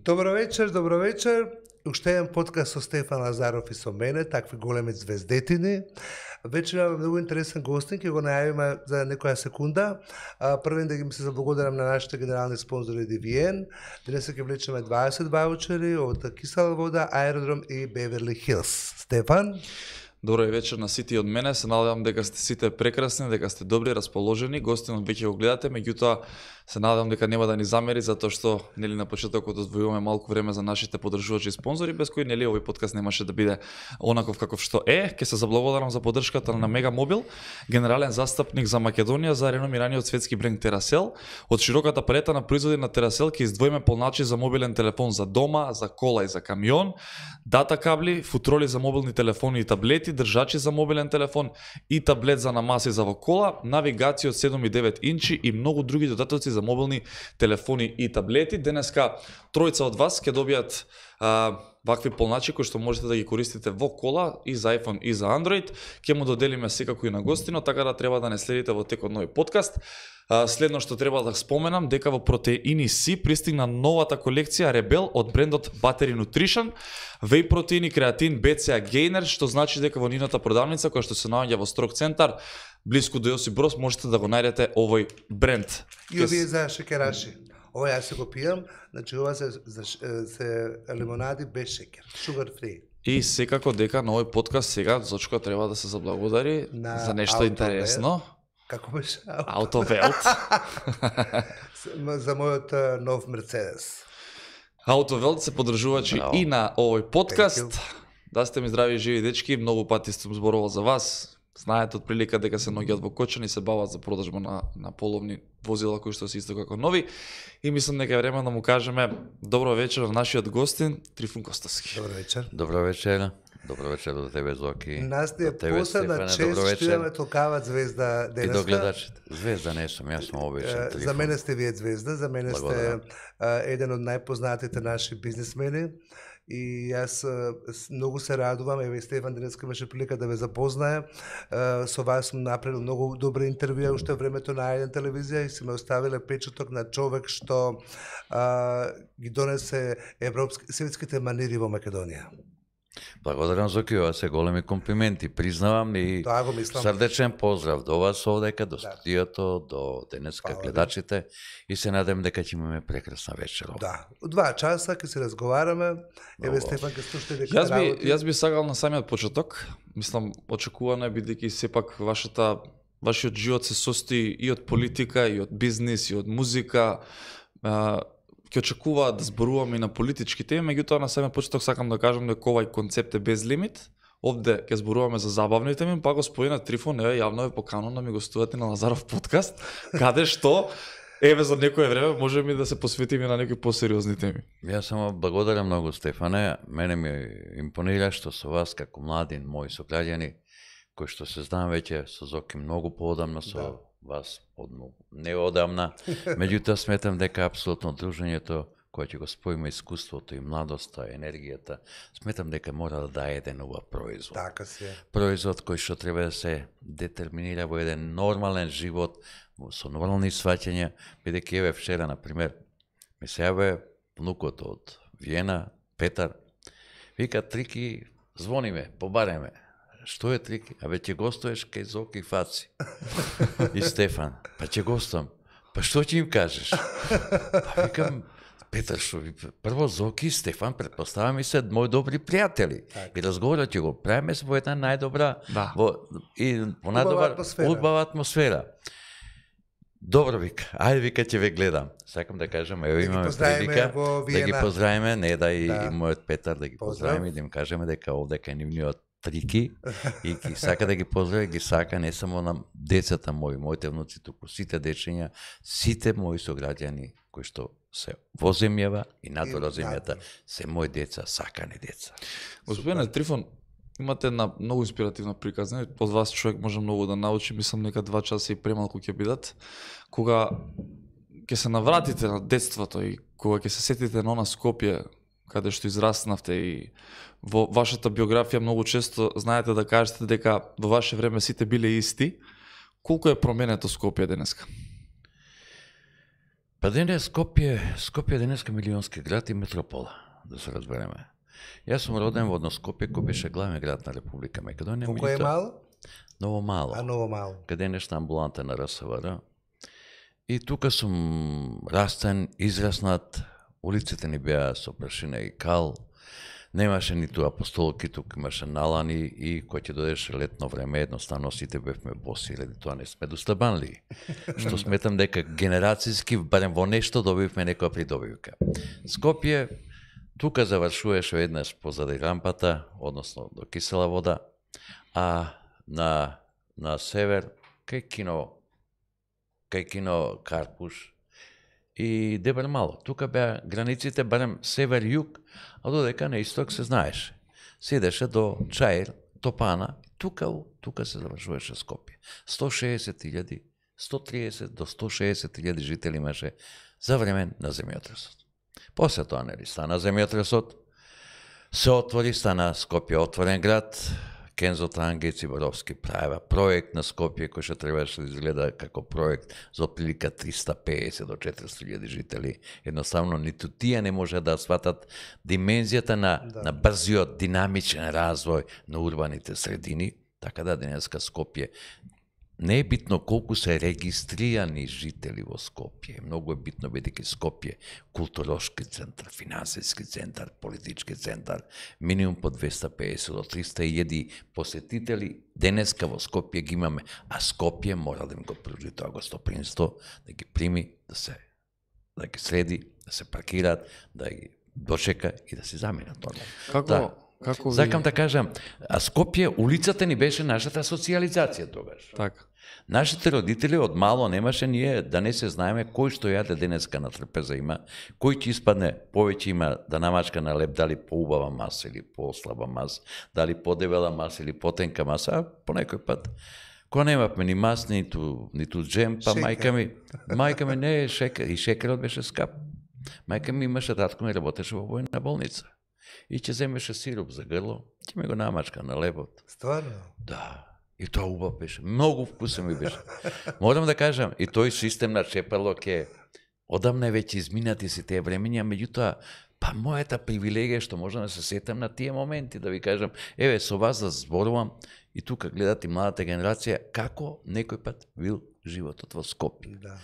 Добро вечер. Уште еден подкаст со Стефан Лазаров и со мене, такви големи звездетини. Вечер имаме многу интересен гостин, ќе го најавиме за некоја секунда. Првен да ги се заблагодарам на нашите генерални спонзори DVN. Денес ќе влечеме 20 ваучери од Кисела вода, Аеродром и Беверли Хилс. Стефан? Добро вечер на сите од мене. Се надевам дека сте сите прекрасни, дека сте добри, расположени. Гостинот веќе го гледате, меѓутоа се надевам дека нема да ни замери затоа што нели на почетокот одвојуваме малку време за нашите поддржувачи и спонзори, без кои нели овој подкаст немаше да биде онаков каков што е. Ќе се заблагодарам за поддршката на Мега Мобил, генерален застапник за Македонија за реномираниот светски бренд Терасел. Од широката палета на производи на Терасел ќе издвоиме полначи за мобилен телефон за дома, за кола и за камион, дата кабли, футроли за мобилни телефони и таблети, држачи за мобилен телефон и таблет за намаси за во кола, навигација од 7 и 9 инчи и многу други додатоци за мобилни телефони и таблети. Денеска тројца од вас ќе добијат вакви полначи кои што можете да ги користите во кола и за iPhone и за Android. Ќе му доделиме секако и на гостино, така да треба да не следите во текот на овој подкаст. Следно што треба да споменам дека во Протеини Си пристигна новата колекција Rebel од брендот Battery Nutrition, веј протеини креатин BCA Gainer, што значи дека во нината продавница која што се наоѓа во Строг центар блиску до Јосип Броз можете да го најдете овој бренд. И овие за шекераши. Ова јас се го пијам, значи ова се лимонади без шекер, sugar free. И секако дека на овој подкаст сега Зочко треба да се заблагодари за нешто интересно. Како беше? Аутовелт. За мојот нов Мерцедес. Аутовелт се поддржувачи и на овој подкаст. Да сте ми здрави и живи дечки, многу пати сум зборувал за вас. Знаете од прилика дека се ноѓаат во Кочани и се бават за продажба на половни возила кои што се исто како нови. И мислам дека е време да му кажеме добро вечер на нашиот гостин Трифун Костовски. Добро вечер. Добро вечер. Добро вечер до тебе, Зоки. Нас ти е посебна чест што имаме толкава звезда денеска. И до гледачите. Звезда не сум, јас сум обичен Трифун. За мене сте вие звезда, за мене сте еден од најпознатите наши бизнисмени. И јас многу се радувам, еве Стефан денеска имаше прилика да ве запознае. Со вас сум направил многу добри интервјуи уште времето на еден телевизија и си ме оставиле печаток на човек што ги донесе светските манири во Македонија. Благодарам, Зоки, ова се големи комплименти, признавам и срдечен поздрав до вас овдека, до студиото, до денеска гледачите и се надам дека ќе имаме прекрасна вечер. Да, 2 часа ќе се разговараме. Еве Стефан ќе слушате дека Јас би сакал на самиот почеток, мислам очекувано е бидејќи сепак вашиот живот се состои и од политика, и од бизнис, и од музика. Ќе очекуваат да зборуваме и на политички теми, меѓутоа на самиот почеток сакам да кажам дека овај концепт е без лимит. Овде ќе зборуваме за забавни теми, па господина Трифон јавно е покануван да ми гостувате на Лазаров подкаст, каде што еве за некое време можеме да се посветиме на некои посериозни теми. Јас само благодарам многу, Стефане. Мене ми импонира што со вас како млади мои сограѓани кои што се знам веќе со Зоки многу поодамна со вас не одамна, меѓутоа сметам дека апсолутно дружењето кое ќе го споиме искуството и младоста, енергијата, сметам дека мора да даде еден убав производ. Така се. Производ кој што треба да се детерминира во еден нормален живот, со нормални сваќања, бидејќи еве вчера, например, ми се јаве внукот од Виена, Петар, вика Трики, звониме, побареме. Што е Трики? Абе ќе гостуваш кај Зоки и Фаци. И Стефан. Па ќе гостувам. Па што ќе им кажеш? Па викам, Петар, што ви... Прво Зоки и Стефан, предпоставам и се мои добри пријатели. И разговорот ќе го правиме во една најдобра и во најдобра убава атмосфера. Добро, вика, ајде, вика, ќе ве гледам. Сакам да кажам, ево имаме прилика да ги поздравиме, не да и мојот Петар да ги поздравиме и да им кажеме дека овде кај нивниот Трики и сака да ги поздрави, ги сака не само на децата мои, моите внуци, туку сите дечиња, сите мои сограѓани кои што се во земјава и надвор од земјата, се мои деца, сакани деца. Господине Трифон, имате една многу инспиративна приказна, од вас човек може многу да научи, мислам нека 2 часа и премалку ќе бидат, кога ќе се навратите на детството и кога ќе се сетите на она Скопје, каде што израснавте и во вашата биографија многу често знаете да кажете дека во ваше време сите биле исти. Колку е променето Скопје денеска? Па денес Скопје денеска милионски град и метропола, да се разбереме. Јас сум роден во одно Скопје кој беше главен град на Република Македонија. Колко е мало? Ново мало. Ново мало. Каде нешта амбуланта на РСВР. И тука сум растен, израснат, улиците ни беа со прашина и кал, немаше ниту апостолки, тук имаше налани и кој ќе додеше летно време, едноставно сите бевме боси, ради тоа не сме достабанли. Што сметам дека генерацијски, барем во нешто, добивме некоја придобивка. Скопје, тука завршуваше еднаш позади рампата, односно до кисела вода, а на север, кај кино Карпуш и Дебар Мало. Тука беа границите, барем север-југ, а додека на исток се знаеше. Седеше до Чаир, Топана, тука се завршуваше Скопје. 160.000, 130 до 160.000 жители имаше за време на земјотресот. После тоа нели стана земјотресот, се отвори, стана Скопје отворен град, Кензо Тангец и Боровски правеа проект на Скопје кој што требаше да изгледа како проект за отприлика 350 до 400.000 жители. Едноставно ниту тие не може да сватат димензијата на брзиот динамичен развој на урбаните средини, така да денеска Скопје не е битно колку се регистрирани жители во Скопје, многу е битно бидејќи Скопје културошки центар, финансиски центар, политички центар, минимум по 250 до 300.000 посетители денеска во Скопје ги имаме, а Скопје мора да им го пружи тоа гостопримство, да ги прими, да ги среди, да се паркираат, да ги дочека и да се заминат нормално. Како Сакам да кажам, а Скопје, улицата ни беше нашата социализација тогаш. Така. Нашите родители од мало немаше ние да не се знаеме кој што јаде денеска на трпеза има, кој ќе испадне повеќе има да намачка на леп, дали поубава маса или послаба маса, дали подебела маса или потенка маса, а по некој пат кога немавме ни мас, ниту джем, па мајка ми не е шекер, и шекерот беше скап. Мајка ми имаше татко ми работеше во војна болница. И ќе земеше сироп за грло, ќе ме го намачка на лебот. Стварно? Да. И тоа убав беше. Многу вкусен ми беше. Морам да кажам, и тој систем на чепелок е одамна веќе изминати се тие времења, меѓутоа, па мојата привилегија што можам да се сетам на тие моменти, да ви кажам, еве, со вас да зборувам, и тука гледате младата генерација, како некој пат бил животот во Скопје. Да.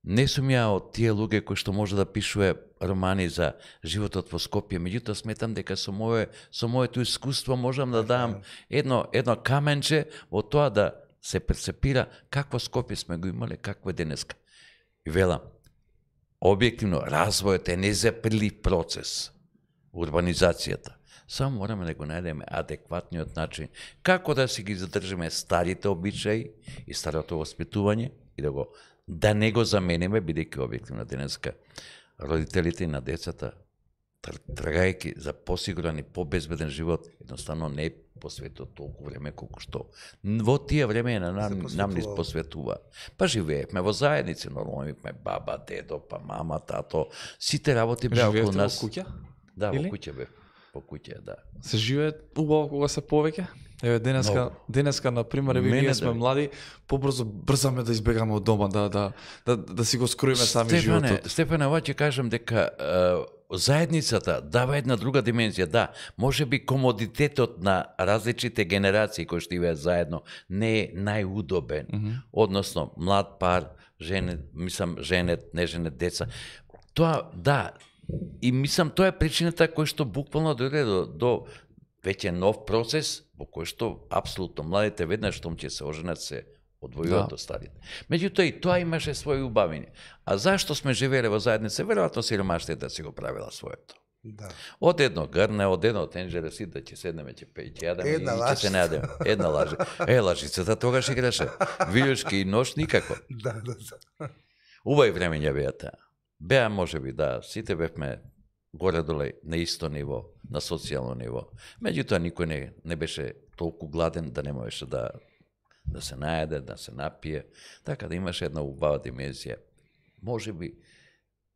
Не сум ја од тие луѓе кои што може да пишува романи за животот во Скопје, меѓутоа сметам дека со моето искуство можам да дам едно каменче во тоа да се перцепира какво Скопје сме го имале, какво е денеска. И велам, објективно, развојот е незаприлив процес, урбанизацијата. Само мораме да го најдеме адекватниот начин како да си ги задржиме старите обичаи и старото воспитување и да не го замениме, бидејќи објективно денеска родителите на децата, трагајќи за посигурен и побезбеден живот, едноставно не посветуваат толку време колку што во тие време нам ни посветува. Па живеевме во заедници, нормално имавме баба, дедо, па мама, тато, сите работи беа околу нас. Живеевте во куќа? Да, во куќа бев. По куќа, да. Се живее убаво кога се повеќе? Еве денеска на пример, ние сме млади, брзаме да избегаме од дома, да си го скроиме сами животот. Стефане, ова ќе кажам дека заедницата дава една друга димензија, да, можеби комодитетот на различните генерации кои што живеат заедно не е најудобен, односно млад пар, женет, не женет деца. Тоа, да, и мислам тоа е причината кој што буквално дојде до веќе нов процес во кој што апсолутно младите веднаш штом ќе се оженат се одвојуваат од старите. Меѓутоа и тоа имаше своји убавини. А зашто сме живееле во заедница? Веројатно сиромаштијата си го правила своето. Да. Од едно грне, од едно тенџере сите ќе седнеме, ќе јадеме и ќе се најдеме. Една лажа. Лажицата тогаш играше. Вилјушки и нож никако. Да. Убави времења беа таа. Беа можеби да, сите бевме горе-доле на исто ниво, на социјално ниво. Меѓутоа никој не беше толку гладен да не можеше да се најде, да се напие, така да имаше една убава димензија. Можеби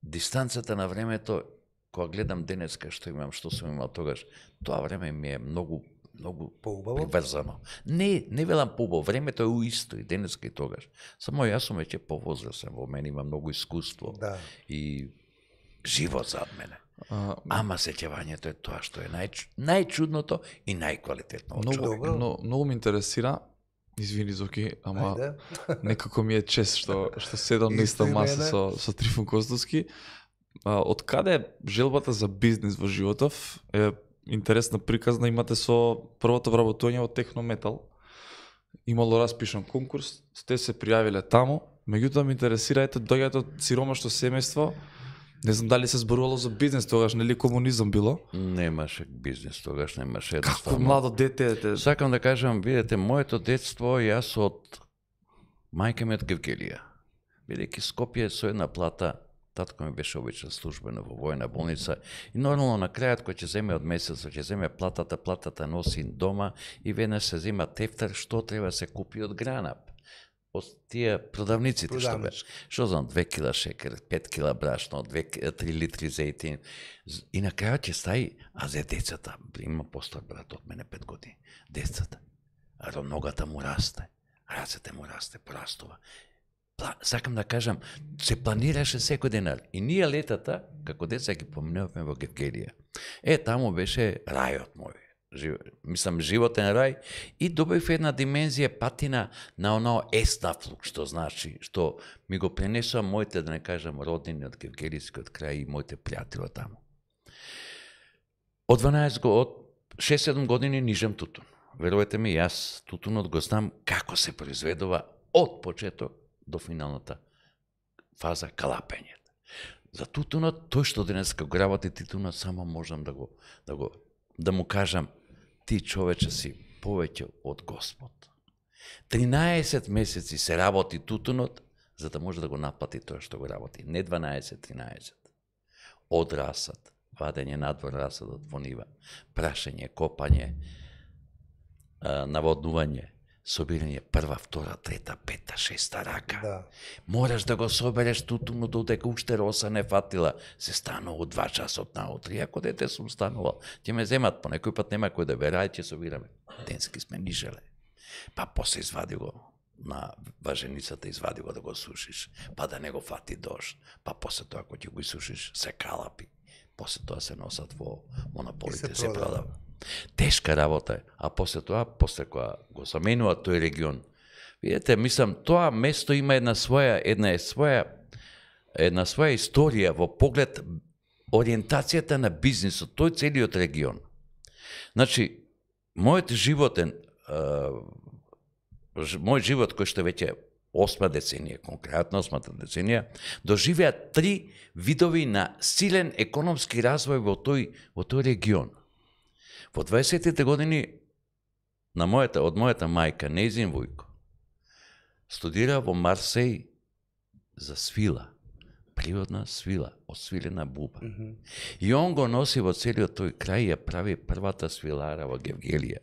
дистанцата на времето, кога гледам денеска што имам, што сум имал тогаш, тоа време ми е многу многу Поубаво? приврзано. Не велам поубаво, времето е уисто и денеска и тогаш. Само јас сум веќе повозрасен, во мене има многу искуство и живот зад мене. Ама сеќавањето е тоа што е најчудното и најквалитетно од човек. Многу ме интересира, извини Зоки, ама некако ми е чест што седам на иста маса со Трифун Костовски. Од каде желбата за бизнис во животов е интересна приказна имате со првото вработување во Технометал. Имало распишан конкурс, сте се пријавиле таму, меѓутоа ме интересира, доаѓате од сиромашно семејство. Не знам дали се зборувало за бизнес тогаш, нели комунизам било? Немаше бизнес тогаш, немаше. Како младо дете? Сакам да кажам, видете, моето детство, јас од мајка ми од Гевгелија. Бидејќи Скопје со една плата, татко ми беше обичен службено во војна болница и нормално на крајот кој ќе земе од месецот, ќе земе платата носи дома и веднаш се зема тефтер што треба се купи од Гранап. Од тие продавниците што бе. Што знам, 2 кила шекер, 5 кила брашно, 3 литри зејтин. И на крајот ќе стаи, а за децата, има постар брат од мене 5 години. Децата, ногата му расте, рацете му расте, порастува. Сакам да кажам, се планираше секој денар. И ние летата, како деца ги поминувавме во Гевгелија. Таму беше рајот мој. Мислам, животен рај. И добив една димензија патина на оно еснафлук, што значи, што ми го пренесува моите, да не кажам, роднини од Гевгелискиот крај и моите пријатели таму. Од 6-7 години нижем тутун. Верувате ми, јас тутунот го знам како се произведува од почеток до финалната фаза калапењето. За тутунот, тој што денеска го работи тутунот, само можам да му кажам, ти човече си повеќе од Господ. 13 месеци се работи тутунот, за да може да го наплати тоа што го работи. Не 12-13. Од расад, вадење надвор расадот во нива, прашање, копање, наводнување, собирање прва, втора, трета, пета, шеста рака. Мораш да го собереш тутунот додека уште роса не фатила. Се станува 2 часот наутре. Ако дете сум станувал, ќе ме земат, по некој пат нема кој да бе, рај ќе собираме. Денски сме нишеле. Па после извади го на важеницата, извади го да го сушиш, па да не го фати дожд. Па после тоа, ако ќе го сушиш, се калапи. После тоа се носат во монополите, се продава. Тешка работа е, а после тоа, кога го заменува тој регион, видите, мислам, тоа место има една своја историја во поглед ориентацијата на бизнисот, тој целиот регион. Значи, мој живот кој што веќе 8 деценија, конкретно 8 деценија, доживеа 3 видови на силен економски развој во тој регион. Во 20-тите години од мојата мајка, нејзин вујко, студира во Марсеј за свила, природна свила, од свилена буба. И он го носи во целиот тој крај и ја прави првата свилара во Гевгелија,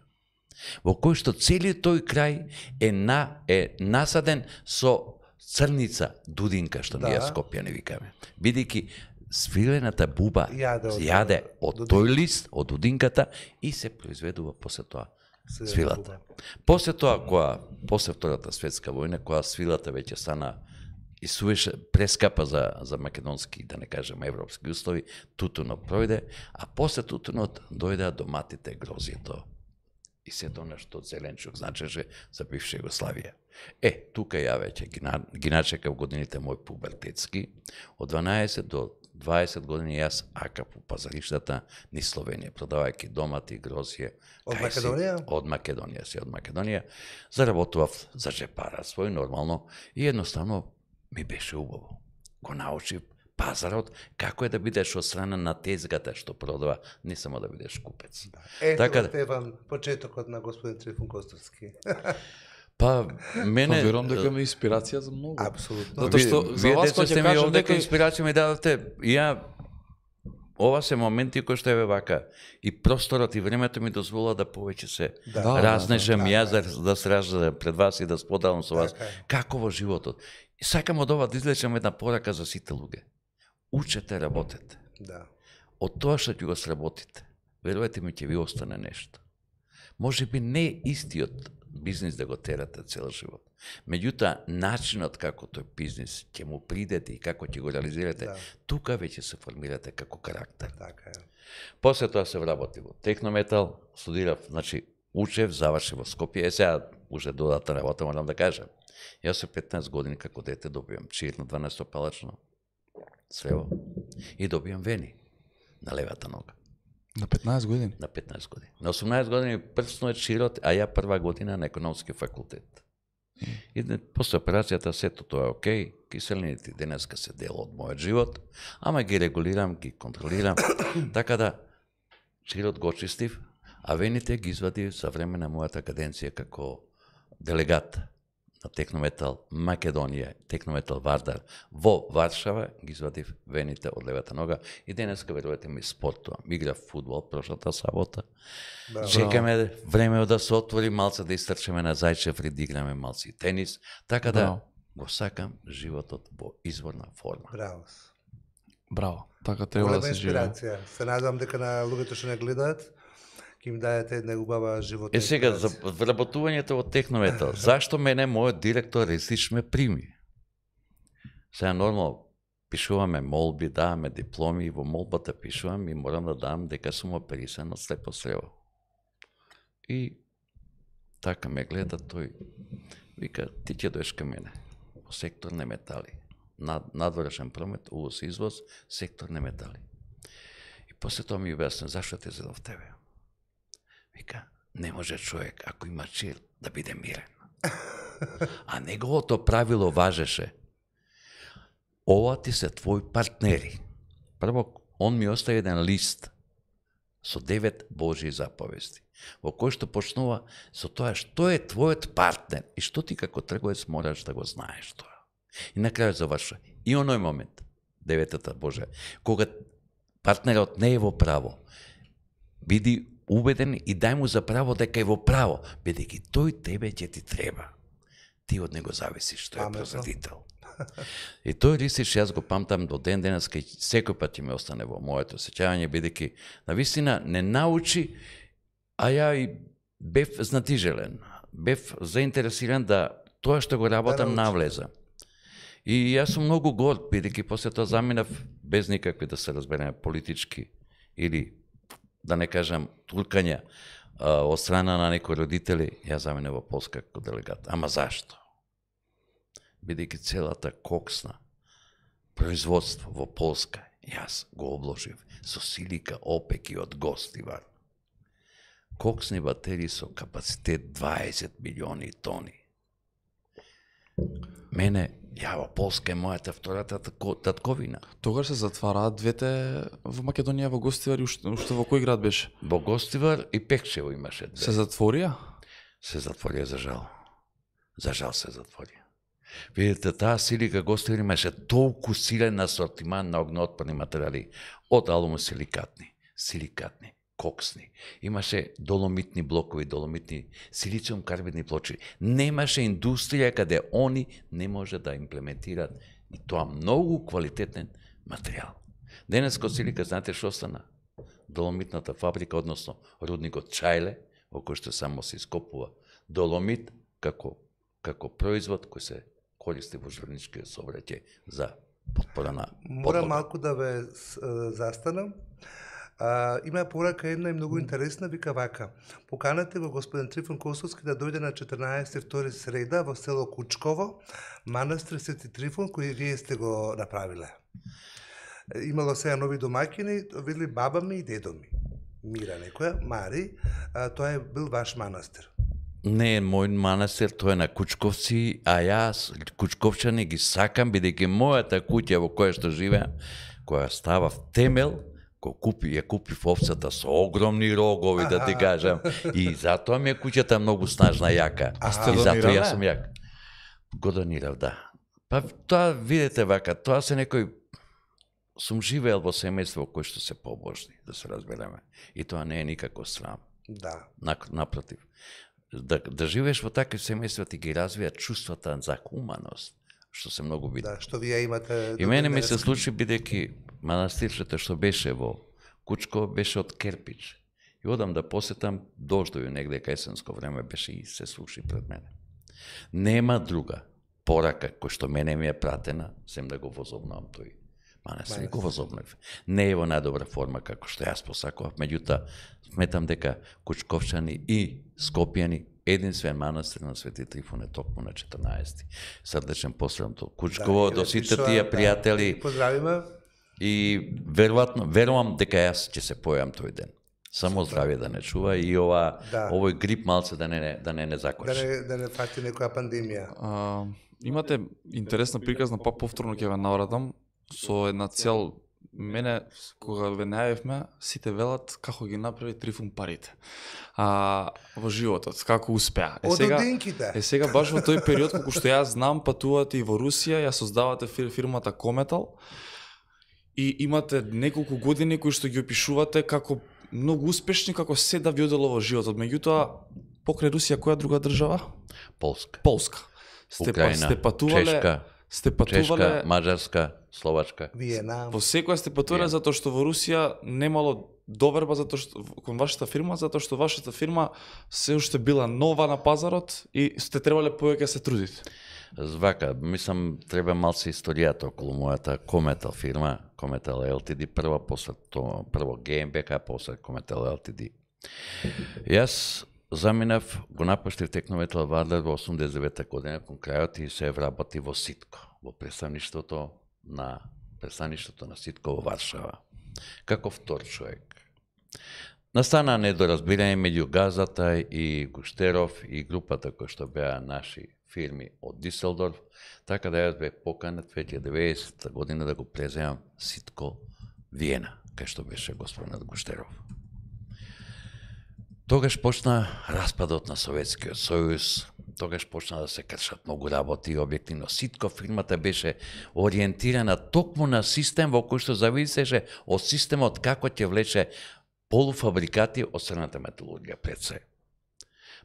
во кој што целиот тој крај е насаден со црница, дудинка, што ние Скопјани викаме. Бидејќи свилената буба јаде од тој лист, од дудинката и се произведува после тоа свилата. После тоа, после Втората светска војна, кога свилата веќе стана и сувеше прескапа за македонски, да не кажем европски услови, тутунот пројде, а после тутунот дојдеа доматите, грозието и сето нешто од зеленчук значеше за бивша Југославија. Тука ја веќе ги начекав годините мој пубертетски, од 12 до 20 години јас акав по пазариштата низ Словенија, продавајќи домати, грозје. Од Македонија? Од Македонија. Заработував за джепара свој нормално и едноставно ми беше убаво. Го научив пазарот, како е да бидеш од страна на тезгата што продава, не само да бидеш купец. Ето те вам почетокот на господин Трифун Костовски. Па, мене... Верувам дека ме инспирација за многу. Апсолутно. Затоа што за вас кога ќе кажам дека инспирација ми дадовте, ова се моменти кои што е вака и просторот и времето ми дозвола да повеќе се разнежам јас да се раздадам пред вас и да споделам со вас како во животот. И сакам од ова да излечам една порака за сите луѓе. Учете, работете. Од тоа што ќе го сработите, верувате ми, ќе ви остане нешто. Може би не истиот бизнис да го терате цел живот. Меѓутоа, начинот како тој бизнис ќе му придете и како ќе го реализирате, тука веќе се формирате како карактер. Така е. После тоа се вработи во Технометал, студирав, значи учев, завршив во Скопје. Сега уже додатна работа морам да кажам. Јас со 15 години како дете добивам чир на 12-палачно срево и добивам вени на левата нога. На 15 години? На 15 години. На 18 години прсно е чирот, а ја прва година на економски факултет. И после операцијата сето тоа е окей, киселините денеска се дел од мојот живот, ама ги регулирам, ги контролирам, така да чирот го очистив, а вените ги извадив за време на мојата каденција како делегат на Технометал Македонија, Технометал Вардар во Варшава, ги извадив вените од левата нога и денеска, верувате ми, спортувам. Играв фудбал прошлата сабота. Чекаме време да се отвори, малце да истрчеме на Зајчев, да играме малце и тенис, така да го сакам животот во изворна форма. Браво. Браво. Така треба да се живее. Се надевам дека на луѓето што не гледаат им дајете една убава животна. Сега, за вработувањето во Технометал, зашто мене мојот директор Рестич ме прими? Сега нормално пишуваме молби, даваме дипломи и во молбата пишувам и морам да дам дека сум оперисан од слепо срево. И така ме гледа тој, вика, ти ќе доеш кај мене, во сектор не метали. Надворешен промет, увоз и извоз, сектор не метали. И после тоа ми објасни, зашто те зедов тебе? Вика, не може човек, ако има чир, да биде мирен. А неговото правило важеше. Ова ти се твои партнери. Прво, он ми остави еден лист со 9 Божји заповести, во кој што почнува со тоа што е твојот партнер и што ти како трговец мораш да го знаеш тоа. И на крајот завршува. И оној момент, 9-та Божја, кога партнерот не е во право, биди убеден и дај му за право дека е во право, бидејќи тој тебе ќе ти треба. Ти од него зависиш, тој е производител. И тој Рисич, јас го памтам до ден денес, кај секој пат ќе ме остане во моето сеќавање, бидејќи навистина не научи, а ја и бев знатижелен, бев заинтересиран да тоа што го работам навлеза. И јас сум многу горд, бидејќи после тоа заминав без никакви, да се разбереме, политички или да не кажам туркања од страна на некои родители, јас заминав во Полска како делегат. Ама зашто? Бидејќи целата коксна производство во Полска, јас го обложив со силика опеки од Гостивар. Коксни батерии со капацитет 20 милиони тони. Мене, ја во Полска е мојата втората татковина. Тогаш се затвараат двете во Македонија, во Гостивар и уште во кој град беше? Во Гостивар и Пекчево имаше две. Се затворија? Се затворија, за жал. За жал се затворија. Видите, таа силика Гостивар имаше толку силен асортиман на огнеотпорни материјали, од алумосиликатни, силикатни, коксни. Имаше доломитни блокови, доломитни силициум карбидни плочи. Немаше индустрија каде они не може да имплементираат и тоа многу квалитетен материјал. Денес кod силика, знаете што стана? Доломитната фабрика, односно рудникот Чајле, во кој што само се ископува доломит како производ кој се користи во журналистичкиот сообраќај за потпора на подвода. Морам малку да ве застанам. Има порака една и многу интересна, вика вака. Поканете го господин Трифон Косовски да дојде на 14.2 среда во село Кучково, манастир Свети Трифон, кој вие сте го направиле. Имало сега нови домакини, видели баба ми и дедо ми. Мира некоја, Мари, тоа е бил ваш манастир. Не е мој манастир, тоа е на Кучковци, а јас Кучковчани ги сакам, бидејќи мојата куќа во која што живеам, која става в темел, ја купив овцата со огромни рогови, да ти кажам, и затоа ми е куќата многу снажна, јака. И затоа јас сум јак. Го донирав, да. Па тоа, видите вака, тоа се некој... Сум живеел во семејство кој што се побожни, да се разбереме. И тоа не е никако срам. Да. Напротив. Да живееш во такви семејства ти ги развија чувствата за хуманост, што се многу битни. Да, што вие имате... И мене ми се случи, бидејќи манастирчето што беше во Кучко беше од керпич. И одам да посетам, дождови негде кај есенско време беше и се сруши пред мене. Нема друга порака кој што мене ми е пратена, сем да го возобнам тој манастир. Го возобнав. Не е во најдобра форма како што јас посакував, меѓутоа сметам дека Кучковчани и Скопјани единствен манастир на Свети Трифун е токму на 14. Срдечен поздрав до Кучково, до сите тие пријатели. Поздравиме. И верувам дека јас ќе се појавам тој ден. Само здравје да не чува и овој грип малце да не закочи. Да не фати некоја пандемија. Имате интересна приказна, па повторно ќе ве навратам со една цел. Мене, кога ве најавивме, сите велат како ги направи Трифун парите во животот, како успеа. Сега баш во тој период, кога што јас знам, патувате и во Русија, ја создавате фирмата Кометал и имате неколку години кои што ги опишувате како многу успешни, како се да ви одело во животот. Меѓутоа, покрај Русија, која друга држава? Полска. Украина, Чешка, Маđarска, Словачка. Виена. Во секоја сте патувале затоа што во Русија немало доверба затоа што кон вашата фирма, затоа што вашата фирма се уште била нова на пазарот и сте требале повеќе се трудите. Звака, мислам, треба малце историјата околу мојата Кометал фирма, Кометал LTD, прво GmbH, после Кометал LTD. Јас заминав, го напуштив Технометал Вардар во 89 година кон крајот и се вработи во Ситко, во представништвото на Ситко во Варшава, како втор човек. Настана недоразбирање меѓу Газата и Гуштеров и групата кои што беа наши фирми од Диселдорф, така да јас бе поканет 2090 година да го преземам Ситко Виена, кај што беше господинот Гуштеров. Тогаш почна распадот на Советскиот сојуз, тогаш почна да се кршат многу работи и објективно. Ситко фирмата беше ориентирана токму на систем во кој што зависеше од системот како ќе влече полуфабрикати од црната металургија пред се.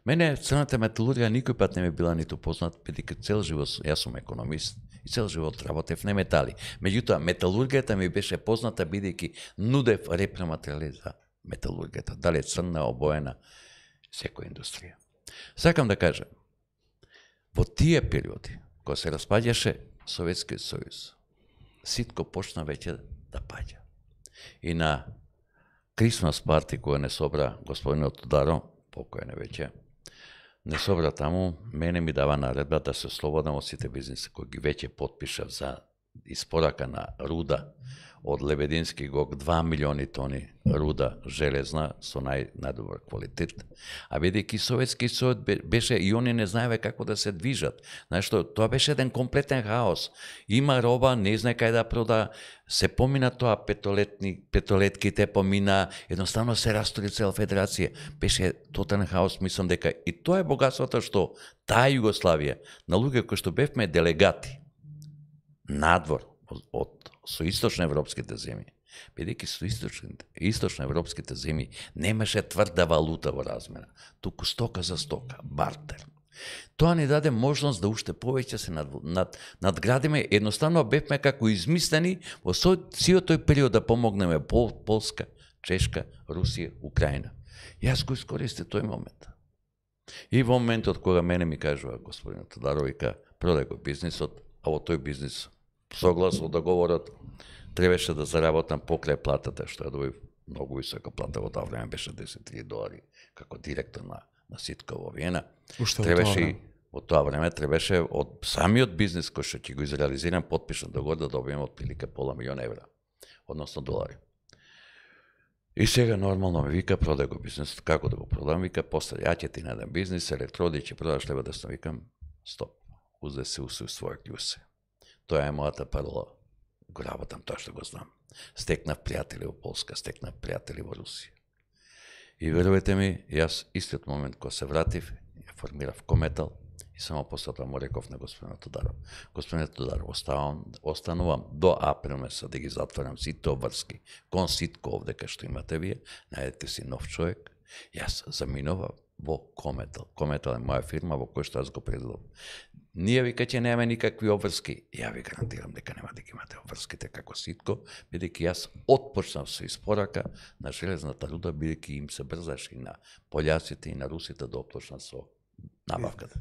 Мене црната металургија никој пат не ми била ниту познат, бидејќи цел живот, јас сум економист и цел живот работев на метали. Меѓутоа, металургијата ми беше позната бидејќи нудев репрематеријали за металургијата, дали црна, обоена, секоја индустрија. Сакам да кажам, во тие периоди, кога се распаѓаше Советскиот сојуз, Ситко почна веќе да паѓа. И на Крисмас парти, која не собра господинот Тударо, покојен веќе, не собра таму, мене ми дава наредба да се ослободам од сите бизниси кои ги веќе потпишав за испорака на руда од Лебедински ГОК 2 милиони тони руда железна со најдобар квалитет. А бидејќи Советски сојуз беше и они не знаеве како да се движат. Знаеш што, тоа беше еден комплетен хаос. Има роба, не знае кај да прода, се помина тоа петолетките помина, едноставно се растори цела федерација. Беше тотален хаос, мислам дека и тоа е богатството што таа Југославија, на луѓе кои што бевме делегати надвор од со источноевропските земји, бидејќи со источноевропските земји немаше тврда валута во размена, туку стока за стока, бартер. Тоа ни даде можност да уште повеќе се надградиме, едноставно бевме како измислени во сиот тој период да помогнеме Полска, Чешка, Русија, Украина. Јас го искористив тој момент. И во моментот кога мене ми кажува господин Тодоровика, продај го бизнисот, а во тој бизнис согласно договорот требаше да заработам покрај платата, што ја добив многу висока плата, во тоа време беше $10,000 како директор на Ситко во Виена. Во тоа време требаше од самиот бизнис кој што ќе го изреализирам, потпишан договор да добием отприлика $500,000, односно долари. И сега нормално ми вика, продај го бизнисот, како да го продам, вика, после ја ќе ти најдам бизнис, електроди ќе продаш лева да снам, викам, стоп, узе се свој клjuсе. Тоа е мојата парола. Го работам тоа што го знам. Стекнав пријатели во Полска, стекнав пријатели во Русија. И верувате ми, јас истиот момент кога се вратив, ја формирав Кометал и само после тоа му реков на господинот Тодоров. Господинот Тодоров, останувам до април месец да ги затворам сите обврски кон Ситко овде кај што имате вие, најдете си нов човек. Јас заминував во Кометел. Кометел е моја фирма во која што јас го предлагам. Ние вика ќе немаме никакви обврски. Ја ви гарантирам дека нема да ги имате обврските како ситко, бидејќи јас отпочнав со испорака на железната руда, бидејќи им се брзаше и на пољаците и на русите да отпочнат со набавката.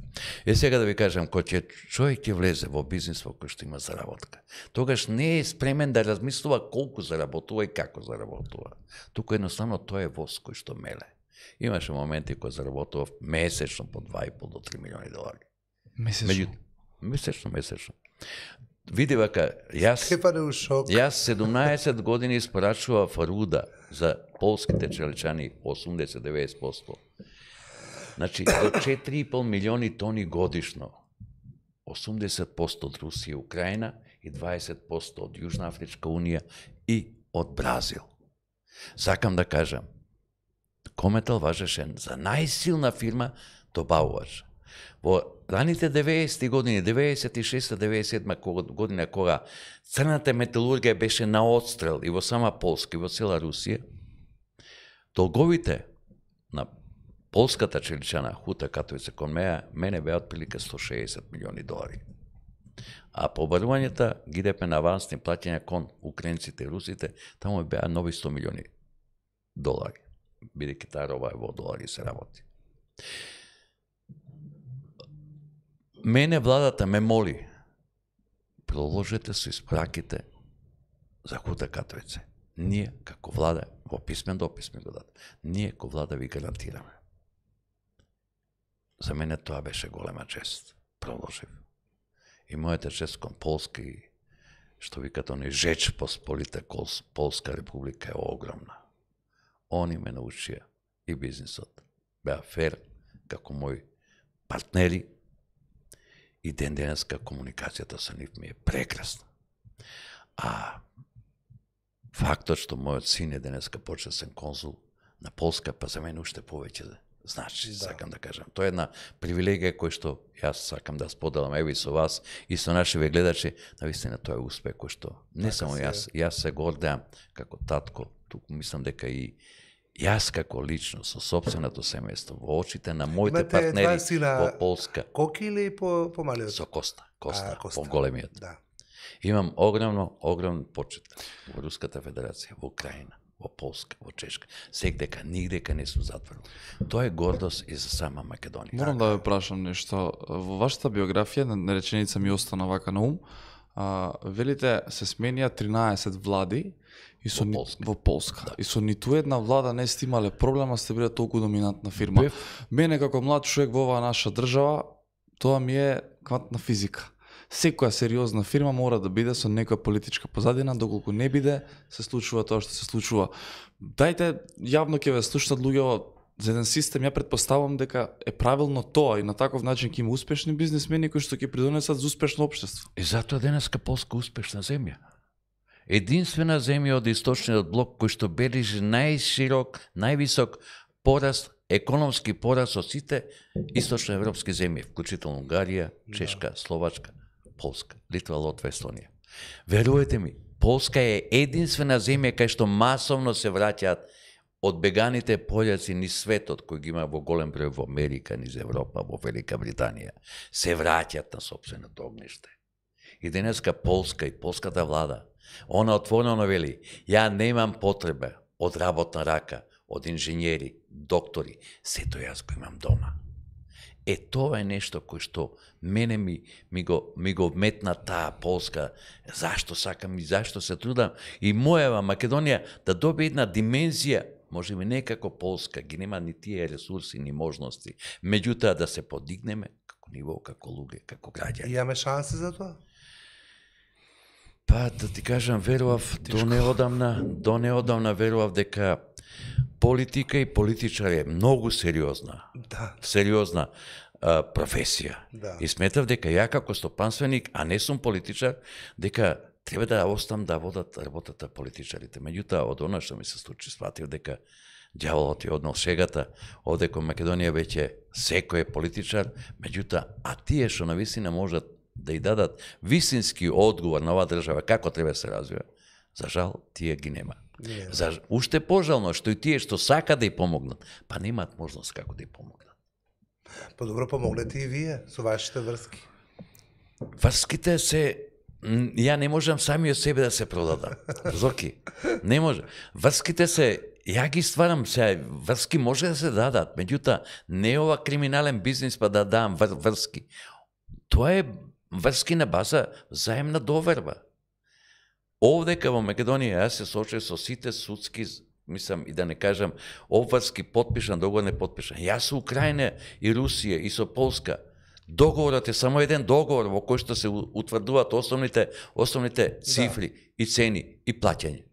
Сега да ви кажам, кога човек ќе влезе во бизнис во кој што има заработка, тогаш не е спремен да размислува колку заработува и како заработува. Туку едноставно тоа е воз кој што меле. Имаше моменти кои заработував месечно по 2,5 до 3 милиони долари. Месечно. Види вака, јас 17 години испорачував руда за полските челичани 80-90%. Значи, до 4,5 милиони тони годишно. 80% од Русија и Украина и 20% од Јужна Афричка Унија и од Бразил. Сакам да кажам, Кометел важеше за најсилна фирма добавувач. Во раните 90-ти години, 96-97 година, кога црната металургија беше на отстрел и во сама Полска и во цела Русија, долговите на полската челичана Хута Катовица кон мене беа отприлика 160 милиони долари. А побарувањата ги идеме на авансни плаќања кон украинците и русите, таму беа нови 100 милиони долари, бидејќи таа роба во долари се работи. Мене владата ме моли, продолжете со испраките за Хута Катовице. Ние, како влада, во писмен допис ми го дадат, ние, како влада, ви гарантираме. За мене тоа беше голема чест. Продолжив. И мојата чест кон Полска и, што викат они, Жеч Посполита Полска република е огромна. Они ме научија и бизнисот. Беа фер, како мои партнери, и ден денеска комуникацијата со нив ми е прекрасна. А фактот што мојот син е денеска почесен конзул на Полска, па за мене уште повеќе значи, сакам да кажам. Тоа е една привилегија која што јас сакам да споделам еви со вас и со нашите гледачи, навистина тоа е успех кој што не само јас се гордеам како татко, туку мислам дека и јас како лично со сопственото семејство во очите на моите партнери во Полска. Коки или помалиот? Со Коста, по-големиот. Да. Имам огромен почет во Руската Федерација, во Украина, во Полска, во Чешка. Секдека, нигдека не сум затворил. Тоа е гордост и за сама Македонија. Морам да ве прашам нешто. Во вашата биографија, на реченица ми остана вака на ум, велите се сменија 13 влади и со во Полска. Да. И со ниту една влада не сте имале проблема, сте биле толку доминантна фирма. Мене како млад човек во оваа наша држава, тоа ми е квантна физика. Секоја сериозна фирма мора да биде со некоја политичка позадина, доколку не биде, се случува тоа што се случува. Дајте, јавно ќе ве слушнат луѓе за еден систем, ја претпоставам дека е правилно тоа и на таков начин ќе има успешни бизнисмени кои што ќе придонесат за успешно општество. И затоа денеска Полска успешна земја. Единствена земја од источниот блок кој што бележи најширок, највисок пораст, економски пораст од сите источноевропски земји, вклучително Унгарија, Чешка, Словачка, Полска, Литва, Латвија, Естонија. Верувате ми, Полска е единствена земја кај што масовно се враќаат од беганите пољаци низ светот, кој ги има во голем број во Америка, низ Европа, во Велика Британија, се враќаат на сопственото огниште. И денеска Полска и полската влада, она отворено вели, ја немам потреба од работна рака, од инженери, доктори, сето јас го имам дома. Тоа е нешто кој што мене ми го вметна таа Полска, зашто сакам и зашто се трудам, и мојава Македонија да добие една димензија, може би не како Полска, ги нема ни тие ресурси, ни можности, меѓутоа да се подигнеме како ниво, како луѓе, како граѓани. Имаме шанси за тоа? Па, да ти кажам, верував, до неодамна верував дека политика и политичар е многу сериозна. Да. Сериозна професија. Да. И сметав дека ја како стопанственик, а не сум политичар, дека треба да оставам да водат работата политичарите. Меѓутоа, од она што ми се случи, сватив дека ѓаволот е однел шегата, овде кон Македонија веќе секој е политичар, меѓутоа, а тие што навистина можат да и дадат вистински одговор на оваа држава како треба да се развива, за жал тие ги нема. Уште пожално што и тие што сака да ја помогнат, па немаат можност како да ја помогнат. Подобро помогнете и вие со вашите врски. Врските се ја не можам самиот себе да се продадам. Зоки, не може. Врските се, ја ги стварам сега, врски може да се дадат, меѓутоа не е ова криминален бизнис па да дам врски. Тоа е врски на база заемна доверба. Овдека во Македонија јас се соочив со сите судски, мислам и да не кажам, обврски потпишан, договор не потпишан. Јас со Украина и Русија и со Полска. Договорот е само еден договор во кој што се утврдуваат основните цифри и цени и плаќање.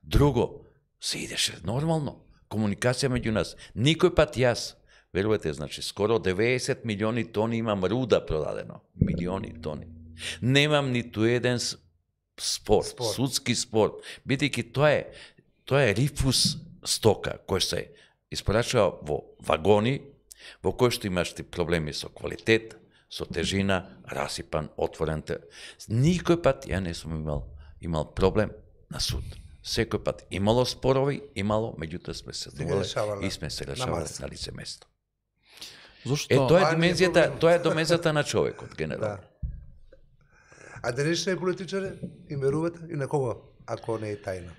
Друго, се идеше нормално. Комуникација меѓу нас. Никој пат јас, верувате, значи, скоро 90 милиони тони имам руда продадено. Милиони тони. Немам ниту еден спор, судски спор, бидејќи тоа е рифус стока кој се испорачува во вагони, во кој што имаш проблеми со квалитет, со тежина, расипан, отворен. Никој пат ја не сум имал проблем на суд. Секој пат имало спорови, меѓутоа сме се доволе и сме се решавале на лице место. Зошто? Тоа е домензата на човекот, генерално. А денешни политичари им верувате и на кого, ако не е тајна?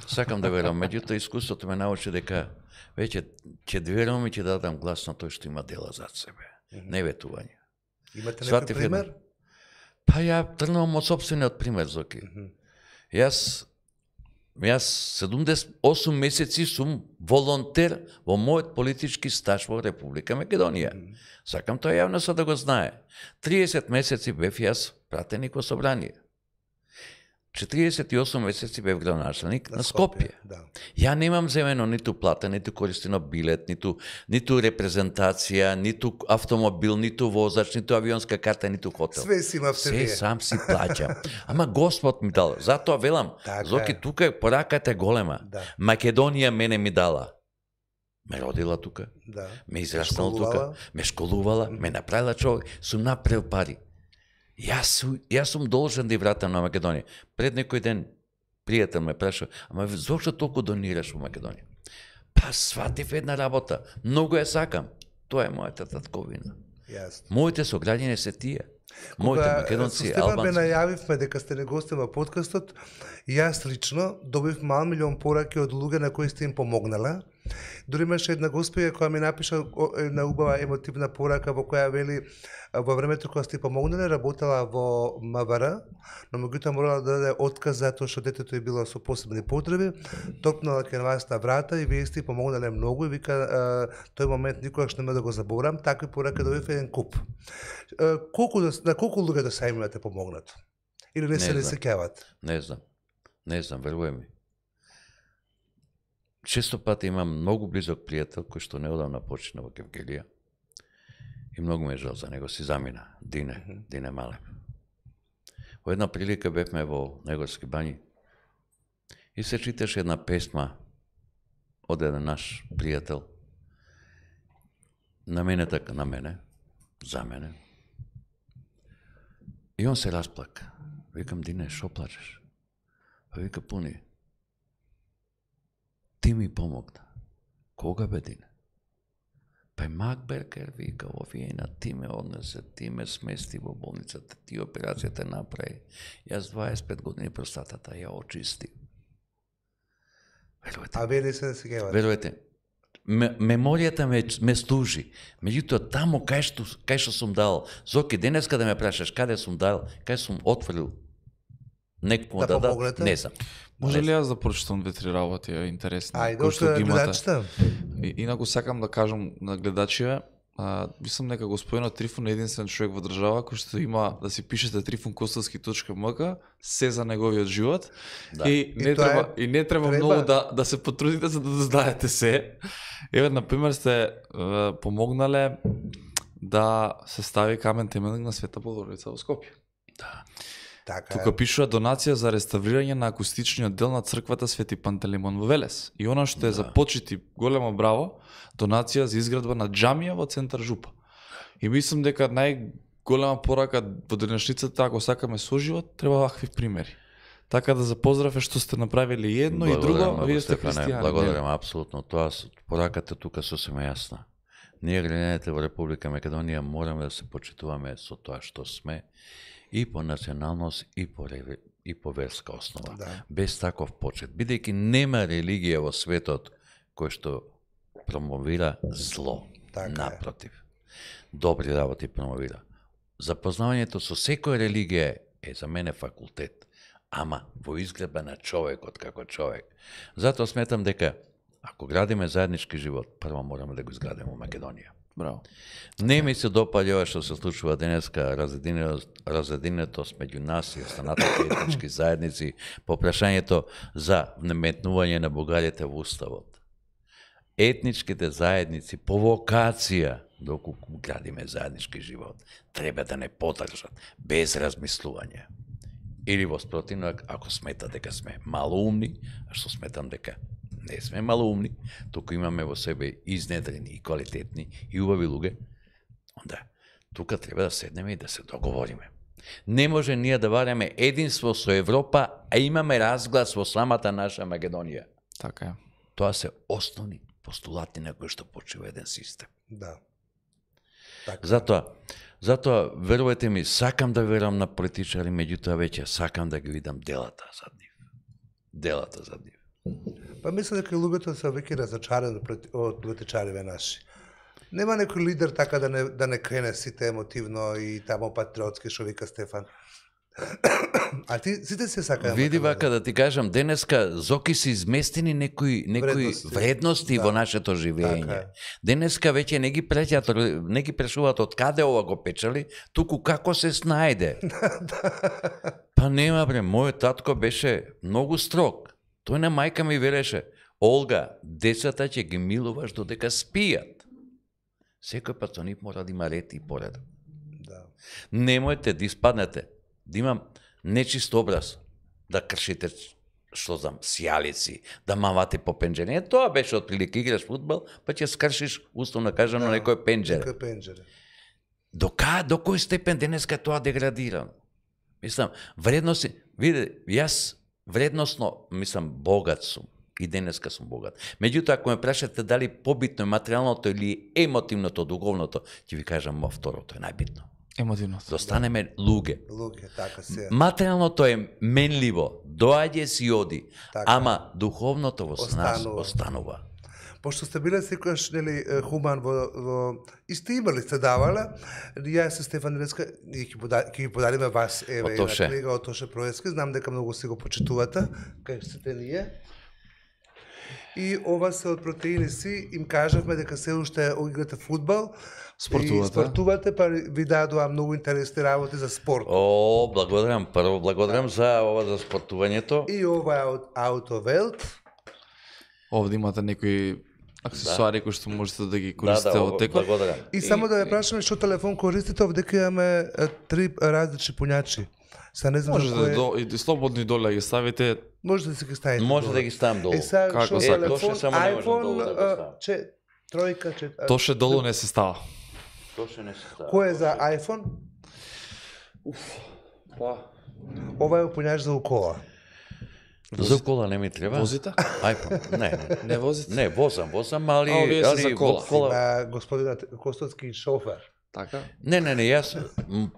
Сакам да верувам, меѓутоа искуството ме научи дека веќе ќе верувам и ќе дадам глас на тој што има дела зад себе, не ветување. Имате некој пример? Па ја тргнувам од сопствениот пример, Зоки. Јас 78 месеци сум волонтер во мојот политички стаж во Република Македонија. Сакам тоа јавноста да го знае. 30 месеци бев јас пратеник во собрание. 48 месеци бев градоначелник на Скопје. Да. Ја немам земено ниту плата, ниту користено билет, ниту репрезентација, ниту автомобил, ниту возач, ниту авионска карта, ниту хотел. Све си имавте вие. Се сам си плаќам. Ама Господ ми дал. Затоа велам, Зоки, тука пораката е голема. Да. Македонија мене ми дала. Ме родила тука, Да. ме израснала тука, ме школувала, ме направила човек, сум направил пари. Јас сум должен да ја вратам на Македонија. Пред некој ден пријател ме праша, ама зошто толку донираш во Македонија? Па сватив една работа, многу ја сакам. Тоа е мојата татковина. Јасно. Моите сограѓани се тие. Моите македонци, Стефан албанци. ме најавивме дека сте не гостин во подкастот, јас лично добив мал милион пораки од луѓе на кои сте им помогнала. Дори имаше една госпоја која ми напиша една убава емотивна порака во која вели во времето кога сте помогнале работела во МВР, но меѓутоа морала да даде отказ затоа што детето е било со посебни потреби, топнала кај вас на врата и вие сте помогнале многу и вика тој момент никогаш нема да го заборам, такви пораки добив еден куп. На колку луѓе до сега имате помогнато? Или не се сеќават? Не знам, верувај ми. Често пати имам многу близок пријател кој што неодамна почина во Кевгелија и многу ме жал за него, си замина, Дине Малев. Во една прилика бевме во Негорски бањи и се читаше една песма од еден наш пријател за мене. И он се расплака. Викам, Дине, шо плачеш? Па вика, Пуни, ти ми помогна. Кога бе, Дине? Па Макберкер вика, овиена, ти ме однесе, ти ме смести во болницата, ти операцијата направи. Јас 25 години простатата ја очисти. Верувате? А вие не се сеќавате? Верувате? Меморијата ме служи. Меѓутоа, таму кај што сум дал, Зоки, денеска да ме прашаш каде сум дал, кај сум отворил некој да дадат, не знам. Може ли јас да прочитам 2-3 работи интересни? Ајде, од гледачите. Инаку сакам да кажам на гледачите, мислам дека господинот Трифун е единствен човек во држава кој што има да си пишете trifunkostovski.mk се за неговиот живот. Да. И не треба многу да се потрудите за да знаете се. Еве, например, сте помогнале да се стави камен теменник на Света Богородица во Скопје. Да. Тука пишува донација за реставрирање на акустичниот дел на црквата Свети Пантелеймон во Велес. И она што е за почити, големо браво, донација за изградба на џамија во центар Жупа. И мислам дека најголема порака во денешницата, ако сакаме соживот, треба вакви примери. Така да за поздрав е што сте направили едно и друго, а вие сте христијани. Благодарам, апсолутно. Тоа пораката тука сосема јасна. Ние граѓаните во Република Македонија мораме да се почитуваме со тоа што сме и по националност и по верска основа. Да. Без таков почет, бидејќи нема религија во светот кој што промовира зло. Така е. Напротив, добри работи промовира. Запознавањето со секоја религија е за мене факултет, ама во изгледа на човекот како човек. Затоа сметам дека ако градиме заеднички живот, прво мораме да го изградиме во Македонија. Браво. Не ми се допаѓа ова што се случува денеска, разединетост меѓу нас и останатите етнички заедници по прашањето за наметнување на бугарите во уставот. Етничките заедници по вокација, доколку градиме заеднички живот, треба да не подржат без размислување. Или во спротивно, ако смета дека сме малоумни, а што сметам дека не сме малоумни, туку имаме во себе изнедрени и квалитетни и убави луѓе, онда тука треба да седнеме и да се договориме. Не може ние да вараме единство со Европа, а имаме разглас во самата наша Македонија. Така е. Тоа се основни постулати на кои што почива еден систем. Да. Така. Затоа, верувајте ми, сакам да верам на политичари, меѓутоа веќе сакам да ги видам делата зад нив. Делата зад нив. Па мислам дека луѓето се веќе разочарани од политичариве наши. Нема некој лидер така да не крене сите емотивно и тамо патриотски, што вика Стефан. А ти сите се сакаат. Види вака да ти кажам, денеска зоки се изместени некои вредности во нашето живење. Така. Денеска веќе не ги прашуваат од каде ова го печали, туку како се снајде. Па нема бре, мојот татко беше многу строг. Тој на мајка ми велеше: Олга, децата ќе ги милуваш додека спијат. Секој пат со нив мора да има ред и поредок. Да. Немојте да испаднете, да имам нечист образ, да кршите што знам, сјалици, да мавате по пенџере. Тоа беше отприлика, играш фудбал, па ќе скршиш условно кажано некој пенџере. Некој пенџере. До кој степен денеска тоа деградирано? Мислам, вредности, види, јас вредносно, мислам, богат сум. И денеска сум богат. Меѓутоа, ако ме прашате дали побитно е материјалното или емотивното, духовното, ќе ви кажам, второто е најбитно. Емотивното. Да останеме луѓе. Луѓе, така се. Материјалното е менливо, доаѓа си оди, Така. ама духовното во нас останува. Пошто сте биле секојаш нели хуман во и сте имали, сте давале, јас се Стефан Денеска и ќе ги подариме вас еве една книга од Тоше Проески, знам дека многу се го почитувате, кај сте ние. И ова се од протеини си, им кажавме дека се уште играте фудбал, спортувате, па ви дадоа многу интересни работи за спорт. О, благодарам, прво благодарам за ова за спортувањето. И ова е од Autowelt. Овде имате некои аксесуари кои што можете да ги користите од текот. Благодарам. И само да ве прашаме што телефон користите, овдека имаме 3 различни пуњачи. Са не знам можете да слободни доле ги ставите. Може да се ги ставите. Може да ги ставам долу. Како телефон, само не можам долу iPhone, да го ставам. тројка, Тоше долу не се става. Тоше не се става. Кој е за iPhone? Ова е пуњач за укола. За кола не ми треба. Возите? iPhone. Не возите? Не, возам, али овие се за кола. Има господинот Костоцки шофер. Така? Не, јас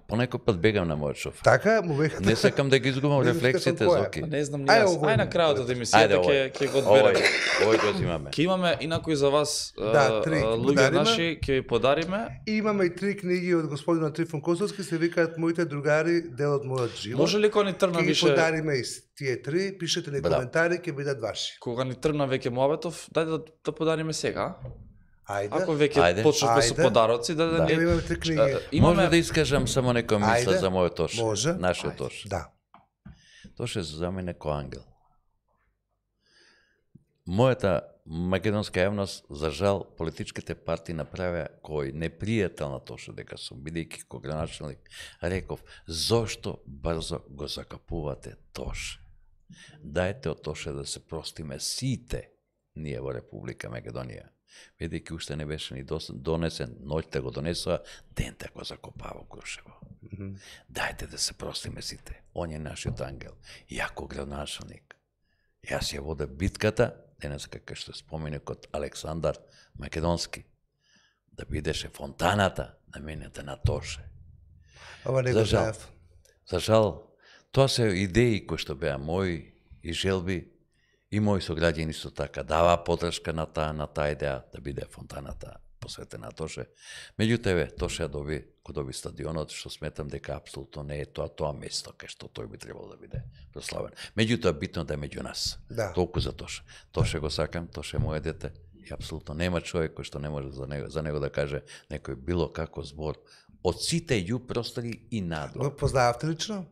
понекој пат бегам на мојот шофер. Така, му бега. Не сакам да ги изгубам рефлексите, Зоки. Не знам ни јас. Ај на крајот од емисијата ќе го одбереме. Овој го имаме. Ќе имаме инакој за вас три луѓе наши, ќе ви подариме. И имаме и 3 книги од господинот Трифон Костоцки, се викаат Моите другари, дел од мојот живот. Може ли кога ни тргна Ќе ги више? подариме и тие 3, пишете ни коментари, ќе бидат ваши. Кога ни тргна веќе муабетов, дај да подариме сега. Ајде. Ако веќе почнавме со подароци, да Ние имаме 3 книги. Може да искажам само некоја мисла Ајде. за мојот Тоше. Може. Нашиот Тоше. Да. Тоше за мене ко ангел. Мојата македонска јавност, за жал, политичките партии направија кој непријател на Тоше дека сум, бидејќи кој граначелник, реков, зошто брзо го закапувате Тоше? Дајте од Тоше да се простиме сите ние во Република Македонија. Бидејќи уште не беше ни донесен, ноќта го донесоа, дента го закопава Крушево. Дајте да се простиме сите. он е нашиот ангел. Јако градоначалник. Јас ја вода битката, денеска кај што споменикот Александар Македонски, да бидеше фонтаната наменета на Тоше. Ова не го знаев. За жал, тоа се идеи кои што беа мои и желби, и мои сограѓани исто така дава подршка на таа идеја да биде фонтаната посветена Тоше. Меѓутоа, Тоше ја доби стадионот, што сметам дека апсолутно не е тоа место кај што тој би требало да биде прославен. Меѓутоа, битно да е меѓу нас. Да. Толку за Тоше. Тоше го сакам, Тоше е моје дете. И апсолутно нема човек кој што не може за него да каже некој било како збор од сите ју простори и надвор. Го познававте лично?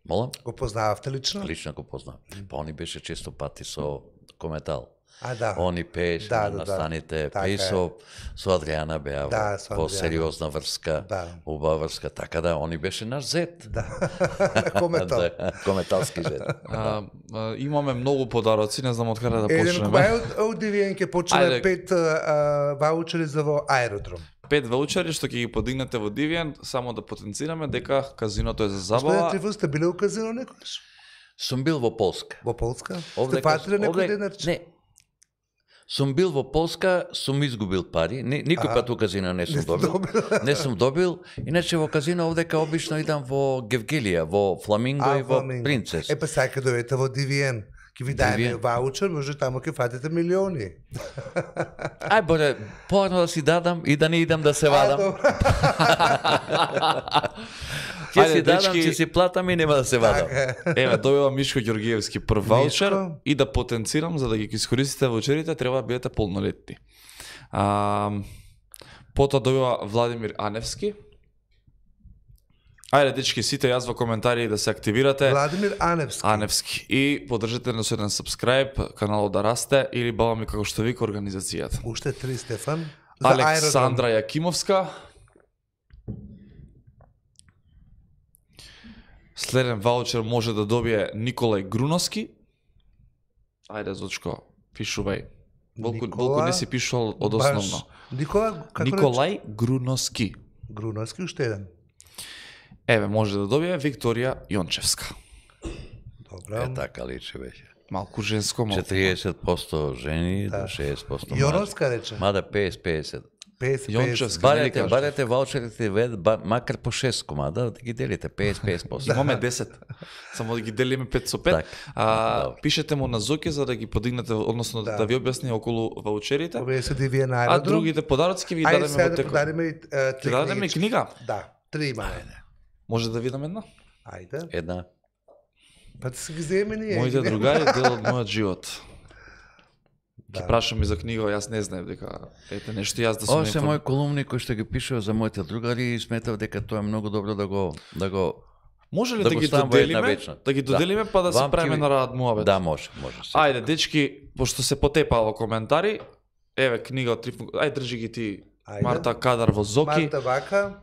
Молам? Го познававте лично? Лично го познавам. Па они беше често пати со Кометал. Да. Они пееше на станите, пее со Адријана беа во сериозна врска, убава врска, така да, они беше наш зет. Да, Кометал. Кометалски зет. Имаме многу подароци, не знам од каде да почнеме. Еден од Дивиен ќе почне 5 ваучери за во аеродром. 5 ваучери што ќе ги подигнете во Дивиен, само да потенцираме дека казиното е за забава. Господи Трифон, сте биле у казино некојаш? Сум бил во Полска. Во Полска? Сте фатиле некој денарче? Не. Сум бил во Полска, сум изгубил пари. Никој пат у казино не сум добил. Не сум добил. Иначе во казино овдека обично идам во Гевгелија, во Фламинго и во Принцес. Па сега ќе дојдете во Дивиен. Ќе ви дајме ваучер, може тамо ќе фатите милиони. Ај боре, порано да си дадам и да не идам да се вадам. Ќе си дадам, ќе си платам и нема да се вадам. Еве, добива Мишко Ѓоргиевски прв ваучер и да потенцирам, за да ги искористите ваучерите, треба да бидете полнолетни. Потоа добива Владимир Аневски. Ајде, дечки, сите јас во коментари да се активирате. Владимир Аневски. Аневски. И подржете на еден subscribe, каналот да расте, или баба ми како што вика организацијата. Уште 3, Стефан. Александра Јакимовска. Следен ваучер може да добие Николај Груновски. Ајде, Зочко, пишувај. Волку не си пишувал од основно. Николај Груновски. Груновски, уште еден. Еве, може да добие Викторија Јончевска. Добра. Така личи беше. Малку женско, малку. 40% жени, до 60% мажи. Јоновска рече. Мада 50-50. Јончевска. Барете ваучерите, макар по 6 комада, да ги делите 50-50%. Имаме 10. Само да ги делиме 5 со 5. Пишете му на Зоки за да ги подигнете, односно да ви објасни околу ваучерите. А другите подароци ќе ви дадеме во текот. Ќе дадеме книга? Да, 3 имаме. Може да видам една? Ајде. Една. Па ти се ги земе ние. Моите другари дел од мојот живот. Ќе прашам и за книга, јас не знаев дека ете нешто јас да сум. Ова се мој колумни кој што ги пишува за моите другари и сметав дека тоа е многу добро да го може ли да ги доделиме? Да ги доделиме па да се правиме на рад муабет. Да, може. Ајде, дечки, пошто се потепало коментари, еве книга од Трифон. Ајде држи ги ти Марта Кадар во Зоки. Марта Вака.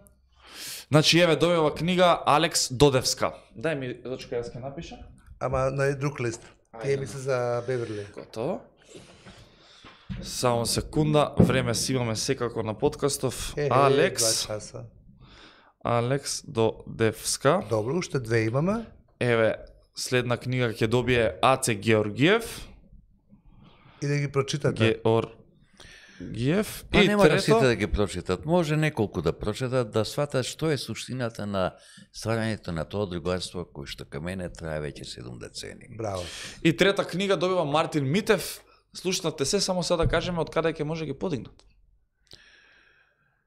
Значи, еве, добива книга Алекс Додевска. Дај ми, Зочка, јас ќе напишам. Ама на друг лист. Тие ми се за Беверли. Готово. Само секунда, време си имаме секако на подкастов. Алекс Додевска. Добро, уште 2 имаме. Еве, следна книга ќе добие Аце Георгиев. И да ги прочитате. Гиев. Па нема да сите да ги прочитат. Може неколку да прочитат, да сватат што е суштината на стварањето на тоа другарство кој што кај мене трае веќе 7 децени. Браво. И трета книга добива Мартин Митев. Слушнате се, само сега да кажеме од каде ќе може ги подигнат.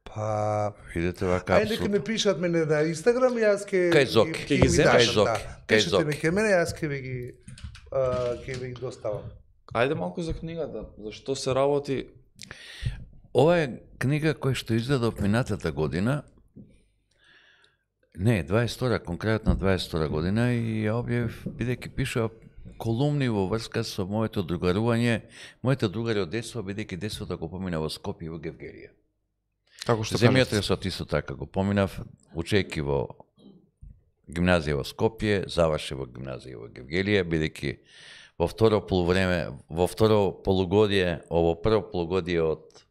Па видете вака апсолутно. Ајде ќе ме пишат мене на Инстаграм и јас ќе Кај Зоки. Ќе ги земеш Зоки. Пишете ме кај мене, јас ќе ви ги доставам. Ајде малку за книгата, зашто се работи. Ова е книга која што изгледав минатата година. Не, 22-та, конкретно 22-та година и ја објавив бидејќи пишува колумни во врска со моето другарување, моите другари од детство, бидејќи детството го помина во Скопје и во Гевгелија. Како што земјотресот исто така го поминав, учејќи во гимназија во Скопје, заврши во гимназија во Гевгелија, бидејќи во второ полугодие, ово прво полугодие од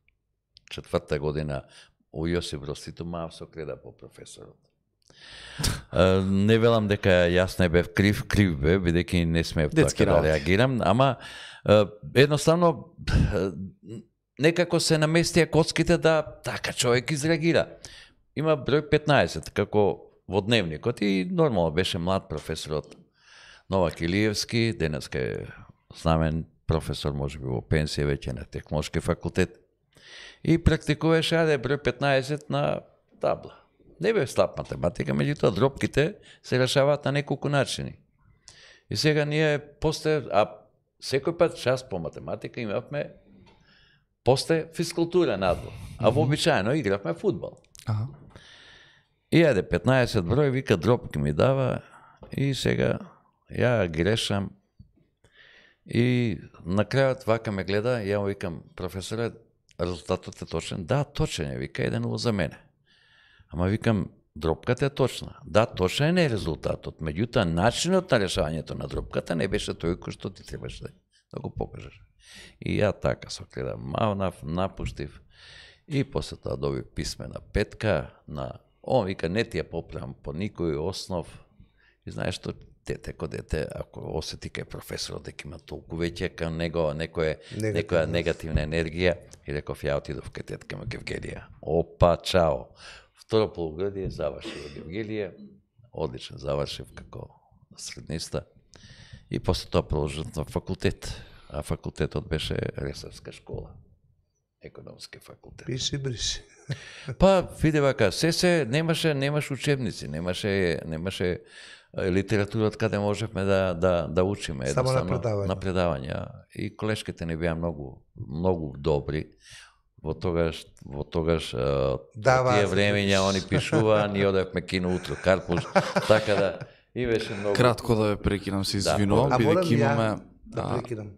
4-та година у Јосип Брос Тито Маав со креда по професорот. Не велам дека јас не бев крив бе, бидејќи не смеев така да реагирам, ама едноставно некако се наместија коцките да така човек изреагира. Има број 15 како во дневникот и нормално беше млад професорот Новак Илиевски, денеска е знамен професор, можеби во пенсија веќе на Технолошки факултет. И практикуваше број 15 на табла. Не бе слаб математика, меѓутоа дропките се решаваат на неколку начини. И сега ние после, секој пат час по математика имавме после физкултура надвор, а вообичаено игравме фудбал. И 15 број, вика дропки ми дава и сега ја ги решам и на крајот вака ме гледа, ја му викам, професоре, резултатот е точен? Да, точен е, вика, 1-0 за мене. Ама викам, дропката е точна. Да, точен е резултатот, меѓутоа начинот на решавањето на дропката не беше тој кој што ти требаше да го покажеш. И ја така со гледа, мавнав, напуштив и после тоа добив писмена петка на он вика, не ти ја поправам по никој основ. И знаеш што, дете ко дете, ако осети кај професорот дека има толку веќе кај него некоја негативна енергија, и реков, ја отидов кај тетка ме Гевгелија. Опа, чао. Второ полугодие завршив во Гевгелија, одлично завршив како средниста, и после тоа продолжив на факултет. А факултетот беше Ресарска школа. Економски факултет. Пиши, бриши. Па, види вака, немаше учебници, немаше литературата каде можевме да учиме. Само на предавања. И колешките не беа многу добри. Во тогаш тие времења они пишуваа, ние одевме кино утро Карпуш, така да и беше многу. Кратко да ве прекинам, се извинувам, бидејќи имаме прекинам.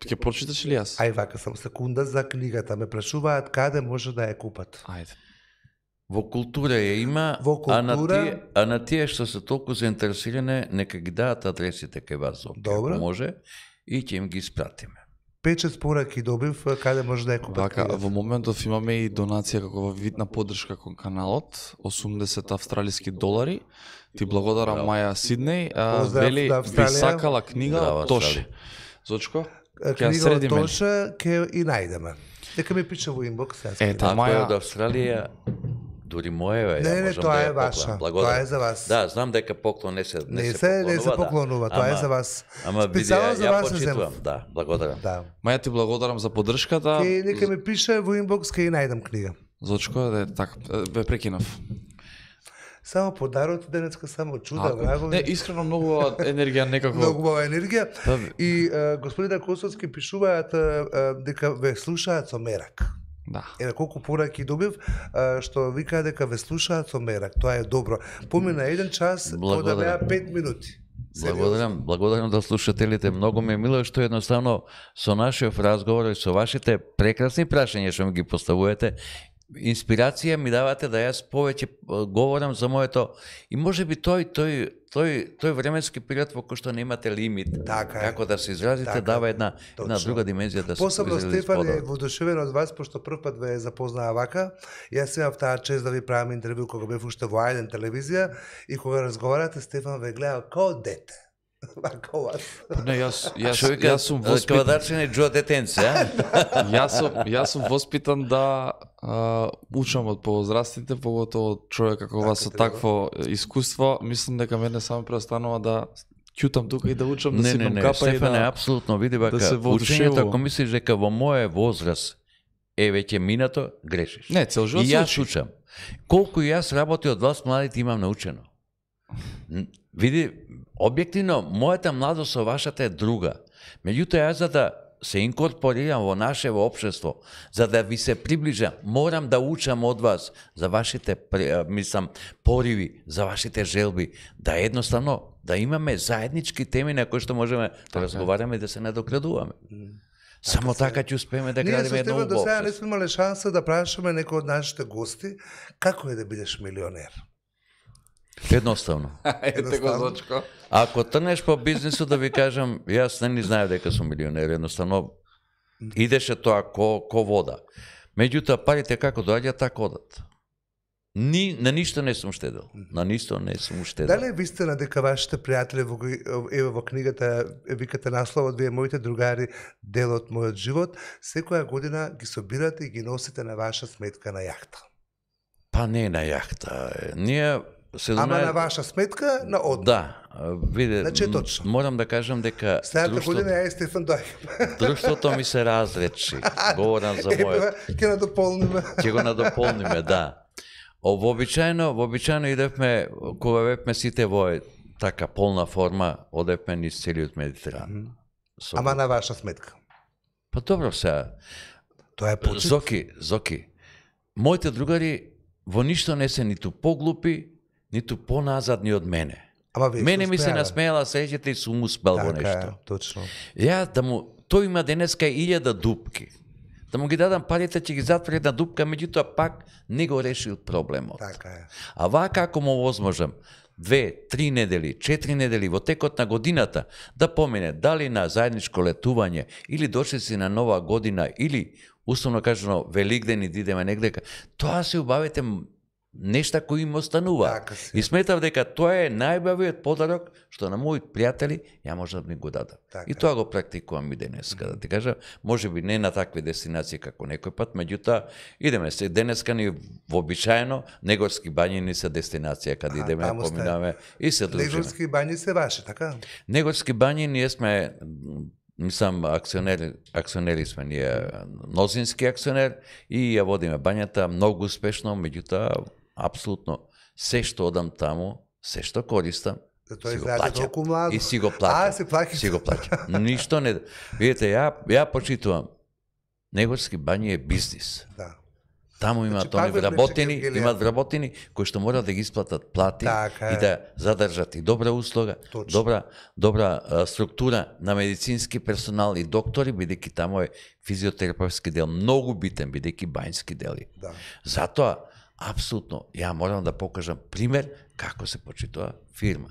Ќе прочиташ ли јас? Ај вака, само секунда за книгата. Ме прашуваат каде може да ја купат. Ајде. Во култура ја има, а на тие што се толку заинтересирани, нека ги дадат адресите кај вас, ако може, и ќе им ги испратиме. Печет пораки добив, каде може да ја купат. Вака, во моментов имаме и донација како вид на поддршка кон каналот, 80 австралиски долари. Ти благодарам Маја Сиднеј, вели би сакала книга Тоше. Зочко? Книга од Тоше ќе и најдеме. Дека ми пише во инбокс. Ако е од Австралија, дури моја е. Не, тоа е ваша. Тоа е за вас. Да, знам дека поклон не се поклонува, тоа е за вас. Ама види, ја почитувам, да, благодарам. Маја, ти благодарам за поддршката. Нека ми пише во инбокс, ќе и најдам книга. Зочко, така, ве прекинав. Само подарот денеска, само чуда, врагови. Не, искрено многу енергија некако. Многу енергија. И господин Косовски пишуваат дека ве слушаат со мерак. Да. Колку пораки добив, што вика дека ве слушаат со мерак. Тоа е добро. Помина 1 час, да беа 5 минути. Благодарам да слушателите. Многу ми е мило што едноставно со нашиот разговор и со вашите прекрасни прашања што ми ги поставувате, инспирација ми давате да јас повеќе говорам за моето и можеби тој временски период во кој што немате лимит, како да се изразите, дава една друга димензија да се изрази. Посебно Стефан е воодушевен од вас, пошто прв пат ве запознаа вака. Јас имав таа чест да ви правам интервју кога бев уште во Ајден телевизија и кога разговарате, Стефан ве гледа како дете. Вака вас. Не, јас сум воспитан. Квадарчени Джо детенце, Јас сум воспитан да учам од повозрастните, поготово човек како вас со такво искуство. Мислам дека мене само преостанува да ќутам тука и да учам, да сипам капа и да... Не, апсолутно, види бака, учењето, ако мислиш дека во моје возраст е веќе минато, грешиш. Не, цел живот и јас учам. Колку јас работи од вас младите имам научено. Види, објективно, мојата младост со вашата е друга. Меѓутоа, јас за да се инкорпорирам во нашево општество, за да ви се приближам, морам да учам од вас за вашите, пориви, за вашите желби, да едноставно, да имаме заеднички теми на кои што можеме да разговараме и да се надоградуваме. Само така ќе успееме да градиме едно убаво. Ние со тебе до сега не сме имале шанса да прашаме некој од нашите гости како е да бидеш милионер. Едноставно. Ете го, Зочко. Ако трнеш по бизнисот, да ви кажам, јас не знаев дека сум милионер, едноставно идеше тоа ко вода. Меѓутоа, парите како доаѓаат, така одат. На ништо не сум штедел. На ништо не сум штедел. Дали е вистина дека вашите пријатели во книгата викате насловот вие моите другари дел од мојот живот, секоја година ги собирате и ги носите на ваша сметка на јахта? Па не на јахта. Ние Ама на ваша сметка на одмор. Да, виде, Значи точно. Морам да кажам дека Следната година ја Стефан дојде. Друштвото ми се разречи. Говорам за мојот. Ќе надополниме. Ќе го надополниме, да. Вообичаено идевме, кога бевме сите во така полна форма, одевме низ целиот Медитеран. Ама на ваша сметка. Па добро сега. Тоа е почит. Зоки. Моите другари во ништо не се ниту поглупи, ниту поназадни од мене. Мене ми се насмејала среќите и сум успел во нешто. Така, точно. Ја тој има денеска 1000 дупки. Да му ги дадам парите, ќе ги затвори една дупка, меѓутоа пак не го решил проблемот. Така е. А вака ако му возможам 2, 3 недели, 4 недели во текот на годината да помине дали на заедничко летување или дошли на нова година или условно кажано Великден и идеме негдека, тоа се убавите нешта кои им останува. И сметав дека тоа е најбавиот подарок што на мои пријатели ја може да ми го дадат. И тоа го практикувам и денеска. Да ти кажа, можеби не на такви дестинации како некој пат, меѓутоа идеме се денеска ни вообичаено Негорски бањи ни се дестинација каде идеме, поминаме и се дружиме. Негорски бањи се ваши, така? Негорски бањи ние сме акционери сме ние, мнозински акционер и ја водиме бањата многу успешно, меѓутоа апсолутно се што одам таму, се што користам, си го плаќам. И си го плаќам. Си го плаќам. Ништо не. Видите, ја почитувам. Негорски бањи е бизнис. Да. Таму имаат имаат вработени кои што мора да ги исплатат плати и да задржат и добра услуга, добра структура на медицински персонал и доктори, бидејќи таму е физиотерапевтски дел многу битен, бидејќи бањски дели. Затоа апсолутно, ја морам да покажам пример како се почитува фирма.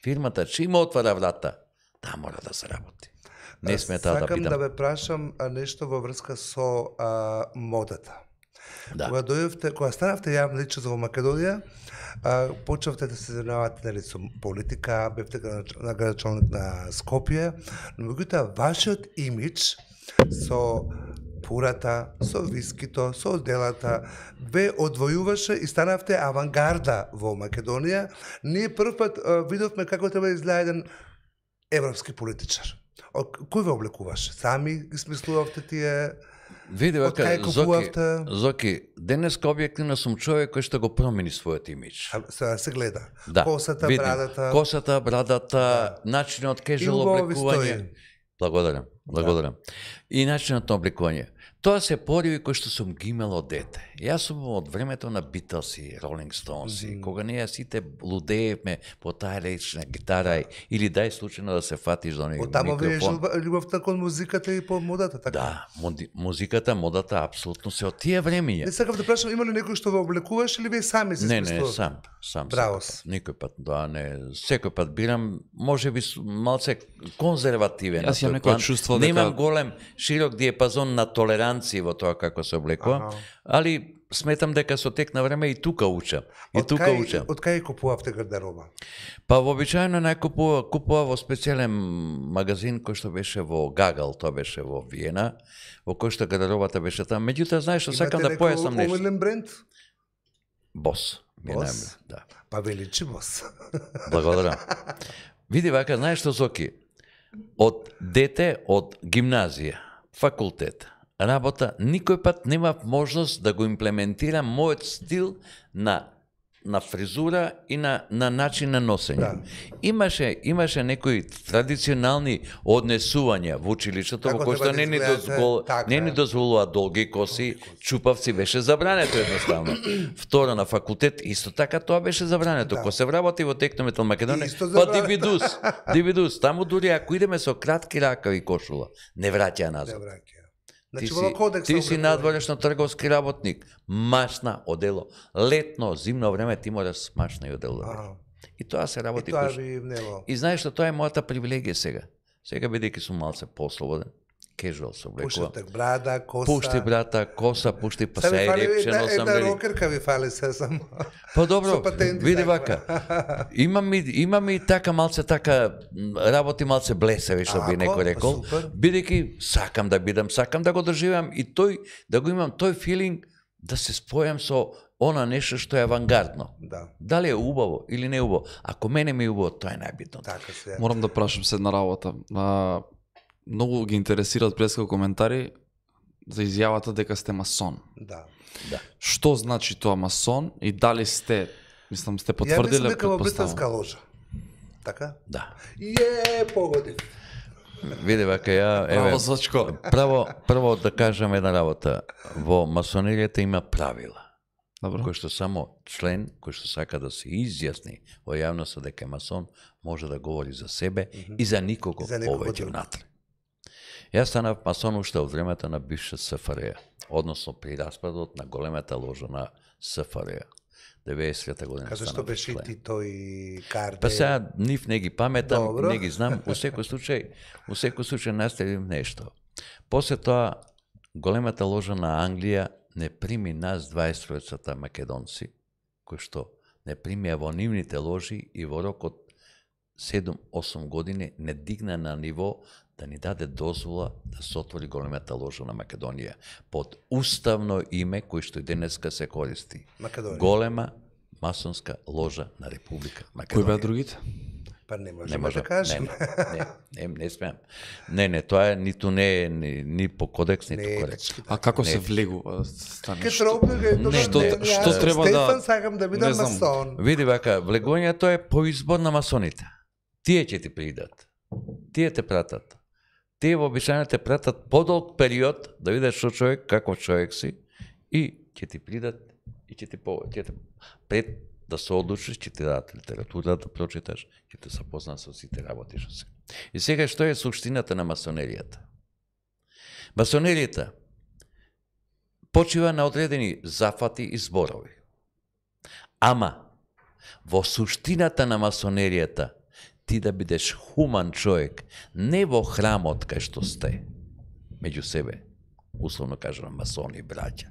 Фирмата чим отвара врата, таа мора да се работи. Не смета да бидам. Сакам да ве прашам нешто во врска со модата. Кога станавте јавна личност во Македонија, почнавте да се занимавате со политика, бевте градоначалник на Скопје, но меѓутоа вашиот имидж со пурата, со вискито, со делата, ве одвојуваше и станавте авангарда во Македонија. Ние прв пат видовме како треба да изгледа еден европски политичар. Кој ве облекуваше? Сами ги смислувавте тие? Види, Зоки, денеска објективно сум човек кој што го промени својот имидж. Сега се гледа. Да, косата, брадата. Косата, брадата, начинот кежуал облекување. Благодарам. И начинот на облекување. Тоа се пориви кои што сум ги имал од дете. Јас сум од времето на Beatles и Rolling Stones, кога ние сите лудеевме по таа речна гитара или дај случајно да се фатиш до некој микрофон. Оттама ве љубовта кон музиката и по модата, така? Да, музиката, модата апсолутно се од тие времиња. Не сакав да прашам, има ли некој што ве облекуваш или вие сами се смислувате? Не, сам. Браво. Никој пат, секој пат бирам, можеби малце конзервативен. Јас имам некој чувство дека немам голем, широк диапазон на толеранција во тоа како се облекувам, али сметам дека со тек на време и тука учам. Од кај купувавте гардероба? Па вообичаено купува во специјален магазин кој што беше во Гагал, тоа беше во Виена, во кој што гардеробата беше таму. Меѓутоа, знаеш што сакам да појаснам нешто. Имате некој омилен бренд? Бос. Бос? Да. Па величи Бос. Благодарам. Види вака, знаеш што, Зоки? Од дете, од гимназија, факултет, работа, никој пат немав можност да го имплементирам мојот стил на фризура и на начин на носење. Да. Имаше некои традиционални однесувања во училиштето, во кој што не ни дозволува долги коси, чупавци беше забрането едноставно. Второ, на факултет исто така тоа беше забрането. Ко се вработи во Технометал Македонија, па дивидус, таму дури ако идеме со кратки ракави кошула, не враќа назад. Ти си надворешно трговски работник, машна одело. Летно, зимно време ти мораш машна и одело. И тоа се работи. И знаеш што тоа е мојата привилегија сега. Сега бидејќи сум малце послободен кежуал се облекува. Пушти брада, коса. Пушти брата, коса, пушти па се репче носам. Една рокерка ви фали се само. Па добро, види вака. Имам и така малце така работи малце блесеви, што би некој рекол. Бидејќи сакам да бидам, сакам да го доживеам и тој да го имам тој филинг да се спојам со она нешто што е авангардно. Да. Дали е убаво или не е убаво? Ако мене ми е убаво, тоа е најбитно. Така се. Морам да прашам се една работа. Многу ги интересираат преска коментари за изјавата дека сте масон. Да. Да. Што значи тоа масон и дали сте, мислам, сте потврдиле? Ја мислам дека во британска ложа. Така? Да. Погоди. Види вака, Браво, Сочко. Прво да кажам една работа. Во масонеријата има правила. Добро. Кој што само член, кој што сака да се изјасни во јавноста дека е масон, може да говори за себе и за никого повеќе внатре. Јас станав масон уште од времето на бивша СФРЈ, односно при распадот на големата ложа на СФРЈ. 90-та година. Кажа што беше и Тито и Карде. Па сега нив не ги паметам, не ги знам, во секој случај наставим нешто. После тоа големата ложа на Англија не прими нас 20-та македонци, кои што не примија во нивните ложи и во рок од 7-8 години не дигна на ниво да ни даде дозвола да се отвори големата ложа на Македонија под уставно име кој што и денеска се користи. Македонија. Голема масонска ложа на Република Македонија. Кои беа другите? Па не можеме да кажем. Не смеам. Не, тоа ниту не е ни по кодекс, ниту коректно. А како се влегува? Што треба да... Стефан, сакам да бидам масон. Види вака, влегувањето е по избор на масоните. Тие ќе ти придат. Тие те пратат. Тие вообичаено те пратат подолг период да видиш што човек, каков човек си и ќе ти придат и ќе ти пред да се одлучиш, ќе ти дадат литература да прочиташ, ќе те запознаат со сите работи што се. И сега што е суштината на масонеријата? Масонеријата почива на одредени зафати и зборови. Ама во суштината на масонеријата ти да бидеш хуман човек, не во храмот кај што сте, меѓу себе, условно кажам масони и браќа,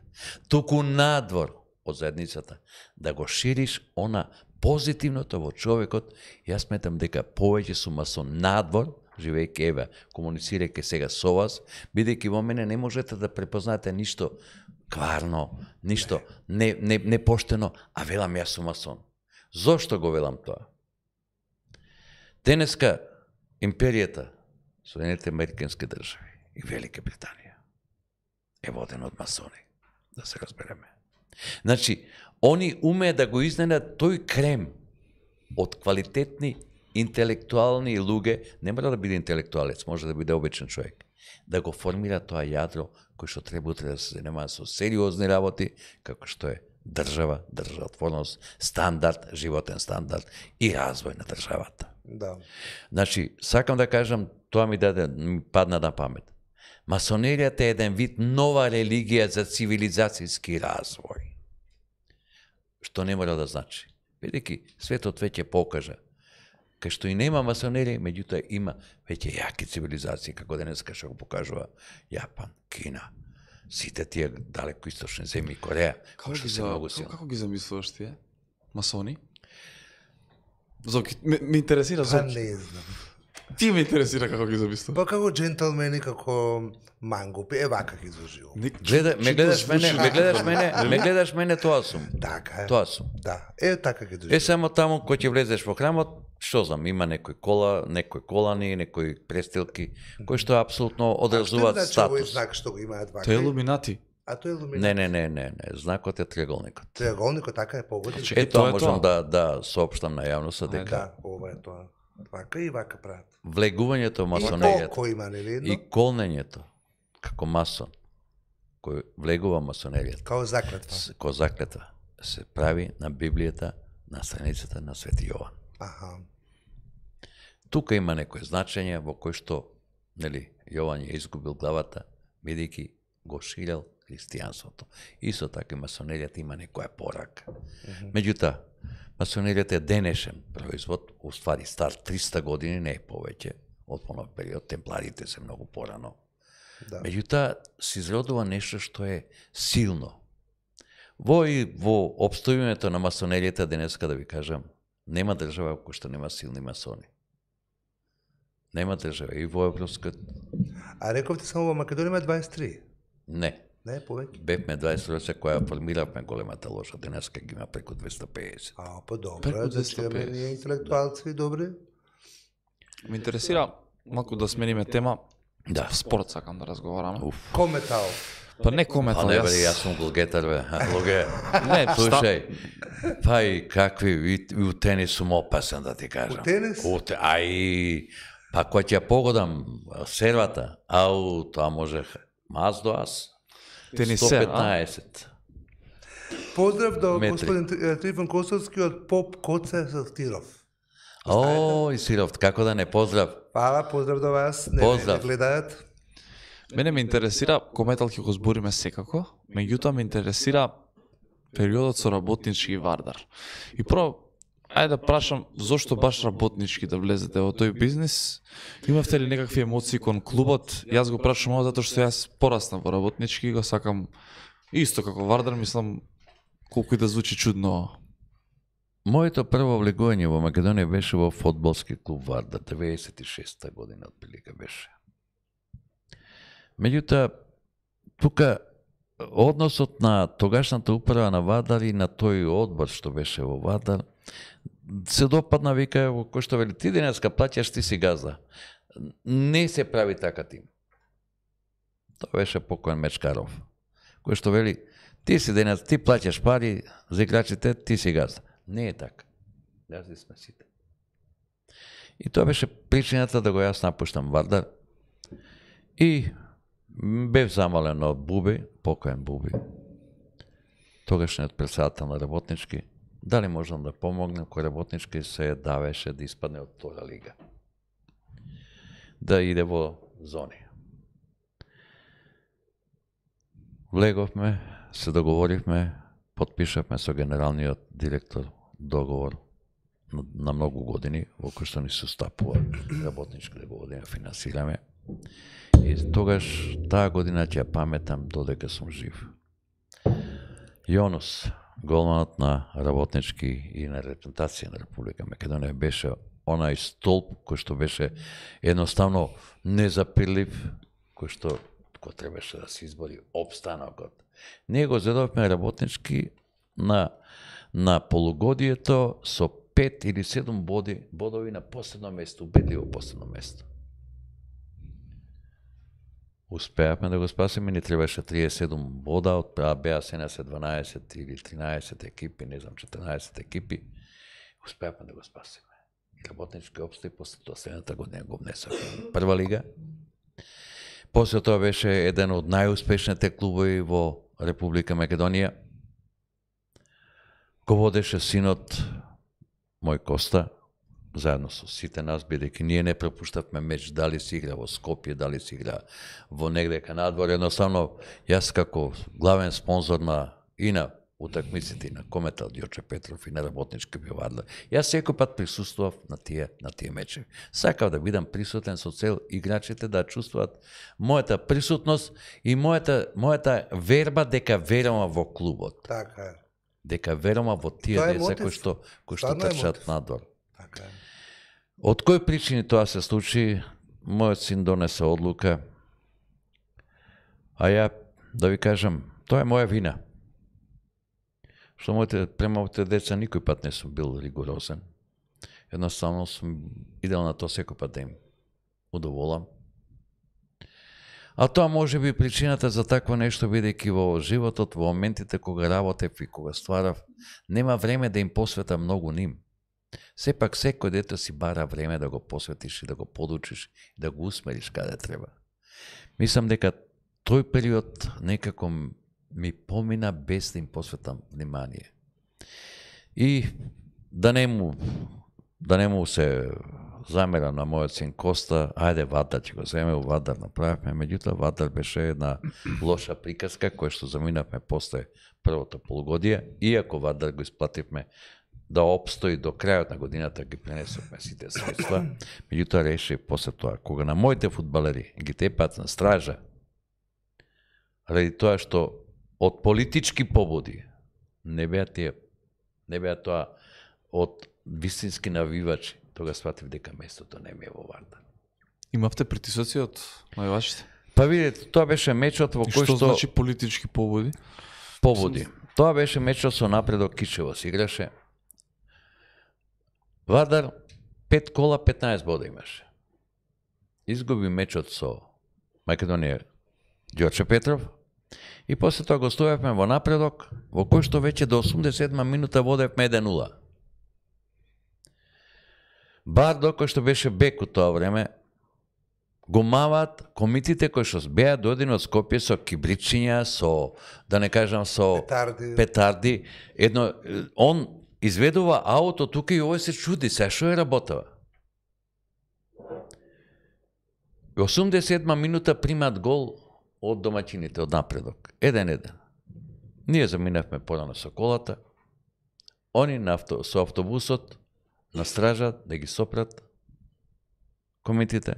туку надвор од заедницата, да го шириш она позитивното во човекот. Јас сметам дека повеќе сум масон надвор, живејќи еве, комуницирајќи сега со вас, бидејќи во мене не можете да препознаете ништо кварно, ништо непоштено, а велам јас сум масон. Зошто го велам тоа? Денеска империјата, Соединетите американски држави и Велика Британија е водена од масони, да се разбереме. Значи, они умеат да го изненат тој крем од квалитетни, интелектуални луѓе, не мора да биде интелектуалец, може да биде обичен човек, да го формира тоа јадро кој што треба утре да се занимава со сериозни работи, како што е држава, државотворност, стандард, животен стандард и развој на државата. Да. Значи, сакам да кажам, тоа ми падна на памет. Масонеријата е еден вид нова религија за цивилизацијски развој. Што не мора да значи. Бидејќи светот веќе покажа, кај што и нема масонерија, меѓутоа има веќе јаки цивилизации, како денеска што го покажува Јапан, Кина, сите тие далеко источни земји, Кореја, кои што се многу силни. Како ги замислуваш тие? Масони? Зоки, ме интересира Зоки. Не знам. Ти ме интересира како ги замислуваш. Па како джентълмени, како мангупи, вака ги изложил. Ме гледаш мене, тоа сум. Така е. Тоа сум. Да, така ги изложил. Само таму кој ќе влезеш во храмот, што знам, има некои колани, некои престилки, кои што апсолутно одразуваат статус. Што значи овој знак што го имаат вака? Тоа е илуминати. А тоа е илуминати. Не, знакот е триаголникот. Триаголникот така е погоди. Тоа можам да соопштам на јавноста дека. Да, ова е тоа. Вака и вака прават. Влегувањето во масонеријата и колнењето како масон кој влегува масонеријата како заклетва се прави на Библијата на страницата на Свети Јован. Тука има некој значење во кој што Јован ја изгубил главата бидејќи го ширел христијанството. Исто така и масонеријата има некоја порака. Меѓутоа, масонеријата е денешен производ, уствари стар 300 години, не е повеќе од понов период, темпларите се многу порано. Да. Меѓутоа, се изродува нешто што е силно. Во обстојувањето на масонеријата денеска, да ви кажам, нема држава која што нема силни масони. Нема држава и во Европската. А рековте само во Македонија има 23? Не. Не, повеќе? Бевме 20 која формиравме големата ложа, денеска ги има преку 250. Па добро, Преку да си имаме 250. ние интелектуалци добри. Ме интересира малку да смениме тема. Да. Спорт сакам да разговараме. Кометал. Па не кометал, не бе, јас сум голгетар, бе. Логе. Не, Слушај, па и какви, и у тенис сум опасен, да ти кажам. У тенис? Ај, па кој ќе погодам сервата, ау, тоа можех маз до аз. Тенисер, 115. Поздрав до Метри. господин Трифон Костовски од Поп Коце Сатиров. О, и Сиров, како да не поздрав. Фала, поздрав до вас. Не Поздрав. гледаат. Мене ме интересира, кометал ќе го збориме секако, меѓутоа ме интересира периодот со работнички Вардар. И прво, ајде да прашам, зошто баш работнички да влезете во тој бизнис? Имавте ли некакви емоции кон клубот? Јас го прашам ово затоа што јас пораснав во работнички, го сакам исто како Вардар, мислам, колку и да звучи чудно. Моето прво влегување во Македонија беше во фудбалски клуб Вардар, 96-та година отприлика беше. Меѓутоа, тука односот на тогашната управа на Вардар и на тој одбор што беше во Вардар се допадна, вика, кој што вели, ти денеска плаќаш, ти си газда. Не се прави така тим. Тоа беше покоен Мечкаров, кој што вели, ти си денес, ти плаќаш пари за играчите, ти си газда. Не е така. Газди сме сите. И тоа беше причината да го јас напуштам Вардар. И бев замолен од Буби, покоен Буби, тогашниот председател на работнички, дали можам да помогнем кој работнички се давеше да испадне од втора лига. Да иде во зони. Влеговме, се договоривме, подпишавме со генералниот директор договор на многу години, во кој што ни се устапува работнички да го водиме, финансираме. И тогаш, таа година ќе ја паметам додека сум жив. Јонус, голманот на работнички и на репрезентација на Република Македонија, беше онај столб кој што беше едноставно незапирлив, кој што требаше да се избори опстанокот. Ние го зедовме работнички на полугодието со 5 или 7 бодови на последно место, убедливо последно место. Успеавме да го спасиме, ни требаше 37 бода, од беа се на 12 или 13 екипи, не знам, 14 екипи. Успеавме да го спасиме. И работнички опстои после тоа следната година го внесовме прва лига. После тоа беше еден од најуспешните клубови во Република Македонија. Го водеше синот мој Коста, заедно со сите нас, бидејќи ние не пропуштавме меч, дали се игра во Скопје, дали се игра во негдека надвор. Едноставно, јас како главен спонзор и на утакмиците на Кометал Ѓорче Петров и на работнички Вардар, јас секој пат присуствував на тие мечеви. Сакав да бидам присутен со цел играчите да чувствуваат мојата присутност и мојата верба дека верувам во клубот. Така е. Дека верувам во тие деца кои што трчат надвор. Така е. Од кои причини тоа се случи, мојот син донесе одлука, а ја, да ви кажам, тоа е моја вина. Што према моите деца никој пат не сум бил ригорозен. Едноставно сум идел на тоа секој пат да им удоволам. А тоа може би причината за такво нешто, бидејќи во животот, во моментите кога работев и кога стварав, нема време да им посветам многу ним. Сепак секој дете си бара време да го посветиш и да го подучиш и да го усмериш каде треба. Мислам дека тој период некако ми помина без да им посветам внимание. И да не му се замера на мојот син Коста, ајде Вардар ќе го земе, у Вардар направивме, меѓутоа Вардар беше една лоша приказка која што заминавме после првото полугодие, иако Вардар го исплативме да обстои до крајот на годината, ги пренесовме сите средства, меѓутоа реши после тоа, кога на моите фудбалери ги тепат на стража, ради тоа што од политички побуди не беа тоа од вистински навивачи, тога сватив дека местото не ми е во Вардар. Имавте притисоци од навивачите? Па видите, тоа беше мечот во кој што... Што значи политички побуди? Побуди. Тоа беше мечот со Напредок Кичево се играше. Вардар 5 кола 15 бода имаше. Изгуби мечот со Македонија Ѓорче Петров и после тоа гостувавме во Напредок, во кој што веќе до 87 минута водевме 1-0. Бардо, кој што беше бек у тоа време, го мават комитите кои што беа дојдени од Скопје со кибричиња, со, да не кажам, со петарди. Едно, он изведува ауто тука и овој се чуди, се што е работава. 87 минута примат гол од домаќините, од Напредок. 1-1. Ние заминавме порано со колата, они со автобусот на стража да ги сопрат комитите,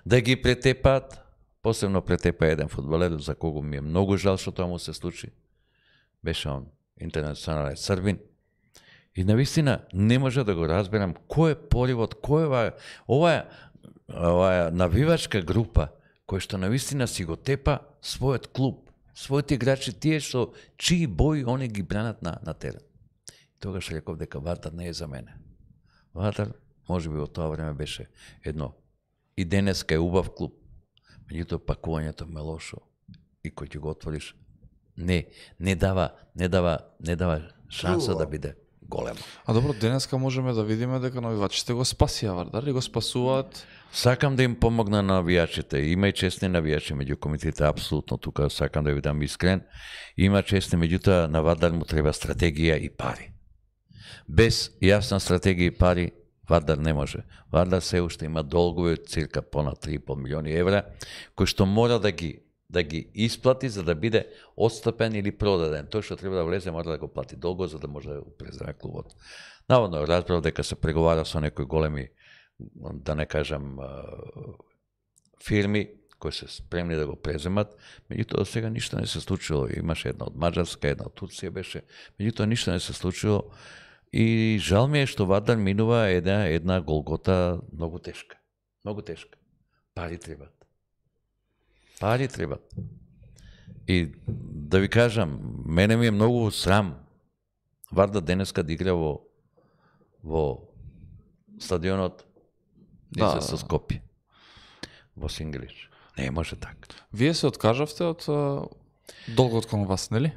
да ги претепаат, посебно претепа еден фудбалер за кого ми е многу жал што тоа му се случи. Беше он интернационален србин. И навистина не може да го разберам кој е поривот, кој е оваа навивачка група кој што навистина си го тепа својот клуб, своите играчи, тие што чии бои они ги бранат на терен. Тогаш реков дека Вардар не е за мене. Вардар, може би во тоа време беше едно и денеска е убав клуб. Меѓутоа пакувањето ме лошо и кој ќе го отвориш не дава шанса да биде големо. А добро, денеска можеме да видиме дека навивачите го спасија Вардар и го спасуваат. Сакам да им помогна на навијачите. Има и честни навијачи меѓу комитетите, апсолутно, тука сакам да ви дам искрен. Има честни, меѓутоа на Вардар му треба стратегија и пари. Без јасна стратегија и пари Вардар не може. Вардар се уште има долгови од цирка понад 3,5 милиони евра, кои што мора да ги исплати за да биде отстапен или продаден. Тој што треба да влезе мора да го плати долго за да може да го преземе клубот. Наводно разбрав дека се преговара со некои големи, да не кажам, фирми кои се спремни да го преземат, меѓутоа сега ништо не се случило. Имаше една од Маđarска, една од Турција беше, меѓутоа ништо не се случило. И жал ми е што Вардар минува една голгота многу тешка. Многу тешка. Пари требат. Пари требат. И да ви кажам, мене ми е многу срам Вардар денеска да игра во стадионот со Скопје. Во Сингелич. Не може така. Вие се откажавте од долгот кон вас, нели?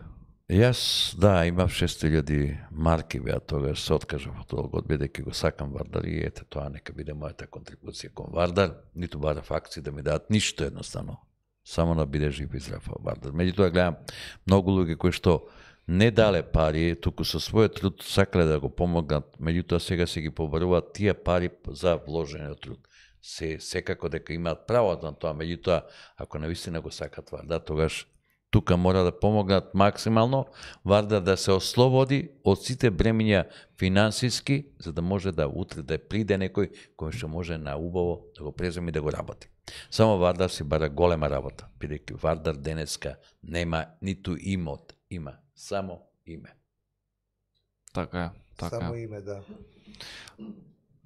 Јас, да, имав 600.000 марки беа тогаш, се откажав од долгот, бидејќи го сакам Вардар и ете тоа нека биде мојата контрибуција кон Вардар, ниту барав акции да ми дадат ништо едноставно, само да биде жив и здрав Вардар. Меѓутоа гледам многу луѓе кои што не дале пари, туку со својот труд сакале да го помогнат, меѓутоа сега се ги побаруваат тие пари за вложениот труд. Секако дека имаат право на тоа, меѓутоа ако навистина го сакат Вардар, тогаш тука мора да помогнат максимално Вардар да се ослободи од сите бремиња финансиски, за да може да утре да приде некој кој што може на убаво да го преземе и да го работи. Само Вардар си бара голема работа, бидејќи Вардар денеска нема ниту имот, има само име. Така е, така Само име, да.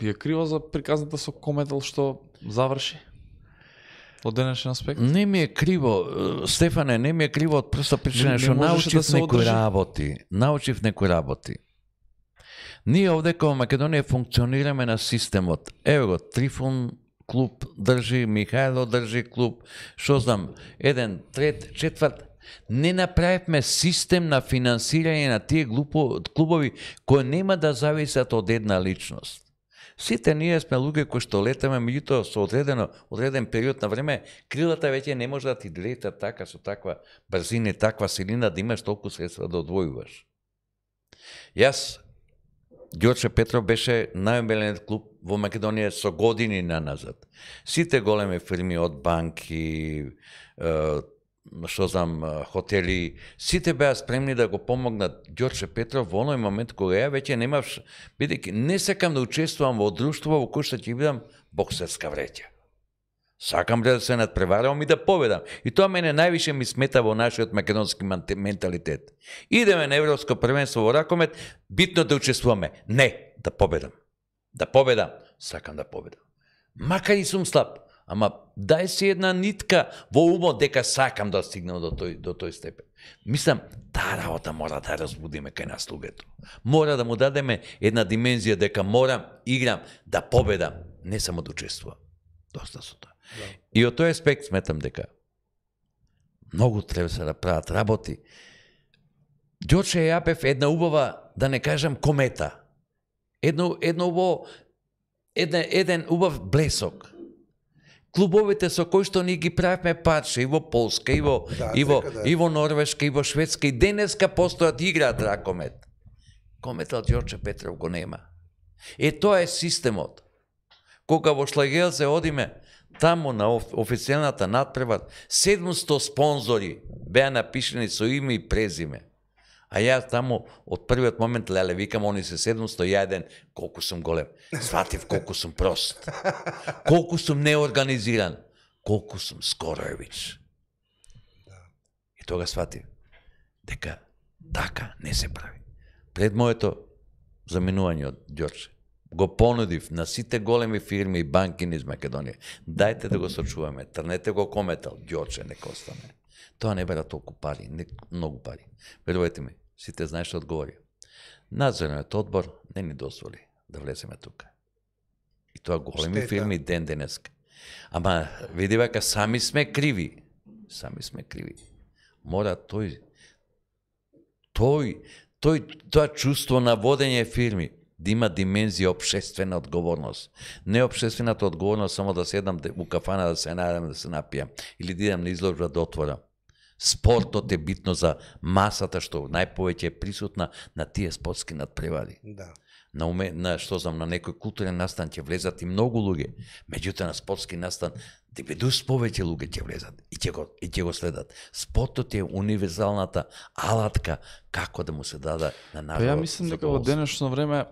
Ви е криво за приказната со Комедел што заврши? Од денешен аспект? Не ми е криво, Стефане, не ми е криво од проста причина што научив некои работи. Научив некои работи. Ние овде као Македонија функционираме на системот. Ево го, Трифун клуб држи, Михајло држи клуб, што знам, еден, трет, четврт. Не направивме систем на финансирање на тие клубови кои нема да зависат од една личност. Сите ние сме луѓе кои што летаме, меѓутоа со одреден период на време, крилата веќе не може да ти летат така со таква брзина, таква силина да имаш толку средства да одвојуваш. Јас, Ѓорче Петров беше најомилениот клуб во Македонија со години наназад. Сите големи фирми од банки, што знам, хотели, сите беа спремни да го помогнат Ѓорче Петров во оној момент кога ја веќе немав, бидејќи не сакам да учествувам во друштво во кој што ќе бидам боксерска вреќа. Сакам да се надпреварам и да победам. И тоа мене највише ми смета во нашиот македонски менталитет. Идеме на Европско првенство во ракомет, битно да учествуваме. Не, да победам. Да победам. Сакам да победам. Макар и сум слаб, ама дај си една нитка во умот дека сакам да стигнам до тој степен. Мислам, таа работа мора да разбудиме кај нас луѓето. Мора да му дадеме една димензија дека морам, играм, да победам, не само да учествувам. Доста со тоа. Да. И од тој аспект сметам дека многу треба се да прават работи. Ѓорче Јапев една убава, да не кажам комета. Еден убав блесок. Клубовите со кои што ни ги правиме парче и во Полска, и во Норвешка, и во Шведска, и денеска постојат играат ракомет. Кометот Ѓорче Петров го нема. Тоа е системот. Кога во Шлагелце одиме, таму на официјалната надпревар, 700 спонзори беа напишени со име и презиме. А јас таму, од првиот момент, леле, викам, они се 701, колку сум голем. Сватив колку сум прост. Колку сум неорганизиран. Колку сум Скороевич. И тога сватив дека така не се прави. Пред моето заминување од Ѓорче, го понудив на сите големи фирми и банки низ Македонија. Дајте да го сочуваме, трнете го кометал, Ѓорче нека остане. Тоа не бера толку пари, многу пари. Верувајте ми, сите знаеш што одговори. Надзорниот одбор не ни дозволи да влеземе тука. И тоа големи фирми ден денеска. Ама види вака, сами сме криви. Сами сме криви. Мора тоа чувство на водење фирми да има димензија општествена одговорност. Не општествената одговорност само да седам у кафана да се најдам да се напијам или да идам на изложба да отворам. Спортот е битно за масата што најповеќе е присутна на тие спортски надпревари. Да. На некој културен настан ќе влезат и многу луѓе, меѓутоа на спортски настан 90 повеќе луѓе ќе влезат и ќе го следат. Спортот е универзалната алатка како да му се даде на народот. Ја мислам дека во денешно време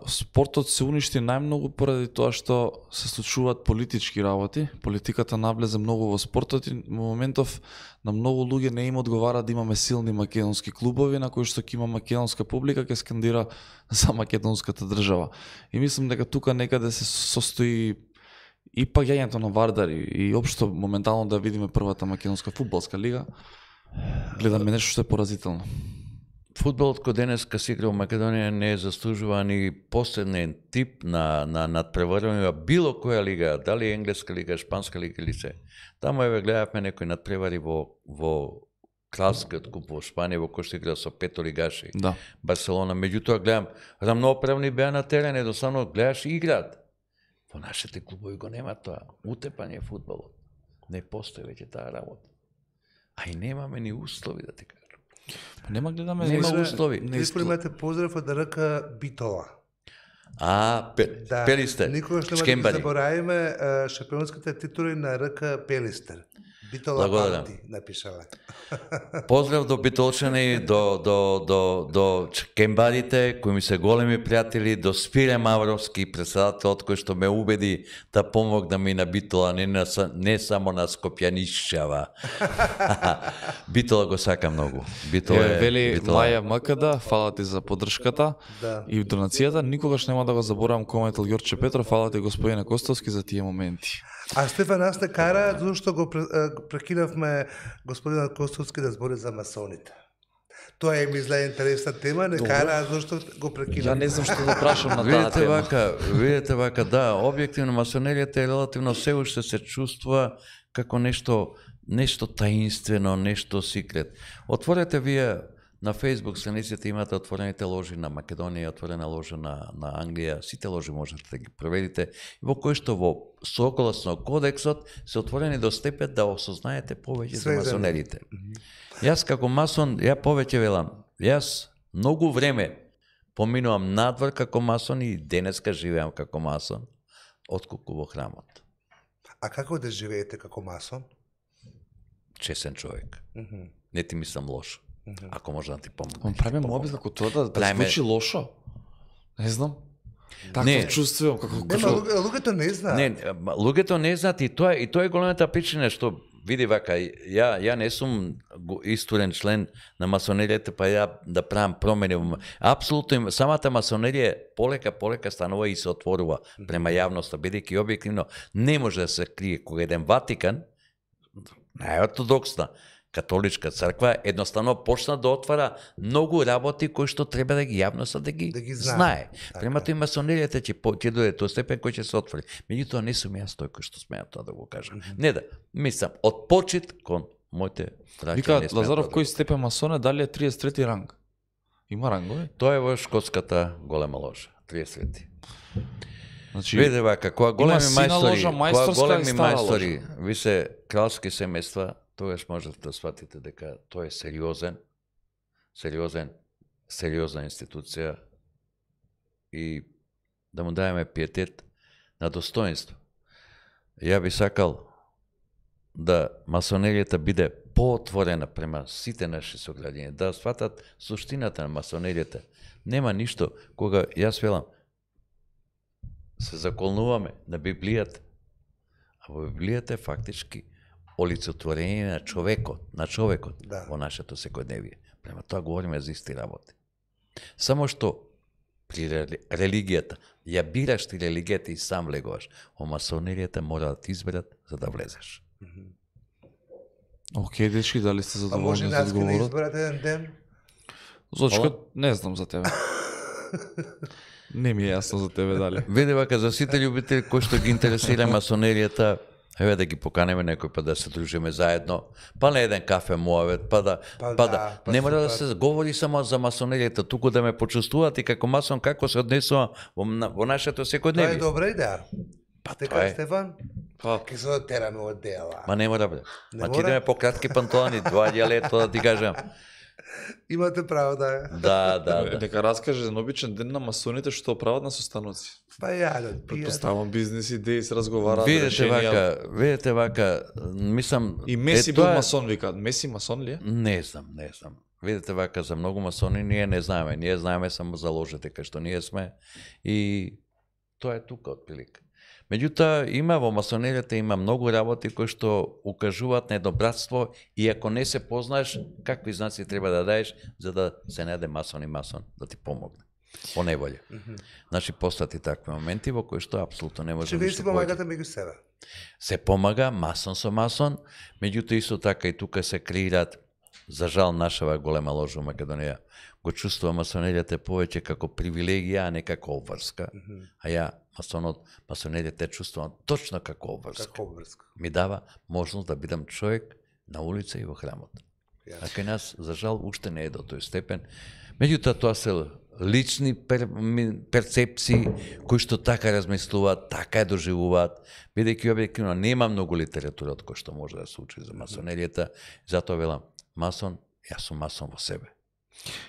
спортот се уништи најмногу поради тоа што се случуваат политички работи. Политиката навлезе многу во спортот и во моментов на многу луѓе не им одговара да имаме силни македонски клубови на кои што ќе има македонска публика ќе скандира за македонската држава. И мислам дека тука некаде се состои и паѓањето на Вардар и општо моментално да видиме првата македонска фудбалска лига. Гледаме нешто што е поразително. Фудбалот кој денеска се игра во Македонија не заслужува ни последен тип на надпреварување било која лига, дали енглеска лига, шпанска лига или се. Таму гледавме некои надпревари во кралскиот куп во Шпанија, во кој што игра со 5 лигаши. Да. Барселона, меѓутоа гледам, рамноправни беа на терен, едноставно гледаш и играат. Во нашите клубови го нема тоа. Утепање фудбалот. Не постои веќе таа работа. А и немаме ни услови, да ти кажам. Нема гледаме, нема услови. Испримете поздрав од РК Битола. Пелистер. Никогаш нема да заборавиме шампионските титули на РК Пелистер. Битола Панти напишала. Поздрав до битолчани, до кембарите, кои ми се големи пријатели, до Спире Мавровски, председателот кој што ме убеди да помогна ми на Битола, не само на Скопјанишчава. Битола го сака многу. Вели Маја МКД, фала ти за поддршката и донацијата. Никогаш нема да го заборавам кометал Ѓорче Петров, фала ти господине Костовски за тие моменти. А Стефан нас не кара, зашто го прекинавме господинот Костовски да збори за масоните. Тоа е ми зле интересна тема, не кара, зашто го прекинавме. Ја не знам што да прашам на таа тема. Видете вака, да, објективно масонеријата е релативно се уште се чувствува како нешто таинствено, нешто секрет. Отворете вие на Facebook страниците имате отворените ложи на Македонија, отворена ложа на Англија, сите ложи можете да ги проверите, во кои што во согласно кодексот се отворени до степен да осознаете повеќе за масонерите. Јас како масон, ја повеќе велам, јас многу време поминувам надвор како масон и денеска живеам како масон, отколку во храмот. А како да живеете како масон? Чесен човек. Не ти мислам лошо. Ако може да ти помогне. Правиме мобил како тоа да звучи лошо. Не знам. Такво чувствувам како луѓето не знаат. Не, луѓето не знаат и тоа е големата причина што види вака, ја не сум исторен член на масонеријата, па ја да правам промени. Апсолутно, самата масонерија полека станува и се отворува према јавноста, бидејќи објективно не може да се крие кога еден Ватикан, најортодоксна католичка црква, едноставно почна да отвара многу работи кои што треба да ги јавноста да ги знае. Према тој масонеријата ќе дојде тоа степен кој ќе се отвори. Меѓутоа не сум јас тој кој што смеам тоа да го кажам. Не да, мислам, од почит кон моите браќа. Вика Лазаров, кој степен масон е, дали е 33 ранг? Има рангови? Тоа е во шкотската голема ложа, 33. Значи, виде вака, кога големи мајстори, ви се кралски семејства, тогаш можете да сватите дека тоа е сериозна институција и да му даеме пиетет на достоинство. Ја би сакал да масонеријата биде поотворена према сите наши сограѓани, да сватат суштината на масонеријата. Нема ништо кога јас велам се заколнуваме на Библијата, а во Библијата е фактички олицетворење на човекот во нашето секојдневие. Према тоа говориме за исти работи. Само што при религијата, ја бираш ти религијата и сам влегуваш, во масонеријата мора да ти изберат за да влезеш. Океј, дечки, дали сте задоволни за одговорот? А може да изберат еден ден? Зочка, не знам за тебе. Не ми е јасно за тебе дали. Види вака, за сите љубители кои што ги интересира масонеријата, еве да ги поканеме некој па да се дружиме заедно, па на еден кафе муавет, не мора да се говори само за масонеријата, туку да ме почувствуваат и како масон како се однесувам во нашето секојдневие. Тоа е добра идеја. Па така Стефан? Па ќе се отераме од дела. Ма не мора бре. Ма ти идеме по кратки панталони, 2 лето да ти кажам. Имате право да е. Да. Дека раскаже за обичен ден на масоните што прават на состаноци. Па ја да пијат. Предпоставам бизнес идеи се разговараат. Видете вака, мислам и Меси бил масон, викаат. Меси масон ли е? Не знам. Видете вака, за многу масони ние не знаеме. Ние знаеме само за ложите кај што ние сме и тоа е тука отприлика. Меѓутоа, има во масонеријата има многу работи кои што укажуваат на едно братство и ако не се познаеш, какви знаци треба да даеш за да се најде масон да ти помогне. По неволја. Значи, постати такви моменти во кои што апсолутно не може да се помагате меѓу себе. Се помага масон со масон, меѓутоа исто така и тука се креираат, за жал нашава голема ложа во Македонија, го чувствува масонеријата повеќе како привилегија, а не како обврска. А ја масонеријата чувствувам точно како обврска. Ми дава можност да бидам човек на улица и во храмот. А кај нас, за жал, уште не е до тој степен. Меѓутоа, тоа се лични перцепции кои што така размислуваат, така ја доживуваат, бидејќи објективно нема многу литература од кој што може да се учи за масонеријата, затоа велам, масон, јас сум масон во себе.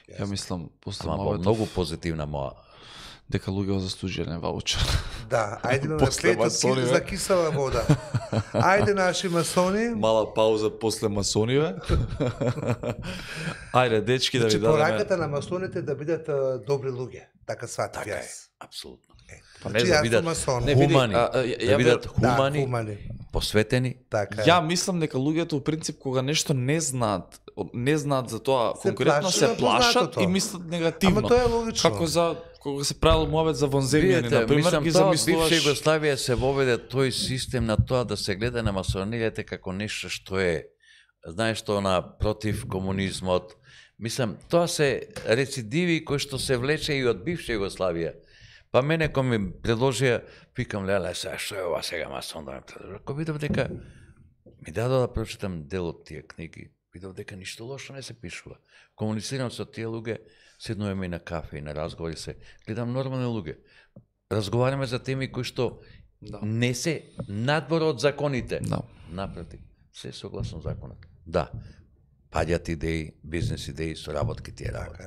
Ја мислам, после Моветов, многу позитивна моја. Дека луѓе заслужиле ваучер. Да, ајде имаме 5 за кисела вода. Ајде наши масони. Мала пауза после масониве. Ајде, дечки, да ви дадеме. Пораката на масоните да бидат добри луѓе. Така сватив јас. Апсолутно. Па не да бидат хумани, да бидат хумани, посветени. Ја мислам дека луѓето во принцип кога нешто не знаат за тоа, конкретно се плашат и мислат негативно. Ама тоа е логично. Како за кога се правил муавет за вонземјани, на пример, ги замислуваш. Бивша Југославија се воведе тој систем на тоа да се гледа на масонијата како нешто што е, знаеш што, против комунизмот. Мислам, тоа се рецидиви кои што се влече и од бивша Југославија. Па мене кој ми предложија, викам, леле, сега што е ова сега масон да ме предложи. Кој видов дека ми дадо да прочитам дел од тие книги, видов дека ништо лошо не се пишува. Комуницирам со тие луѓе, седнуваме и на кафе и на разговори се, гледам нормални луѓе. Разговараме за теми кои што не се надвор од законите. Напротив, се согласно законот. Да, паѓат идеи, бизнес идеи, соработки тие работи.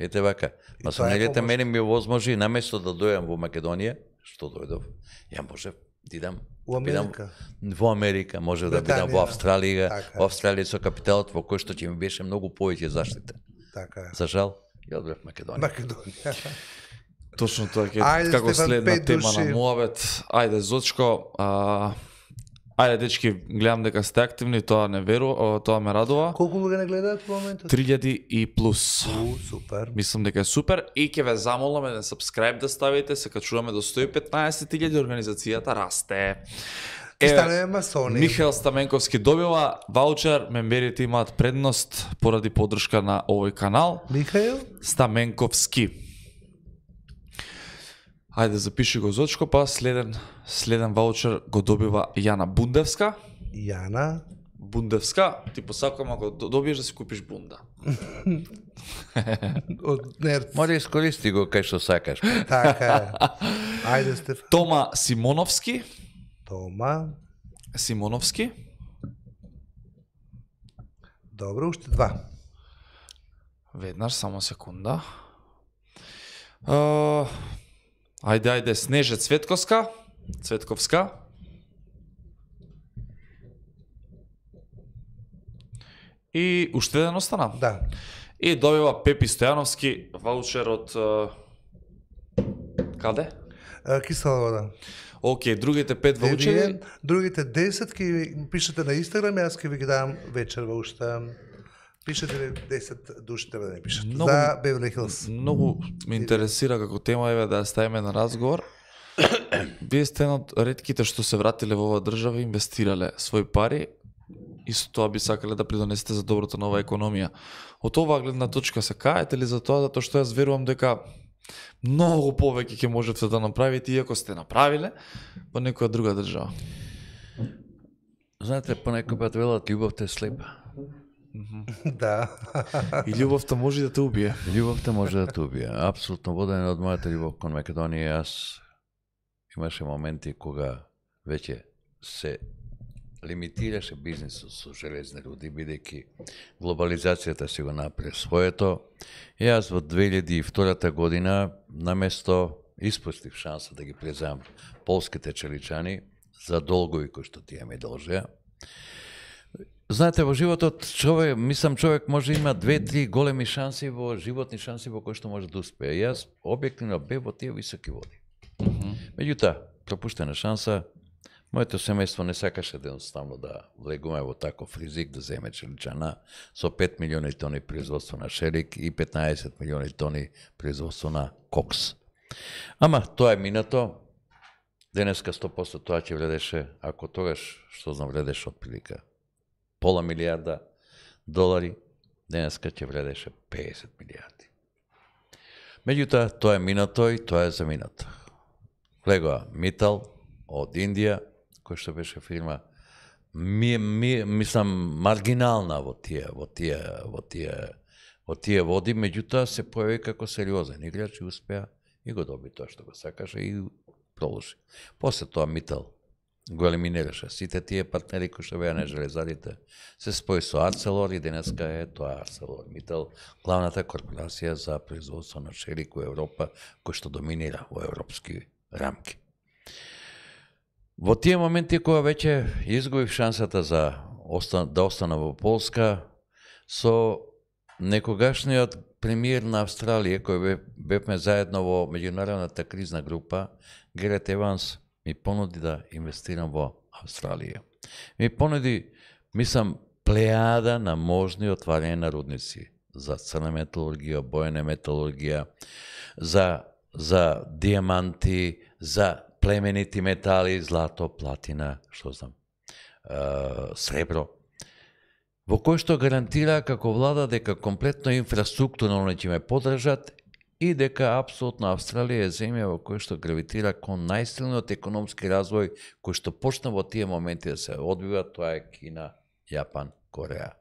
Ете вака, масонеријата мене ми овозможи наместо да дојам во Македонија, што дојдов, ја можев да идам во Америка, можев да бидам во Австралија, во Австралија со капиталот во кој што ќе ми беше многу повеќе заштита. За жал, ја одбрав Македонија. Точно тоа Ајде, како Стефан, следна 5 тема на души. муабет. Ајде Зочко, ајде дечки, гледам дека сте активни, тоа не тоа ме радува. Колку луѓе не гледаат во моментот? 3000 и плюс. Супер. Мислам дека е супер и ќе ве замолам еден subscribe да ставите, се качуваме до 115.000, организацијата расте. И станеме масони. Михаел Стаменковски добива ваучер, мемберите имаат предност поради поддршка на овој канал. Михаел? Стаменковски. Ајде запиши го Зочко, па следен ваучер го добива Јана Бундевска. Јана. Бундевска, ти посакувам ако добиеш да си купиш бунда. Од Нерц. Може искористи го кај што сакаш. Така е. Ајде, Стефан. Тома Симоновски. Тома. Симоновски. Добро, уште 2. Веднаш, само секунда. Ајде, Снеже Цветковска. И уште еден остана. Да. И добива Пепи Стојановски ваучер од каде? Кисела вода. Океј, другите 5 ваучери. Другите 10 ќе пишете на Инстаграм, јас ќе ви ги дам вечерва уште. Пишете 10 души треба да не пишат. Многу- За Бевли Хилс. Многу ме интересира како тема еве да ја ставиме на разговор. Вие сте еден од ретките што се вратиле во оваа држава и инвестирале своји пари и со тоа би сакале да придонесете за доброто на оваа економија. Од оваа гледна точка се каете ли за тоа, затоа што јас верувам дека многу повеќе ќе можете да направите иако сте направиле во некоја друга држава. Знаете, понекој пат велат љубовта е слепа. Да. И љубовта може да те убие. Љубовта може да те убие. Апсолутно воден од мојата љубов кон Македонија, јас имаше моменти кога веќе се лимитираше бизнисот со железни руди, бидејќи глобализацијата си го направи своето. Јас во 2002 година, наместо испустив шанса да ги преземам полските челичани за долгови кои што тие ми должеа. Знаете, во животот човек може има 2-3 големи шанси во животни шанси во кои што може да успее. Јас објективно бев во тие високи води. Меѓутоа, пропуштена шанса, моето семејство не сакаше едноставно да влегуваме во таков ризик, да земе челичана со 5 милиони тони производство на шерик и 15 милиони тони производство на кокс. Ама тоа е минато. Денеска 100% тоа ќе вредеше, ако тогаш, што знам, вредеше отприлика пола милиарда долари, денеска ќе вредеше 50 милиарди. Меѓутоа, тоа е минато и тоа е заминато. Влегоа Митал од Индија, кој што беше фирма мислам маргинална во тие води, меѓутоа се појави како сериозен играч и успеа и го доби тоа што го сакаше и продолжи. После тоа Митал го елиминираше сите тие партнери кои што беа на железарите, се спои со Арцелор и денеска е тоа Арцелор Митал, главната корпорација за производство на шерик во Европа, кој што доминира во европски рамки. Во тие моменти кога веќе изгубив шансата да остана во Полска, со некогашниот премиер на Австралија, кој бевме заедно во меѓународната кризна група, Герет Еванс, ми понуди да инвестирам во Австралија. Ми понуди, мислам, плејада на можни отварање на рудници за црна металургија, бојна металургија, за диаманти, за племенити метали, злато, платина, што знам, сребро, во кој што гарантира како влада дека комплетно инфраструктурно ќе ме подржат и дека апсолутно Австралија е земја во кој што гравитира кон најсилниот економски развој кој што почна во тие моменти да се одвива, тоа е Кина, Јапан, Кореја.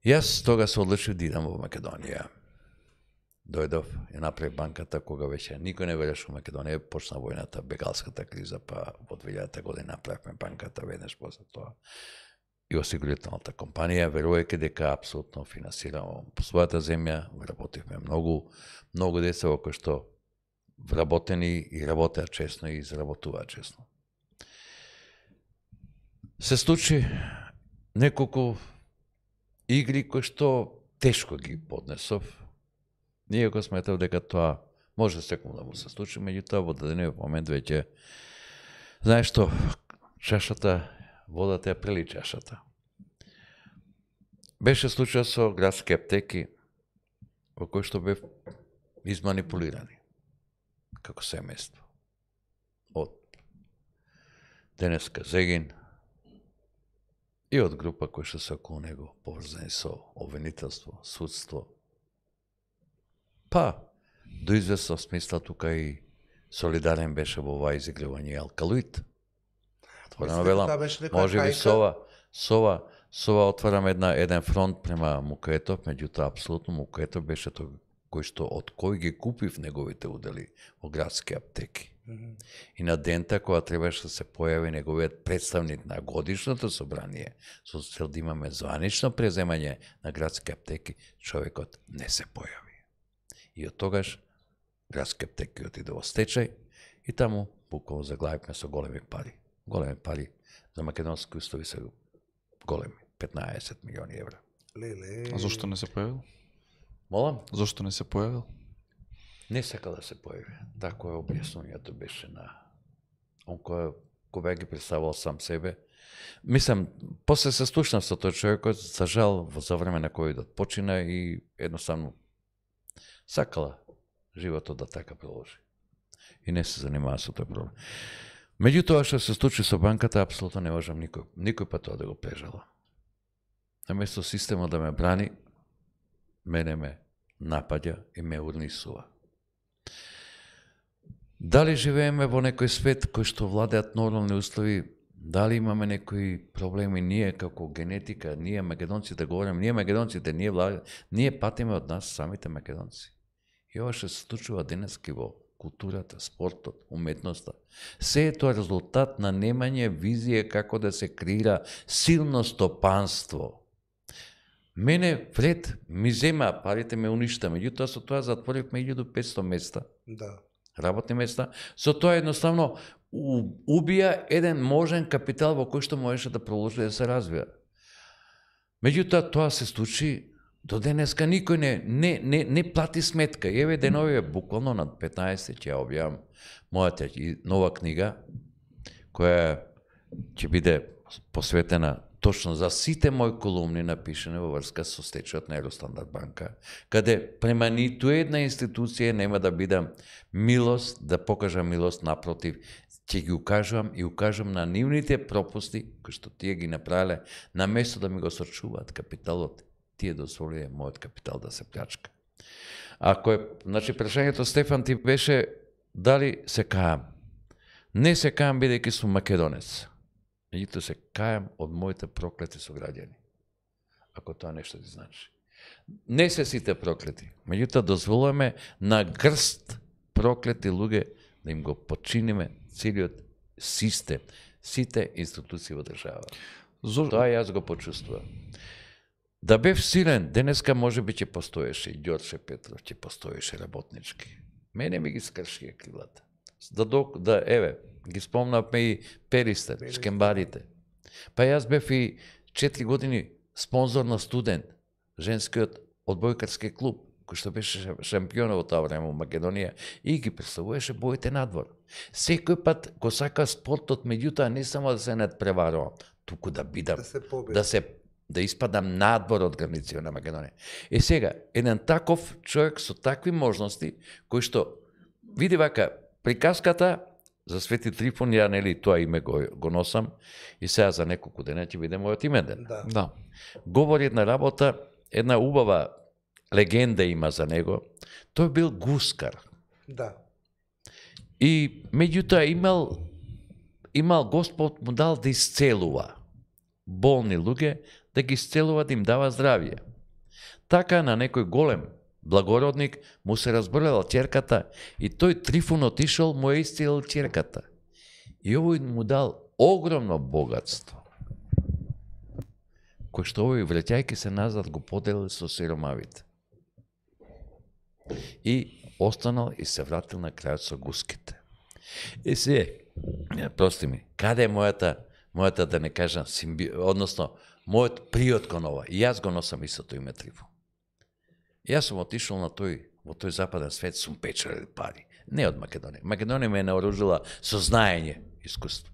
Јас тога се одлучив да идам во Македонија. Дојдов и направи банката кога веќе никој не вереше во Македонија, почна војната, бегалската криза, па во 2000 година направивме банката веднаш после тоа. И осигурителната компанија, верувајќи дека апсолутно финансирamo по својата земја, работивме многу деца во кои што вработени и работеа честно и изработуваат честно. Се случи неколку игри кои што тешко ги поднесов, Ние го сметав дека тоа може секој да му се случи, меѓутоа во дадениот момент веќе знаеш што, чашата, водата ја прели чашата. Беше случај со градски аптеки во кој што бев изманипулирани како семејство. Од денеска Зегин и од група кои што се околу него поврзани со обвинителство, судство. Па, до известно смисла тука и солидарен беше во ова изигрување алкалоид. Отворено велам, може би Сова отварам еден фронт према Мукетов, меѓутоа апсолутно Мукетов беше тој кој што од кој ги купив неговите удели во градски аптеки. И на дента кога требаше да се појави неговиот представник на годишното собрание со цел да имаме званично преземање на градски аптеки, човекот не се појави. И од тогаш градски аптеки отиде во стечај и таму буквално заглавивме со големи пари. Големи пари за македонски устови се големи, 15 милиони евра. А зошто не се појавил? Молам? Зошто не се појавил? Не сакал да се појави. Тако е објаснувањето беше на он кој ги представувал сам себе. Мислам, после се слушнав со тој човекот, за жал, за време на ковидот почина и едноставно сакала животот да така продолжи. И не се занимава со тој проблем. Меѓутоа што се случи со банката, апсолутно не можам никој пат тоа да го прежала. Наместо системот да ме брани, мене ме напаѓа и ме урнисува. Дали живееме во некој свет кој што владеат нормални услови, дали имаме некои проблеми ние како генетика, ние македонците говорим, ние патиме од нас самите македонци. И ова што се случува денески во културата, спортот, уметноста. Се е тоа резултат на немање визија како да се креира силно стопанство. Мене вред ми зема, парите ме уништа, меѓутоа со тоа затворивме 1500 места. Да. Работни места. Со тоа едноставно убија еден можен капитал во кој што можеше да продолжи да се развива. Меѓутоа тоа се случи до денеска никој не плати сметка. Еве деновиве буквално над 15 ќе ја објавам мојата нова книга која ќе биде посветена точно за сите мои колумни напишани во врска со стечајот на Евростандард банка, каде према ниту една институција нема да бидам милост, да покажам милост, напротив, ќе ги укажам на нивните пропусти кои што тие ги направиле, наместо да ми го сочуваат капиталот, тие дозволиле мојот капитал да се плячка. Ако е, значи прашањето Стефан ти беше дали се каам. Не се каам бидејќи сум македонец. Меѓутоа се кајам од моите проклети сограѓани. Ако тоа нешто ти значи. Не се сите проклети. Меѓутоа дозволуваме на грст проклети луѓе да им го починиме целиот систем, сите институции во држава. Тоа јас го почувствувам. Да бев силен, денеска може би ќе постоеше и Ѓорче Петров, ќе постоеше работнички. Мене ми ги скршија крилата. Еве, ги спомнавме и Перистер, шкембарите. Па јас бев и 4 години спонзор на Студент, женскиот одбојкарски клуб, кој што беше шампион во тоа време во Македонија и ги представуваше боите надвор. Секој пат го сака спортот, меѓутоа не само да се надпреварувам, туку да бидам, да испадам надвор од границите на Македонија. И сега, еден таков човек со такви можности, кој што види вака, приказката за Свети Трифон, ја нели тоа име го носам и сега за неколку дена ќе биде мојот именден. Да. Говори една работа, една убава легенда има за него. Тој бил гускар. Да. И меѓутоа имал Господ му дал да исцелува болни луѓе, да ги исцелува, да им дава здравје. Така на некој голем благородник му се разболела ќерката и тој Трифон отишол, му е исцелил ќерката. И овој му дал огромно богатство, кој што овој враќајќи се назад го поделил со сиромавите. И останал и се вратил на крајот со гуските. И се, прости ми, каде е мојата да не кажам, односно, мојот приот кон ова. И јас го носам истото име Трифон. Јас сум отишол на тој во тој западен свет сум печелил пари. Не од Македонија. Македонија ме наоружила со знаење, искуство.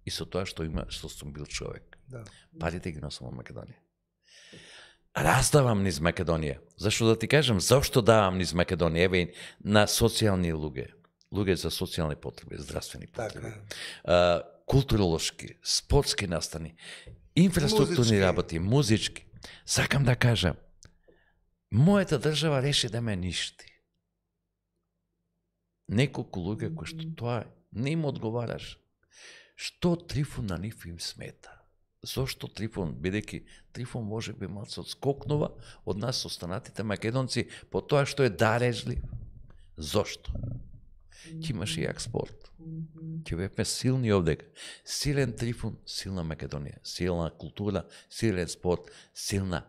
И со тоа што сум бил човек. Да. Парите ги носам од Македонија. Раздавам низ Македонија. Зашто да ти кажам, зашто давам низ Македонија? Еве на социјални луѓе за социјални потреби, здравствени потреби. Културолошки, спортски настани, инфраструктурни работи, музички. Сакам да кажам, мојата држава реши да ме ништи. Неколку луѓе кои што тоа не им одговараш. Што Трифун на нив им смета? Зошто Трифун, бидејќи Трифун може би малце одскокнува од нас останатите македонци по тоа што е дарежлив. Зошто? Ќе имаш и јак спорт. Ќе бевме силни овдека. Силен Трифун, силна Македонија, силна култура, силен спорт, силна,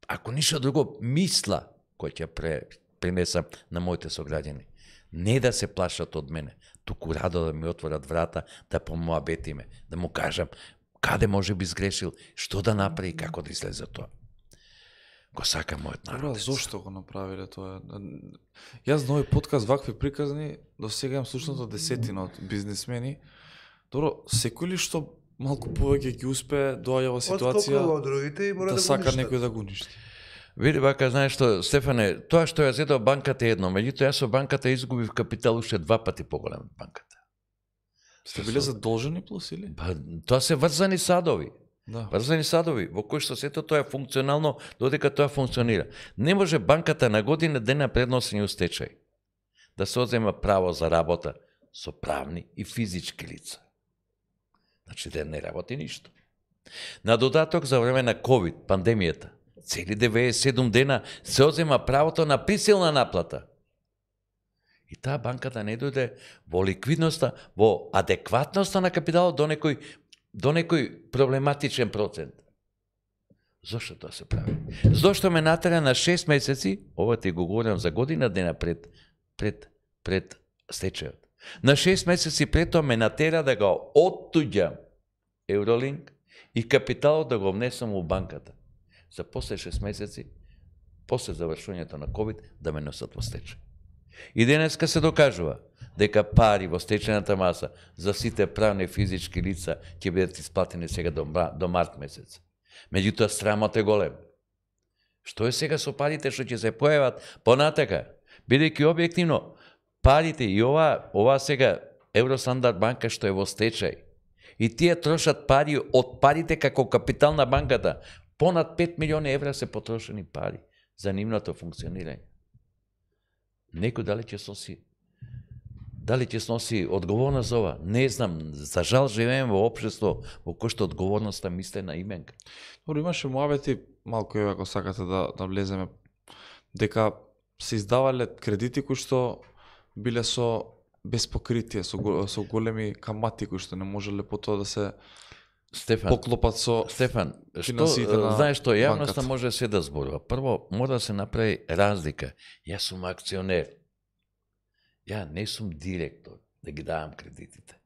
ако ништо друго, мисла која ќе пренесам на моите сограѓани. Не да се плашат од мене, туку радо да ми отворат врата, да помоабетиме, да му кажам каде може би сгрешил, што да направи и како да излезе тоа. Го сака мојот народ. Добра, зошто го направиле тоа? Јас на овој подкаст вакви приказни до сега имам слушнато десетина од бизнисмени. Добро, секој ли што малку повеќе ќе успее доаѓа во ситуација од другите и мора да да сака го некој да го уништи? Види бака, знаеш што, Стефане, тоа што ја зедо банката е едно, меѓутоа јас со банката изгубив капитал уште 2 пати поголем од банката. Сте биле задолжени плюс или? Па, тоа се врзани садови. Да. Врзани садови, во кои што сето тоа е функционално, додека тоа функционира. Не може банката на година дена пред носење у стечај да се одзема право за работа со правни и физички лица. Значи да не работи ништо. На додаток за време на COVID, пандемијата, цели 97 дена се одзема правото на присилна наплата. И таа банката не дојде во ликвидноста, во адекватноста на капиталот до некој проблематичен процент. Зошто тоа се прави? Зошто ме натера на 6 месеци, ова ти го говорам за година дена пред стечајот. На 6 месеци пред тоа ме натера да го оттуѓам Евролинк и капиталот да го внесам у банката. За после 6 месеци, после завршувањето на COVID, да ме носат во стечај. И денеска се докажува дека пари во стечајната маса за сите правни и физички лица ќе бидат исплатени сега до март месец. Меѓутоа срамот е голем. Што е сега со парите што ќе се појават понатака? Бидејќи објективно парите и ова сега Евростандард банка што е во стечај и тие трошат пари од парите како капитал на банката. Понад 5 милиони евра се потрошени пари за нивното функционирање. Некој дали ќе сноси одговорност за ова? Не знам. За жал живееме во општество во кој што одговорноста мисле на именка. Добро, имаше муабети, малку ако сакате да влеземе, дека се издавале кредити кои што биле со без покритие, со големи камати кои што не можеле потоа да се поклопат со финансиите на знаеш што, јавноста банката. може се да зборува. Прво, мора да се направи разлика. Јас сум акционер. Ја не сум директор да ги давам кредитите.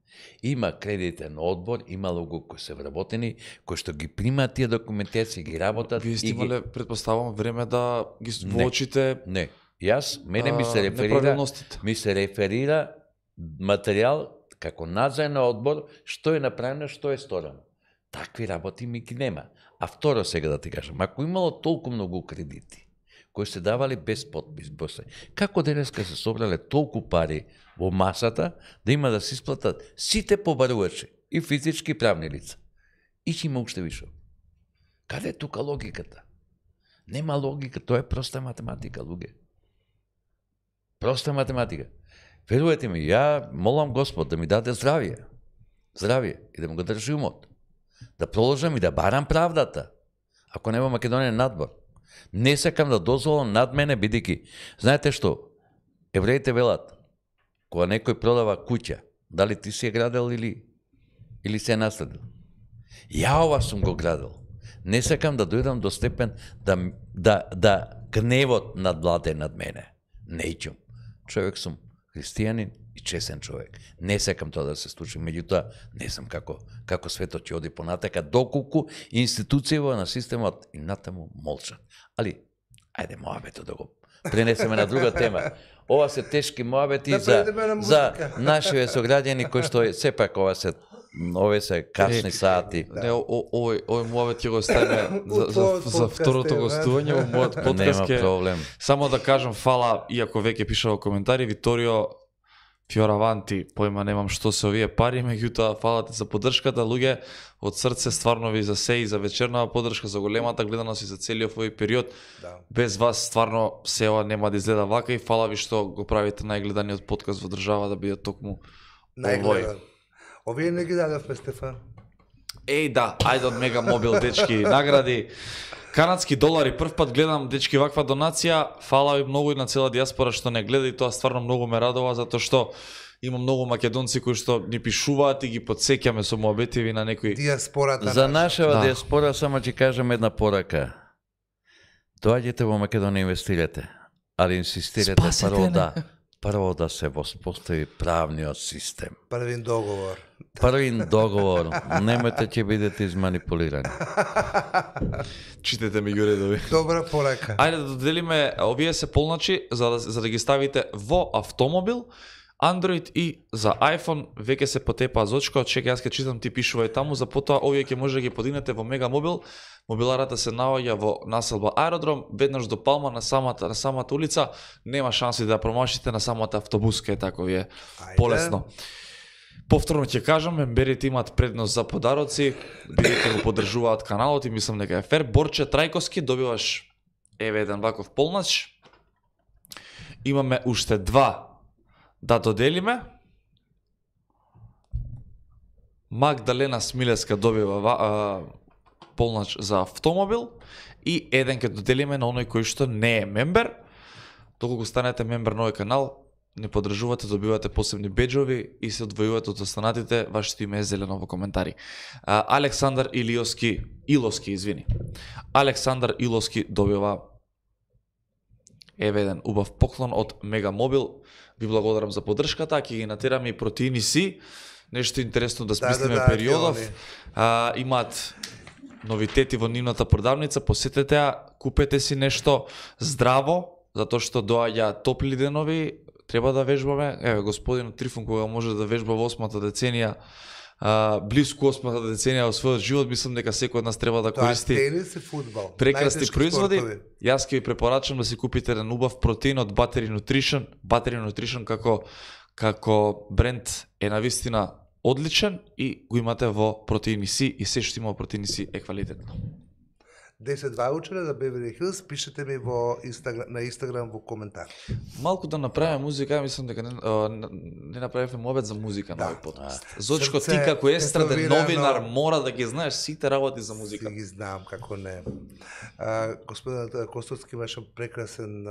Има кредитен одбор, има луѓе кои се вработени, кои што ги примаат тие документации, ги работат. Вие сте имале, предпоставам, време да ги воочите. Не. Јас, мене ми се реферира материјал како надзорен одбор, што е направено, што е сторено. Такви работи ми ги нема. А второ сега да ти кажам, ако имало толку многу кредити, кои се давали без подпис, како денеска се собрале толку пари во масата, да има да се исплатат сите побарувачи, и физички и правни лица. И ќе има уште више. Каде е тука логиката? Нема логика, тоа е проста математика, луѓе. Проста математика. Верувате ми, ја молам Господ да ми даде здравие и да му го држи умот. Да проложам и да барам правдата. Ако нема Македонија надбор. Не сакам да дозволам над мене, бидејќи, знаете што, евреите велат, кога некој продава куќа, дали ти си ја градел или се наследил. Ја ова сум го градел. Не сакам да дојдам до степен да гневот надвладе над мене. Неќум. Човек сум христијанин и чесен човек. Не сакам тоа да се случи, меѓутоа не знам како светот ќе оди понатака, доколку институцијава на системот и натаму молчат. Али, ајде моабето пренесеме на друга тема. Ова се тешки муабети Да за предеме на музика. нашите сограѓани кои што сепак овие се касни сати. Не, овој муавет ќе го ставиме за второто подкаст, гостување во мојот подкаст. Нема проблем. Само да кажам фала, иако веќе пиша во коментари, Виторио Фиораванти, појма немам што се овие пари, меѓутоа фала ти за поддршката, луѓе, од срце стварно ви за се и за вечернава поддршка, за големата гледаност и за целиот овој период. Да. Без вас стварно сева нема да изгледа вака и фала ви што го правите најгледаниот подкаст во држава да биде токму Најгледан. Овие не ги дадовме, Стефан. Еј да, ајде од Мега Мобил, дечки, награди. Канадски долари, прв пат гледам, дечки, ваква донација. Фала ви многу и на цела диаспора што не гледа и тоа стварно многу ме радува, затоа што има многу македонци кои што ни пишуваат и ги подсеќаме со муабетиви на некои. Диаспората За наша. нашава Да. диаспора само ќе кажам една порака. Доаѓете во Македонија инвестирате, али инсистирате прво да се воспостави правниот систем. Првин договор. Првин договор, немојте ќе бидете изманипулирани. Читете ми ги редови. Добра порака. Ајде да доделиме, овие се полначи за да ги ставите во автомобил, Android и за iPhone веќе се потепаа зочка, чекај јас ќе читам, ти пишувај таму, за потоа овие ќе може да ги подигнете во Мега Мобил. Мобиларата се наоѓа во населба Аеродром, веднаш до Палма на самата улица, нема шанси да ја промашите на самата автобуска, е тако ви е полесно. Повторно ќе кажам, мемберите имаат предност за подароци, бидејќи го поддржуваат каналот и мислам дека е фер. Борче Трајковски, добиваш еве еден ваков полнач. Имаме уште два да доделиме. Магдалена Смилеска добива полнач за автомобил и еден ќе доделиме на оној кој што не е мембер. Доколку станете мембер на овој канал, не поддржувате, добивате посебни беџови и се одвојувате од останатите, вашето име е зелено во коментари. Александар Илоски, извини. Александар Илоски добива еве еден убав поклон од Мега Мобил. Ви благодарам за поддршката, ќе ги натераме и протеини си. Нешто интересно да смислиме периодов. Имаат новитети во нивната продавница, посетете ја, купете си нешто здраво, затоа што доаѓа топли денови, треба да вежбаме. Еве, господинот Трифун, кога може да вежба во 8-та деценија, близко 8-та деценија во својот живот, мислам дека секој од нас треба да користи тенис и фудбал. прекрасни Најтешки производи. спортови. Јас ќе ви препорачам да си купите еден убав протеин од Battery Nutrition. Battery Nutrition како бренд е навистина одличен и го имате во протеини си и се што има во протеини си е квалитетно. 10 ваучера за Beverly Hills, пишете ми на Инстаграм во коментар. Малку да направиме музика, мислам дека не направивме мобет за музика на овој подкаст. Зочко, ти како естраден новинар мора да ги знаеш сите работи за музика. Си ги знам, како не. Господинот Костовски имаше прекрасен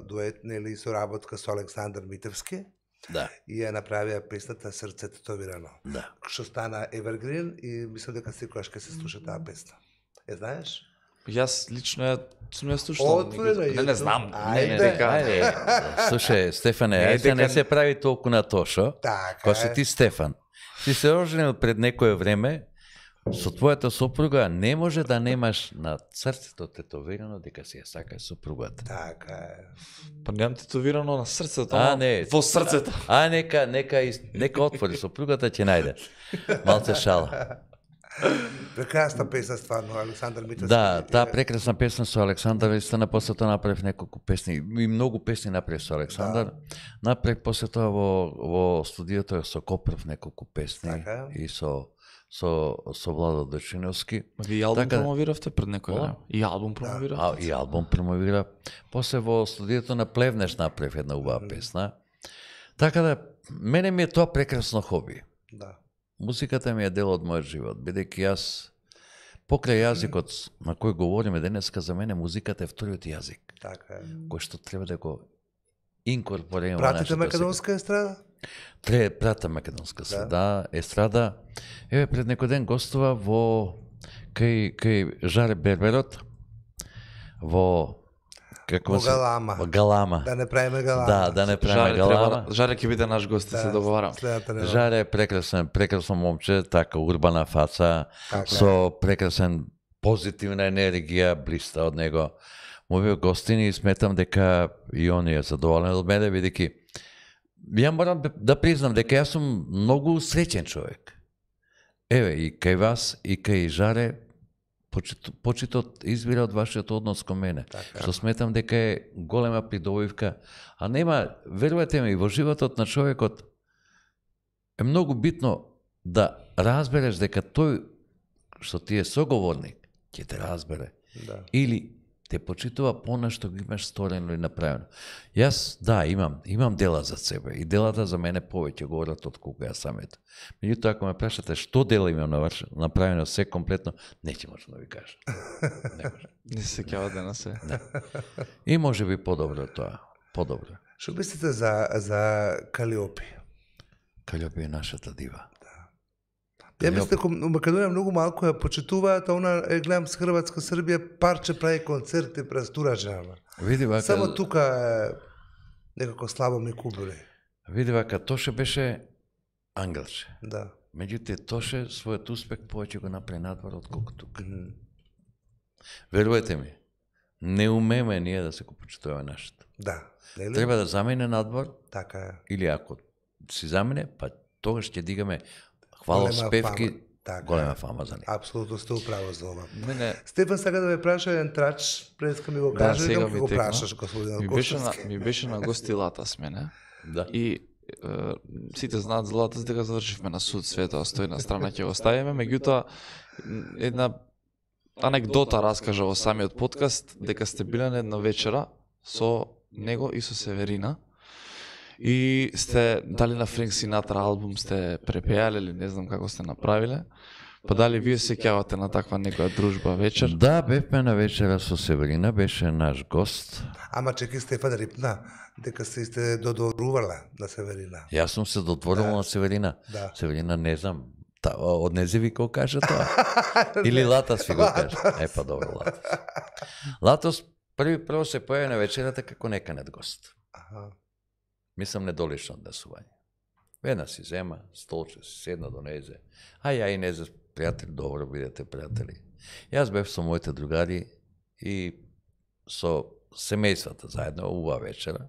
дует, нели, соработка со Александар Митевски. Да. И ја направија песната Срце татовирано. Да. Што стана Evergreen и мислам дека секогаш ќе се слуша таа песна. Е знаеш? Јас лично сум ја слушал. Не знам. Ајде. Слушај, Стефане, ајде не се прави толку на Тошо. Така Кога си ти Стефан, ти се оженил пред некое време, со твојата сопруга не може да немаш на срцето тетовирано дека си ја сакаш сопругата. Така е. Па немам тетовирано на срцето, не. во срцето. Нека отвори сопругата ќе најде. Малце шала. Прекрасна песна стварно, Александар Митевски. Да, таа прекрасна песна со Александар, истина после тоа направив неколку песни, и многу песни направив со Александар. Направив после тоа во студиото со Копров неколку песни и со Владо Дочиновски. Ви албум промовиравте пред некој време? И албум промовиравте? И албум промовира. После во студиото на Плевнеш направив една убава песна. Така да, мене ми е тоа прекрасно хоби. Да. Музиката ми е дел од мојот живот, бидејќи јас покрај јазикот на кој говориме денеска, за мене музиката е вториот јазик. Така е. Кој што треба да го инкорпорираме во Пратите нашата македонска естрада? Прата македонска среда, естрада. Еве пред некој ден гостува кај Жаре Берберот во Галама. Галама. Да не правиме Галама. Да не правиме Галама. Жаре ќе биде наш гост, се договарам. Жаре е прекрасно момче, така урбана фаца, со прекрасен позитивна енергија, блиста од него. мои гостини и сметам дека и он е задоволен од мене, бидејќи ја морам да признам дека јас сум многу среќен човек. Еве, и кај вас, и кај Жаре, почитот избира од вашиот однос кон мене, што сметам дека е голема придобивка, а нема, верувате ми, во животот на човекот е многу битно да разбереш дека тој што ти е соговорник ќе те разбере. Да. Или те почитува пона што го имаш сторено и направено. Јас, да, имам дела за себе и делата за мене повеќе говорат од кога јас самето. Меѓутоа, ако ме прашате што дела имам направено се комплетно, не ќе можам да ви кажам. Не се сеќавате на се. Не. И може би подобро тоа. Подобро. Што мислите за Калиопи? Калиопи е нашата дива. Ја мислам дека у Македонија многу малку ја почитуваат, а она гледам с Хрватска, Србија, парче прави концерти през тура жена. Види вака. Само тука е некако слабо ми кубури. Види вака, Тоше беше англче. Да. Меѓутоа Тоше својот успех повеќе го направи надвор отколку тука. Верувате ми, не умеме ние да се го почитуваме нашето. Да. Нели? Треба да замине надвор, Така е. или ако си замине, па тогаш ќе дигаме хвала спевки, голема фама за него. Апсолутно сте управо за ова. Мене Стефан сака да ме праша еден трач, преска ми го Да, кажа, сега да ми го текна. прашаш, господин ми беше на гости Латас мене. Да. И сите знаат за Латас дека завршивме на суд, свето стои на страна ќе го ставиме, меѓутоа една анекдота раскажа во самиот подкаст дека сте биле на една вечера со него и со Северина и сте дали на Френк Синатра албум сте препеале или не знам како сте направиле. Па дали вие се сеќавате на таква некоја дружба вечер? Да, бевме на вечера со Северина, беше наш гост. Ама чеки Стефан рипна дека се сте додворувала на Северина. Јас сум се додворувал на Северина. Да. Северина не знам, од незе ви го кажа тоа? Или Латас ви го кажа? Па добро, Латас. Латас прво се појави на вечерата како неканет гост. Аха. Мислам недолично однесување. Една си зема, столче си седна до незе. А ја и незе пријатели, добро бидете пријатели. Јас бев со моите другари и со семејствата заедно убава вечера.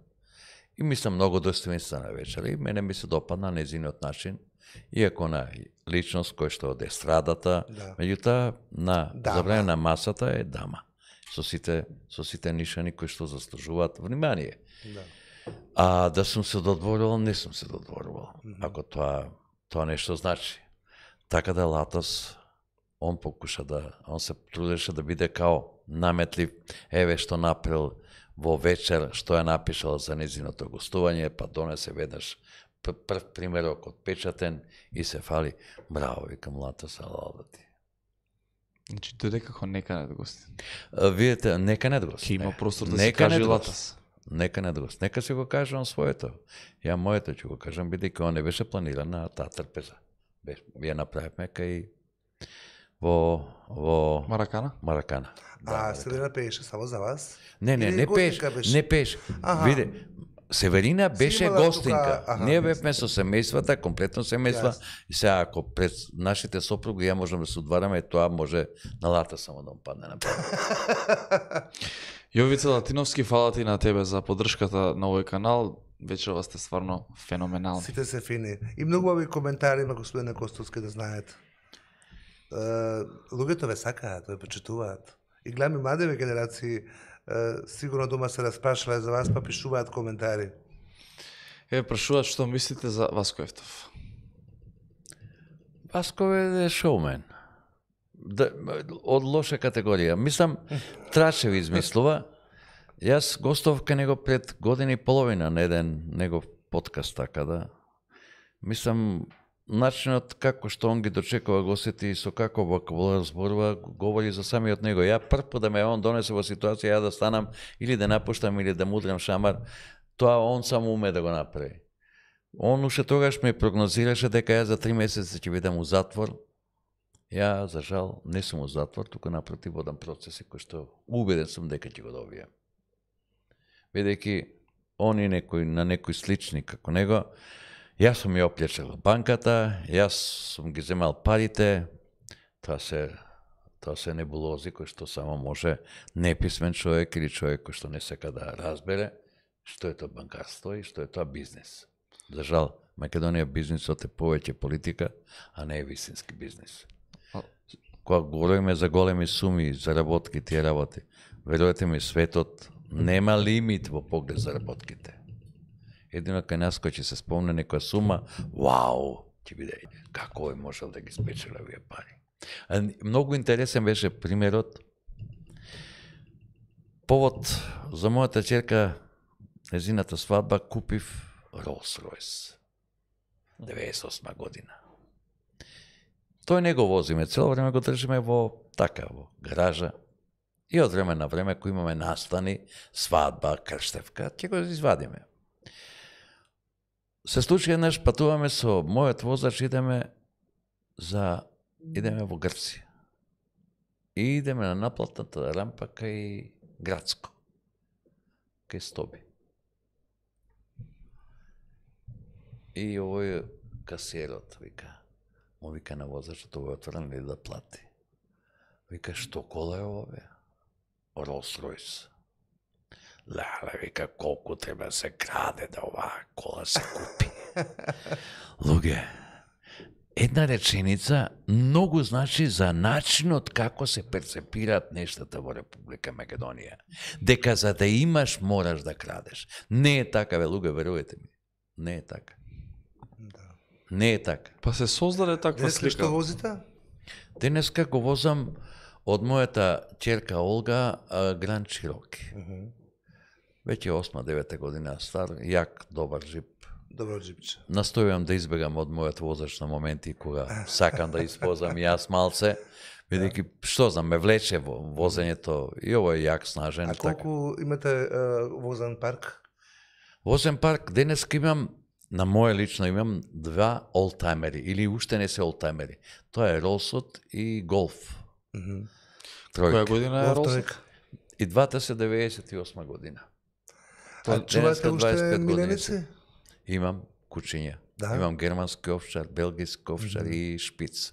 И мислам многу достоинствена вечера и мене ми се допадна незиниот начин, иако на личност кој што од естрадата, меѓутоа на забране на масата е дама. Со сите нишани кои што заслужуваат внимание. Да. А да сум се додворувал, не сум се додворувал. Ако тоа нешто значи. Така да Латас, он се трудеше да биде као наметлив, еве што направил во вечер, што ја напишал за незиното гостување, па донесе веднаш прв примерок отпечатен и се фали. Браво, викам Латас, алалати. Значи дојде како неканет гости. Видите, неканет гост. Ќе има простор да се каже Латас. Неканет гост. Нека се го кажам своето. Ја моето ќе го кажам, бидејќи он не беше планиран на таа трпеза. Ја направивме кај во Маракана? Маракана. А Северина пееше само за вас? Не пееше. Виде, Северина беше гостинка. Ние бевме со семејствата, комплетно семејства. И сега, ако пред нашите сопруги ја можем да се одвараме, тоа може на Лата само да падне на памет. Јовица Латиновски, фала ти на тебе за поддршката на овој канал. Вечерва сте стварно феноменални. Сите се фини. И многу ови коментари има, господине Костовски, да знаете. Луѓето ве сакаат, ве почитуваат. И гледам и младеве генерации, сигурно дома се распрашале за вас, па пишуваат коментари. Прашуваат што мислите за Васко Ефтов. Васко е шоумен. Од лоша категорија. Мислам, Трачеви измислува. Јас гостов кај него пред година и половина на еден негов подкаст, така да. Мислам, начинот како што он ги дочекува гостите и со како вокабулар зборува, говори за самиот него. Ја прв пат да ме он донесе во ситуација, ја да станам или да напуштам или да мудрам шамар, тоа он само уме да го направи. Он уште тогаш ме прогнозираше дека ја за 3 месеца ќе бидам у затвор. Ја, за жал, не сум у затвор, туку напротив водам процеси кои што убеден сум дека ќе го добијам. Бидејќи он и на некои слични како него, јас сум ја оплечал банката, јас сум ги земал парите, тоа Тоа се небулози кои што само може неписмен човек или човек кој што не сека да разбере што е тоа банкарство и што е тоа бизнес. За жал, Македонија бизнисот е повеќе политика, а не е вистински бизнис. Кога говориме за големи суми, заработки, тие работи, верувате ми, светот нема лимит во поглед заработките. Едино кај нас кој ќе се спомне некоја сума, вау, ќе биде, како е можел да ги спечели овие пари. Многу интересен беше примерот. Повод за мојата ќерка, незината свадба, купив Rolls-Royce. 98 година. Тој не го возиме, цело време го држиме во гаража. И од време на време, кој имаме настани, свадба, крштевка, ќе го извадиме. Се случи еднаш, патуваме со мојот возач, идеме во Грција. И идеме на наплатната рампа кај Градско, кај Стоби. И овој касиерот му вика на возачот, овој отворен ли да плати. Вика, што кола е овој? Rolls-Royce. Леле, вика, колку треба се краде да оваа кола се купи. Луѓе, една реченица многу значи за начинот како се перцепираат нештата во Република Македонија. Дека за да имаш, мораш да крадеш. Не е така, луѓе, верувате ми. Не е така. Не е така. Па се создаде таква слика. Што возите? Денеска го возам од мојата ќерка Олга Гранд Чироки. Веќе 8-9 година стар, јак, добар джип. Добро джипче. Настојувам да избегам од мојот возач на моменти кога сакам да испозам јас малце, бидејќи што знам, ме влече во возењето и ово е јак, снажен. А колку имате возен парк? Возен парк, денеска имам, на моје лично имам 2 олтаймери, или уште не се олтаймери. Тоа е Ролсот и Голф. Која година е Ролсот? И двата се 98 година. А чувате уште миленици? Имам кучиња. Имам германски овчар, белгиски овчар и шпиц.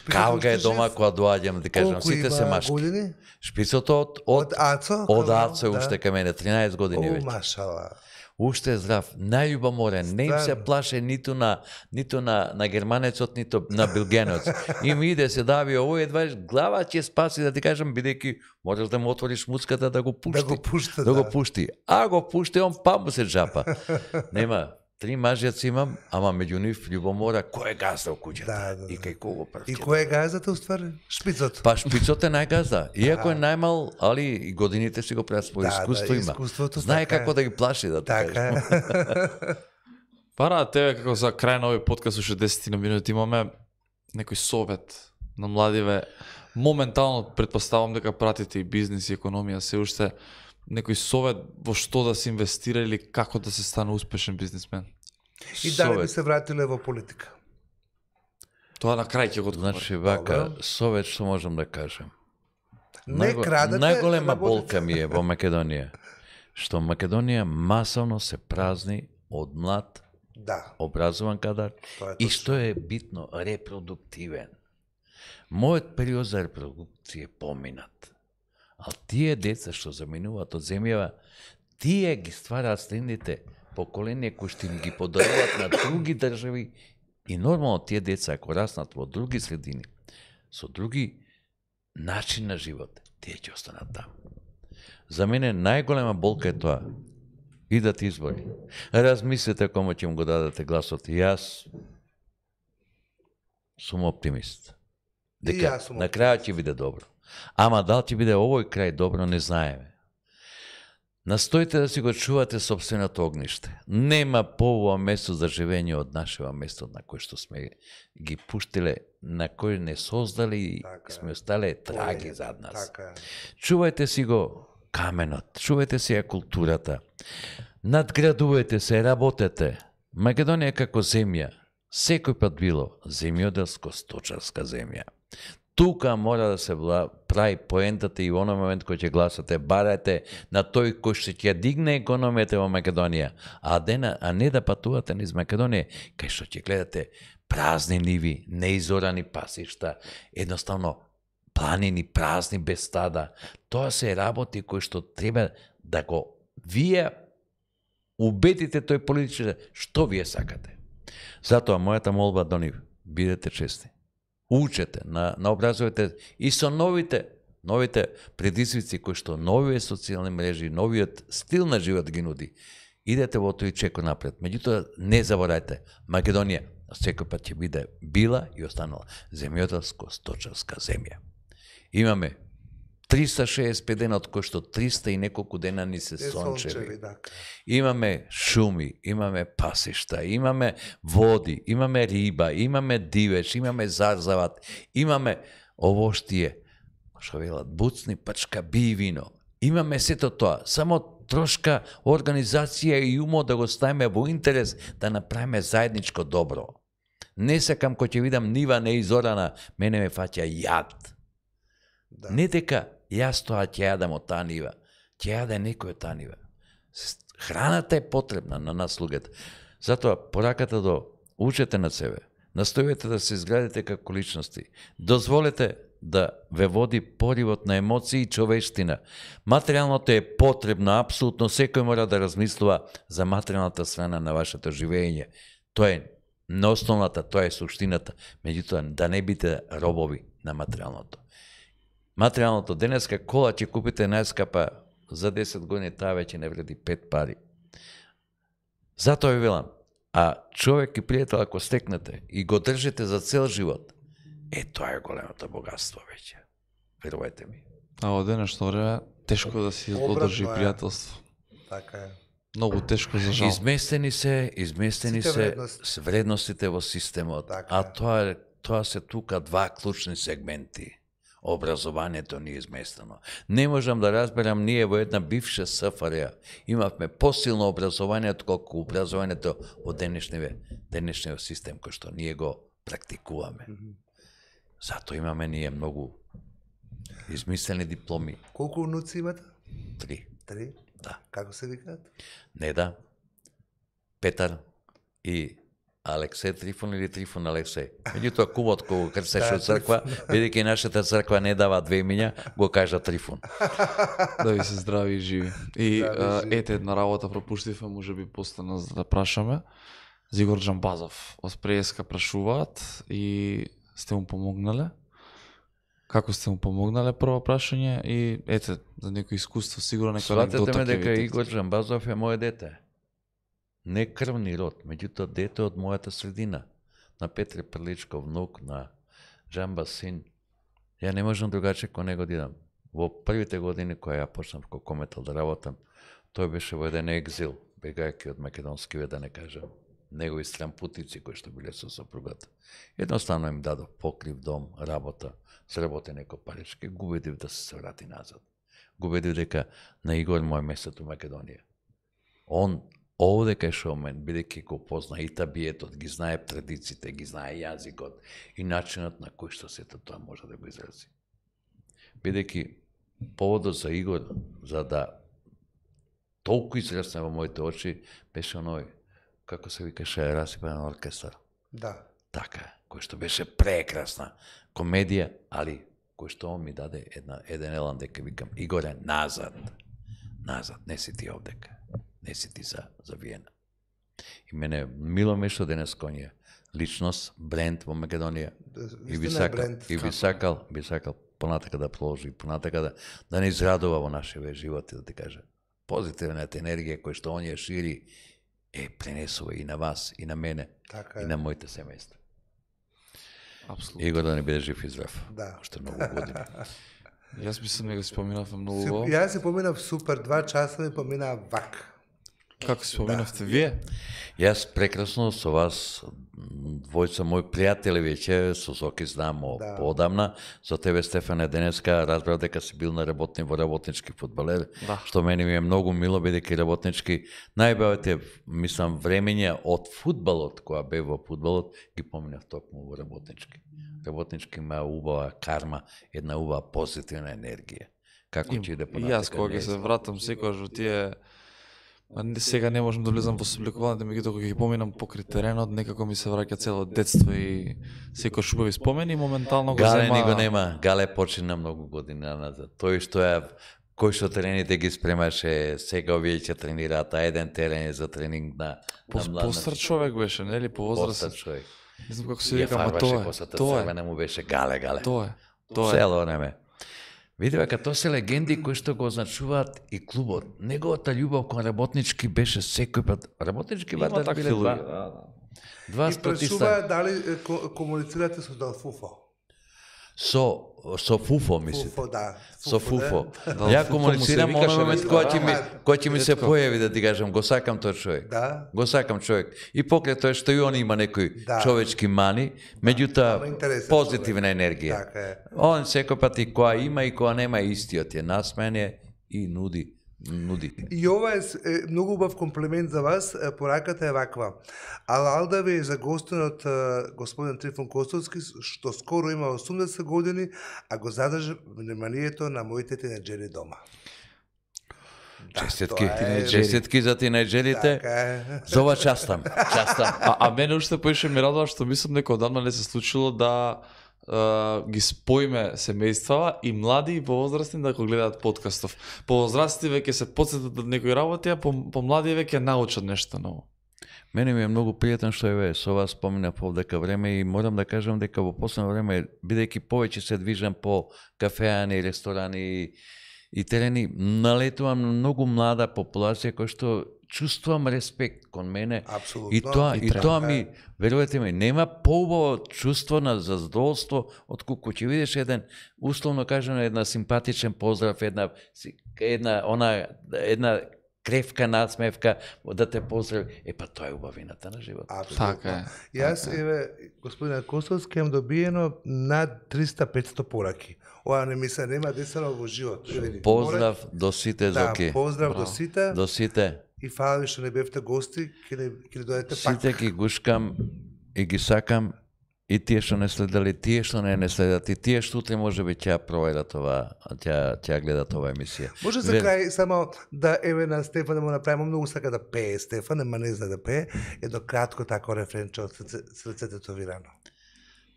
Калга е дома кога доаѓам, да кажам, сите се машки. Колку има години? Шпицот од Ацо? Од Ацо уште кај мене, 13 години веќе. Машала. Уште е здрав, најубаморен, не им се плаше ниту на германецот, ниту на белгенец. Им иде се дави овој едва глава ќе спаси, да ти кажам, бидејќи можеш да му отвориш муцката да го пушти. Да го пушти. А го пушти, он па му се джапа. Нема, 3 мажјаци имам, ама меѓу нив љубомора, кој е газда во куќата? И кај кого прв? И кој е газдата, уствари? Шпицот? Па шпицот е најгазда. Иако е најмал, али и годините си го прават свој искуство има. Знае како да ги плаши, да така. Пара, тебе како за крај на овој подкаст уште 10 минути имаме некој совет на младиве. Моментално претпоставам дека пратите и бизнис и економија, се уште некој совет во што да се инвестира или како да се стане успешен бизнисмен? И дали би се вратиле во политика? Тоа на крај ќе го одговори. Значи, вака, совет што можам да кажем. Не крадете. Најголема болка ми е во Македонија, што Македонија масовно се празни од млад, образован кадар и што е битно, репродуктивен. Мојот период за репродукција е поминат. А тие деца што заминуваат од земјава, тие ги ствараат следните поколенија кои што им ги подаруваат на други држави и нормално тие деца ако раснат во други средини, со други начин на живот, тие ќе останат таму. За мене најголема болка е тоа. Идат избори. Размислете кому ќе му го дадете гласот. И јас сум оптимист. Дека на крајот ќе биде добро. Ама дал ќе биде овој крај добро, не знаеме. Настојте да си го чувате собственото огниште. Нема поубаво место за живење од нашево место на кое што сме ги пуштиле, на кој не создали и сме остале траги зад нас. Чувајте си го каменот, чувајте си ја културата, надградувате се, работете. Македонија како земја, секој пат било земјоделско-сточарска земја. Тука мора да се прави поентата и во оној момент кој ќе гласате, барајте на тој кој ќе дигне економијата во Македонија, а не да патувате низ Македонија, кај што ќе гледате празни ниви, неизорани пасишта, едноставно планини празни без стада. Тоа се работи кои што треба да го вие убедите тој политичар што вие сакате. Затоа мојата молба до нив, бидете честни. Учете, наобразувате и со новите предизвици кои што новите социјални мрежи, новиот стил на живот ги нуди. Идете во тој чеко напред. Меѓутоа, не заборајте, Македонија секој пат ќе биде била и останала земјоделско-сточарска земја. Имаме 365 дена, од кои што 300 и неколку дена ни се сончеви. Имаме шуми, имаме пасишта, имаме води, имаме риба, имаме дивеч, имаме зарзават, имаме овоштие, што велат, буцни, пачка, би и вино. Имаме сето тоа, само трошка организација и умо да го ставиме во интерес да направиме заедничко добро. Не сакам кој ќе видам нива неизорана, мене ме фаќа јад. Да. Не дека јас тоа ќе јадам од таа нива, ќе јаде некој од таа нива. Храната е потребна на нас луѓето. Затоа пораката до учете на себе, настојете да се изградите како личности, дозволете да ве води поривот на емоции и човештина. Материјалното е потребно, апсолутно секој мора да размислува за материјалната страна на вашето живење. Тоа е неосновната, тоа е суштината, меѓутоа да не бидете робови на материјалното. Материјалното, денеска кола ќе купите најскапа, за 10 години таа веќе не вреди 5 пари. Затоа ви велам, а човек и пријател ако стекнете и го држите за цел живот, тоа е големото богатство веќе. Верувајте ми. А во денешно време тешко да се одржи пријателство. Така е. Многу тешко за жал. Изместени се вредностите во системот. Така. А тоа се тука два клучни сегменти. Образованието ни е изместено. Не можам да разберам, ние во една бивша СФР имавме посилно образование отколку образованието во денешниот систем кој што ние го практикуваме. Зато имаме ние многу измислени дипломи. Колку унуци имате? 3. 3? Да. Како се викаат? Неда, Петар и Алексеј Трифон или Трифон Алексеј. Меѓутоа кумот кога крстеше од црква, бидејќи нашата црква не дава две имиња, го кажа Трифон. Да ви се здрави и живи. И ете една работа пропуштивме, можеби постана за да прашаме. Зигор Џамбазов од Преска прашуваат и сте му помогнале? Како сте му помогнале, прво прашање, и ете, за некој искуство, сигурно некој анекдота ќе Сватете ме дека видите. Игор Џамбазов е моје дете. Не крвни род, меѓутоа дете од мојата средина. На Петре Прличков, внук на Џамба син. Ја не можам другаче кон него да идам. Во првите години која ја почнав како кометал да работам, тој беше во еден екзил, бегајќи од македонскиве, да не кажам, негови странпутици кои што биле со сопругата. Едноставно им дадов покрив, дом, работа, сработи некој парички, го убедив да се врати назад. Го убедив дека на Игор мој местото Македонија. Он овде кај шоумен, бидејќи го позна и табиетот, ги знае традициите, ги знае јазикот и начинот на кој што сето тоа може да го изрази. Бидејќи поводот за Игор, за да толку израсне во моите очи, беше оној, како се викаше, Расипен оркестар. Да. Така, кој што беше прекрасна комедија, али кој што он ми даде еден елан дека викам, Игоре, назад, не си ти овдека. Не си ти за Виена. И мене мило ме што денес кој е личност, бренд во Македонија. И би сакал понатака да продолжи, понатака да не израдува во нашите животи, да ти кажа. Позитивната енергија која што он ја шири пренесува и на вас, и на мене, и на моите семејства. Апсолутно. Игор да не биде жив и здрав. Да. Уште многу години. Јас мислам дека си поминав многу убаво. Јас си поминав супер, 2 часа ми поминаа вак. Како си поминавте вие? Јас прекрасно со вас, двојца мои пријатели веќе, со Соки знам поодамна, со тебе Стефане денеска разбрав дека си бил на во работнички фудбалер, што мене ми е многу мило, бидејќи работнички најбавите, мислам, времења од фудбалот, која бе во фудбалот, ги поминав токму во работнички. Работнички има убава карма, една убава позитивна енергија. Како ќе иде понатака? Јас кога ќе се вратам секогаш во тие Сега не можам да влезам во собликувањето, меѓутоа кога ги поминам покрај теренот, некако ми се враќа цело детство и секој убави спомени и моментално го Гале зема... ни го нема, Гале почина многу години назад. Тој што кој што трените ги спремаше, сега овие ќе тренираат, а еден терен е за тренинг на млад. Постар човек беше, нели, по возраст. Постар човек. Не знам како се вика, ама тоа е. Не му беше Гале. Тоа е. Цело време. Види дека тоа се легенди кои што го означуваат и клубот. Неговата љубов кон работнички беше секој пат. Работнички вадар биле два И спортиста. прашува дали комуницирате со Далфуфо. Со Фуфо, мисли. Фуфо, да. Со Фуфо. Да, Ја Фуфо комуницирам му се оној викаше, момент кој ќе ми се ретко. појави да ти кажам, го сакам тој човек. Да. Го сакам човек. И покрај тоа што и он има некои Да. човечки мани, Ама меѓутоа интересен позитивна енергија. Така е. Он секој пат и која има и која нема истиот е насмеен е и нуди. И ова е многу убав комплимент за вас. Пораката е ваква. Алалда ви е за гостинот господин Трифон Костовски, што скоро има 80 години, а го задржа вниманието на моите тинеџери дома. Честитки, тоа е- честитки за тинеџерите. Така е. За ова частам. А мене уште поише ми радува што мислам дека одамна не се случило да ги споиме семејствава и млади и повозрастни да го гледаат подкастов. Повозрастни веќе се потсетат од некои работи, а по млади веќе научат нешто ново. Мене ми е многу пријатно што еве со вас споминав овдека време и морам да кажам дека во последно време, бидејќи повеќе се движам по кафеани, ресторани и терени, налетувам на многу млада популација која што чувствувам респект кон мене. Апсолутно. И тоа ми, верувате ми, нема поубаво чувство на задоволство отколку ќе видиш еден, условно кажано, една симпатичен поздрав, една кревка насмевка, да те поздрави. Па тоа е убавината на животот. Апсолутно. Така е. Јас, еве, господина Костовски, имам добиено над 300-500 пораки. Ова не ми се нема десено во живот. Поздрав до сите, Да, Зоки. поздрав до сите. До сите. И фала ви што не бевте гости, ќе дојдете пак. Сите ги гушкам и ги сакам, и тие што не следали, тие што не следат, и тие што утре може би ќе проверат ова, ќе гледат ова емисија. Може за крај само да еве на Стефан да му направиме, многу сака да пее Стефан, ама не знае да пее, едно кратко тако рефренче од срце тетовирано.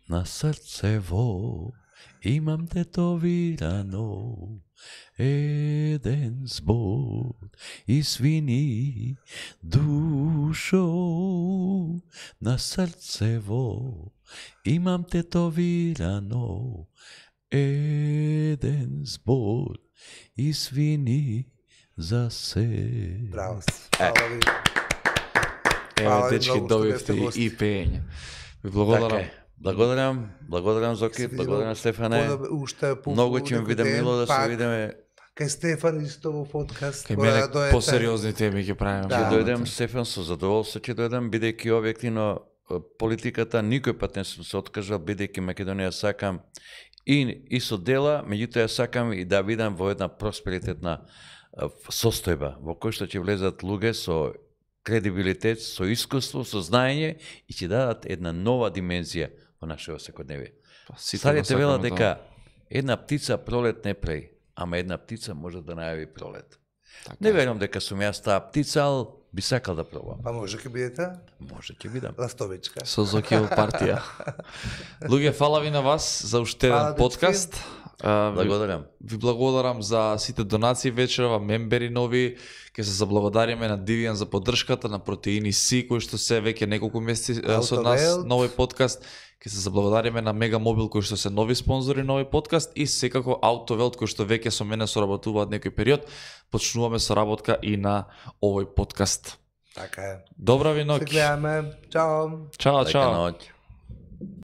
На срцево имам тетовирано еден збор и свини душо. На срцево имам тетовирано еден збор и свини за се. Браво. Фала ви. Еве, дечки, добивте и пеење. Ви благодарам. Благодарам Зоки, благодарам Стефане. Многу ќе ми биде мило да се видиме. Кај Стефан исто во подкаст. Кај мене посериозни теми ќе правиме. Ќе дојдем, Стефан, со задоволство ќе дојдем, бидејќи објективно политиката никој пат не сум се откажал, бидејќи Македонија сакам и со дела, меѓутоа сакам и да видам во една просперитетна состојба, во кој што ќе влезат луѓе со кредибилитет, со искуство, со знаење и ќе дадат една нова димензија во нашето секојдневие. Старите велат дека една птица пролет не прави, ама една птица може да најави пролет. Не верувам дека сум јас таа птица, ал би сакал да пробам. Па може ќе бидете? Може ќе бидам. Ластовичка. Со Зокио партија. Луѓе, фала ви на вас за уште еден подкаст. Благодарам. Ви благодарам за сите донации вечерва, мембери нови. Ке се заблагодариме на Дивијан за поддршката, на Протеини Си, кои што се веќе неколку месеци со нас на овој подкаст. Ке се заблагодариме на Мега Мобил, кои што се нови спонзори на овој подкаст, и секако Аутовелт, кои што веќе со мене соработуваат некој период. Почнуваме соработка и на овој подкаст. Така е. Добра ви ноќ. Се гледаме. Чао. Чао, чао. Лека ноќ.